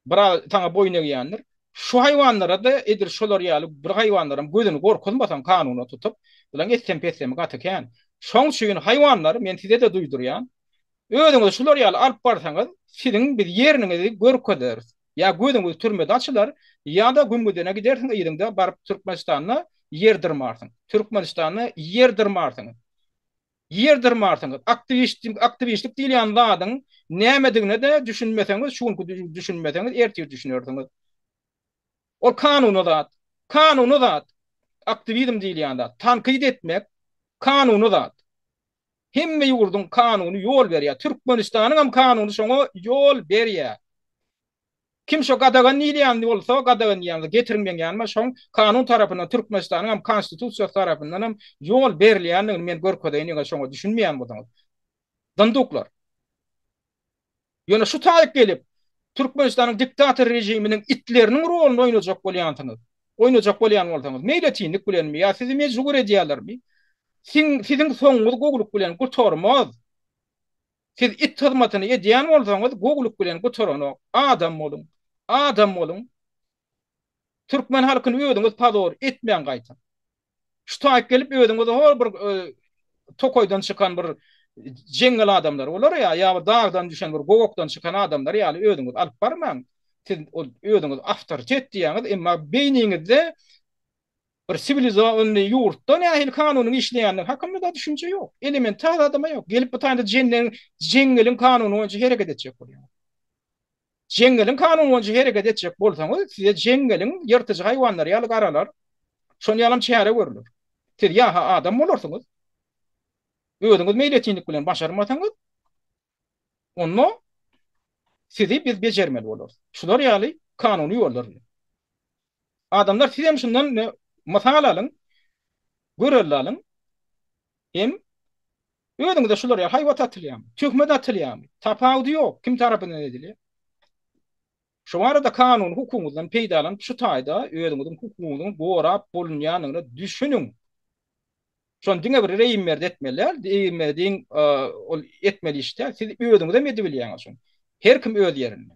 Biraz saňa boýun egýändir. Şu haýwanlara-da edil şolar ýaly bir haýwanlaram gözüni gorkuzmasaň kanuna tutup, bulaň etsem-petsemi gaty kän. Şoň üçin haýwanlar, men size-de duýdurýan, özüňizi şular ýaly alyp barsaňyz, siziň biz ýeriniňizi görkezeris. Ýa gözüňiz türmede açylar, ýa-da gümgüdene gidersiň yzyňda baryp Türkmenistanda ýer dyrmarsyň. Türkmenistanda ýer dyrmarsyňyz. Ýer dyrmarsyňyz. Aktiwist, aktiwistlik diýilýän zadyň nämedigine-de düşünmeseňiz, şu günki düşünmeseňiz, ertir düşünersiňiz. Ol kanuny zat. Kanuny zat. Aktiwizm diýilýän zat. Tankyt etmek kanuny zat. Hemme ýurduň kanuny ýol berýär. Türkmenistanyň hem kanuny şoňa ýol berýär. Kim şo gadagan diýilýän bolsa, gadagan diýýän getiriň meň ýanyma, şoň kanun tarapyndan Türkmenistanyň hem konstitusiýasy tarapyndan hem ýol berilýändigini men görkezeýin eger şoňa düşünmeýän bolsaňyz. Dynduklar. Ýöne şu taýyk gelip Türkmenistanyň diktator režiminiň itleriniň roluny oýnajak bolýansyňyz. Oýnajak bolýan bolsaňyz, meýletinlik bilenmi ýa sizi mejbur edýärlermi? Siň siziň soňuňyz gowulyk bilen gutarmaz. Siz it hyzmatyny edýän bolsaňyz gowulyk bilen gutaranok. Adam boluň. Adam boluň. Türkmen halkyny özüňiz pozor etmäň gaýta. Şu taýyp gelip özüňizi hol bir tokaýdan çykan bir jeňňel adamlary bolar ýa ýa bir dagdan düşen bir gowakdan çykan adamlar ýaly özüňizi alyp barmaň. Siz ol özüňiz awtoritet diýýäňiz, emma beýniňizde Bir siwilizowanyý ýurtda nähili kanunyň işleýändigi hakynda-da düşünje ýok. Elementar zadam ýok. Gelip bu taýda jenneň, jeňňeliň kanuny boýunça hereket etjek bolýaňyz. Jeňňeliň kanuny boýunça hereket etjek bolsaňyz, size jeňňeliň ýyrtyjy haýwanlary ýaly garalar. Şonuň ýalam çäre görler. Siz ýa-ha adam bolarsyňyz, özüňiz meýletinlik bilen başarmasaňyz, onda sizi biz bejermeli bolarys. Şular ýaly kanuny ýollar bilen. Adamlar sizem şundan mysal alyň, görelde alyň. Hem özüňize şular ýaly haýbat atylýarmy, töhmet atylýarmy, tapawudy ýok, kim tarapyndan edilýär. Şu barada kanuny hukugyňyzdan peýdalanyp şu taýda özüňiziň hukugyňyzyň gorap bolunýandygyna düşüniň. Şony diňe bir Reýimberdi etmeli däl, Reýimberdiň ol etmeli işi däl, siz özüňizem edibilýäňiz şony. Her kim öz ýerinde.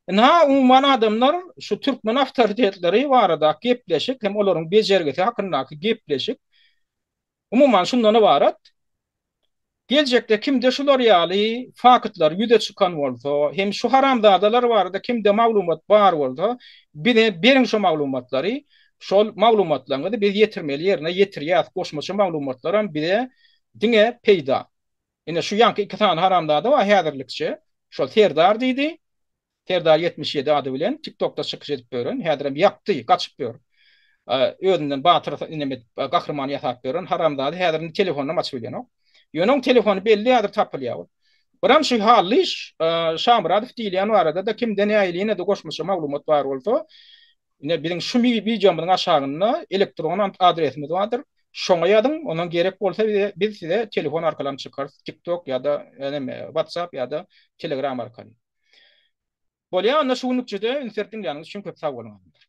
Ynha, umuman adamlar şu türkmen awtoritetleri baradaky gepleşik hem olaryň bejergisi hakyndaky gepleşik umuman şundan ybarat. Geljekde kimde şular ýaly faktlar ýüze çykan bolsa, hem şu haramzadalar barada kimde maglumat bar bolsa, bize beriň şo maglumatlary, şol maglumatlaryňyzy biz ýetirmeli ýerine ýetirýäs, goşmaça maglumatlaram bize diňe peýda. Ine şu ýaňky iki sany haramzada bar häzirlikçe. Şol Serdar diýdi. Serdar 77 ady bilen TikTokda çykyş edip ýören, häzirem ýapdy, gaçyp ýör. Özünden batyr inem edip, gahryman ýasap ýören haramzada häzir indi telefonynam açyp bilenok. Ýöne oň telefony belli häzir tapylýar ol. Biram şu Hallyş Şamyradow diýilýän barada-da kimde nähili ýene-de goşmaça maglumat bar bolsa, Ine biziň şu wideomyzyň aşagynda elektron adresimiz bardyr. Şoňa ýazyň, ondan gerek bolsa biz size telefon arkaly hem çykarys, TikTok ýa-da näme WhatsApp ýa-da Telegram arkaly. Bolýar, onda şu günlükçe-de üns berip diňläniňiz üçin köp sag boluň adamlar.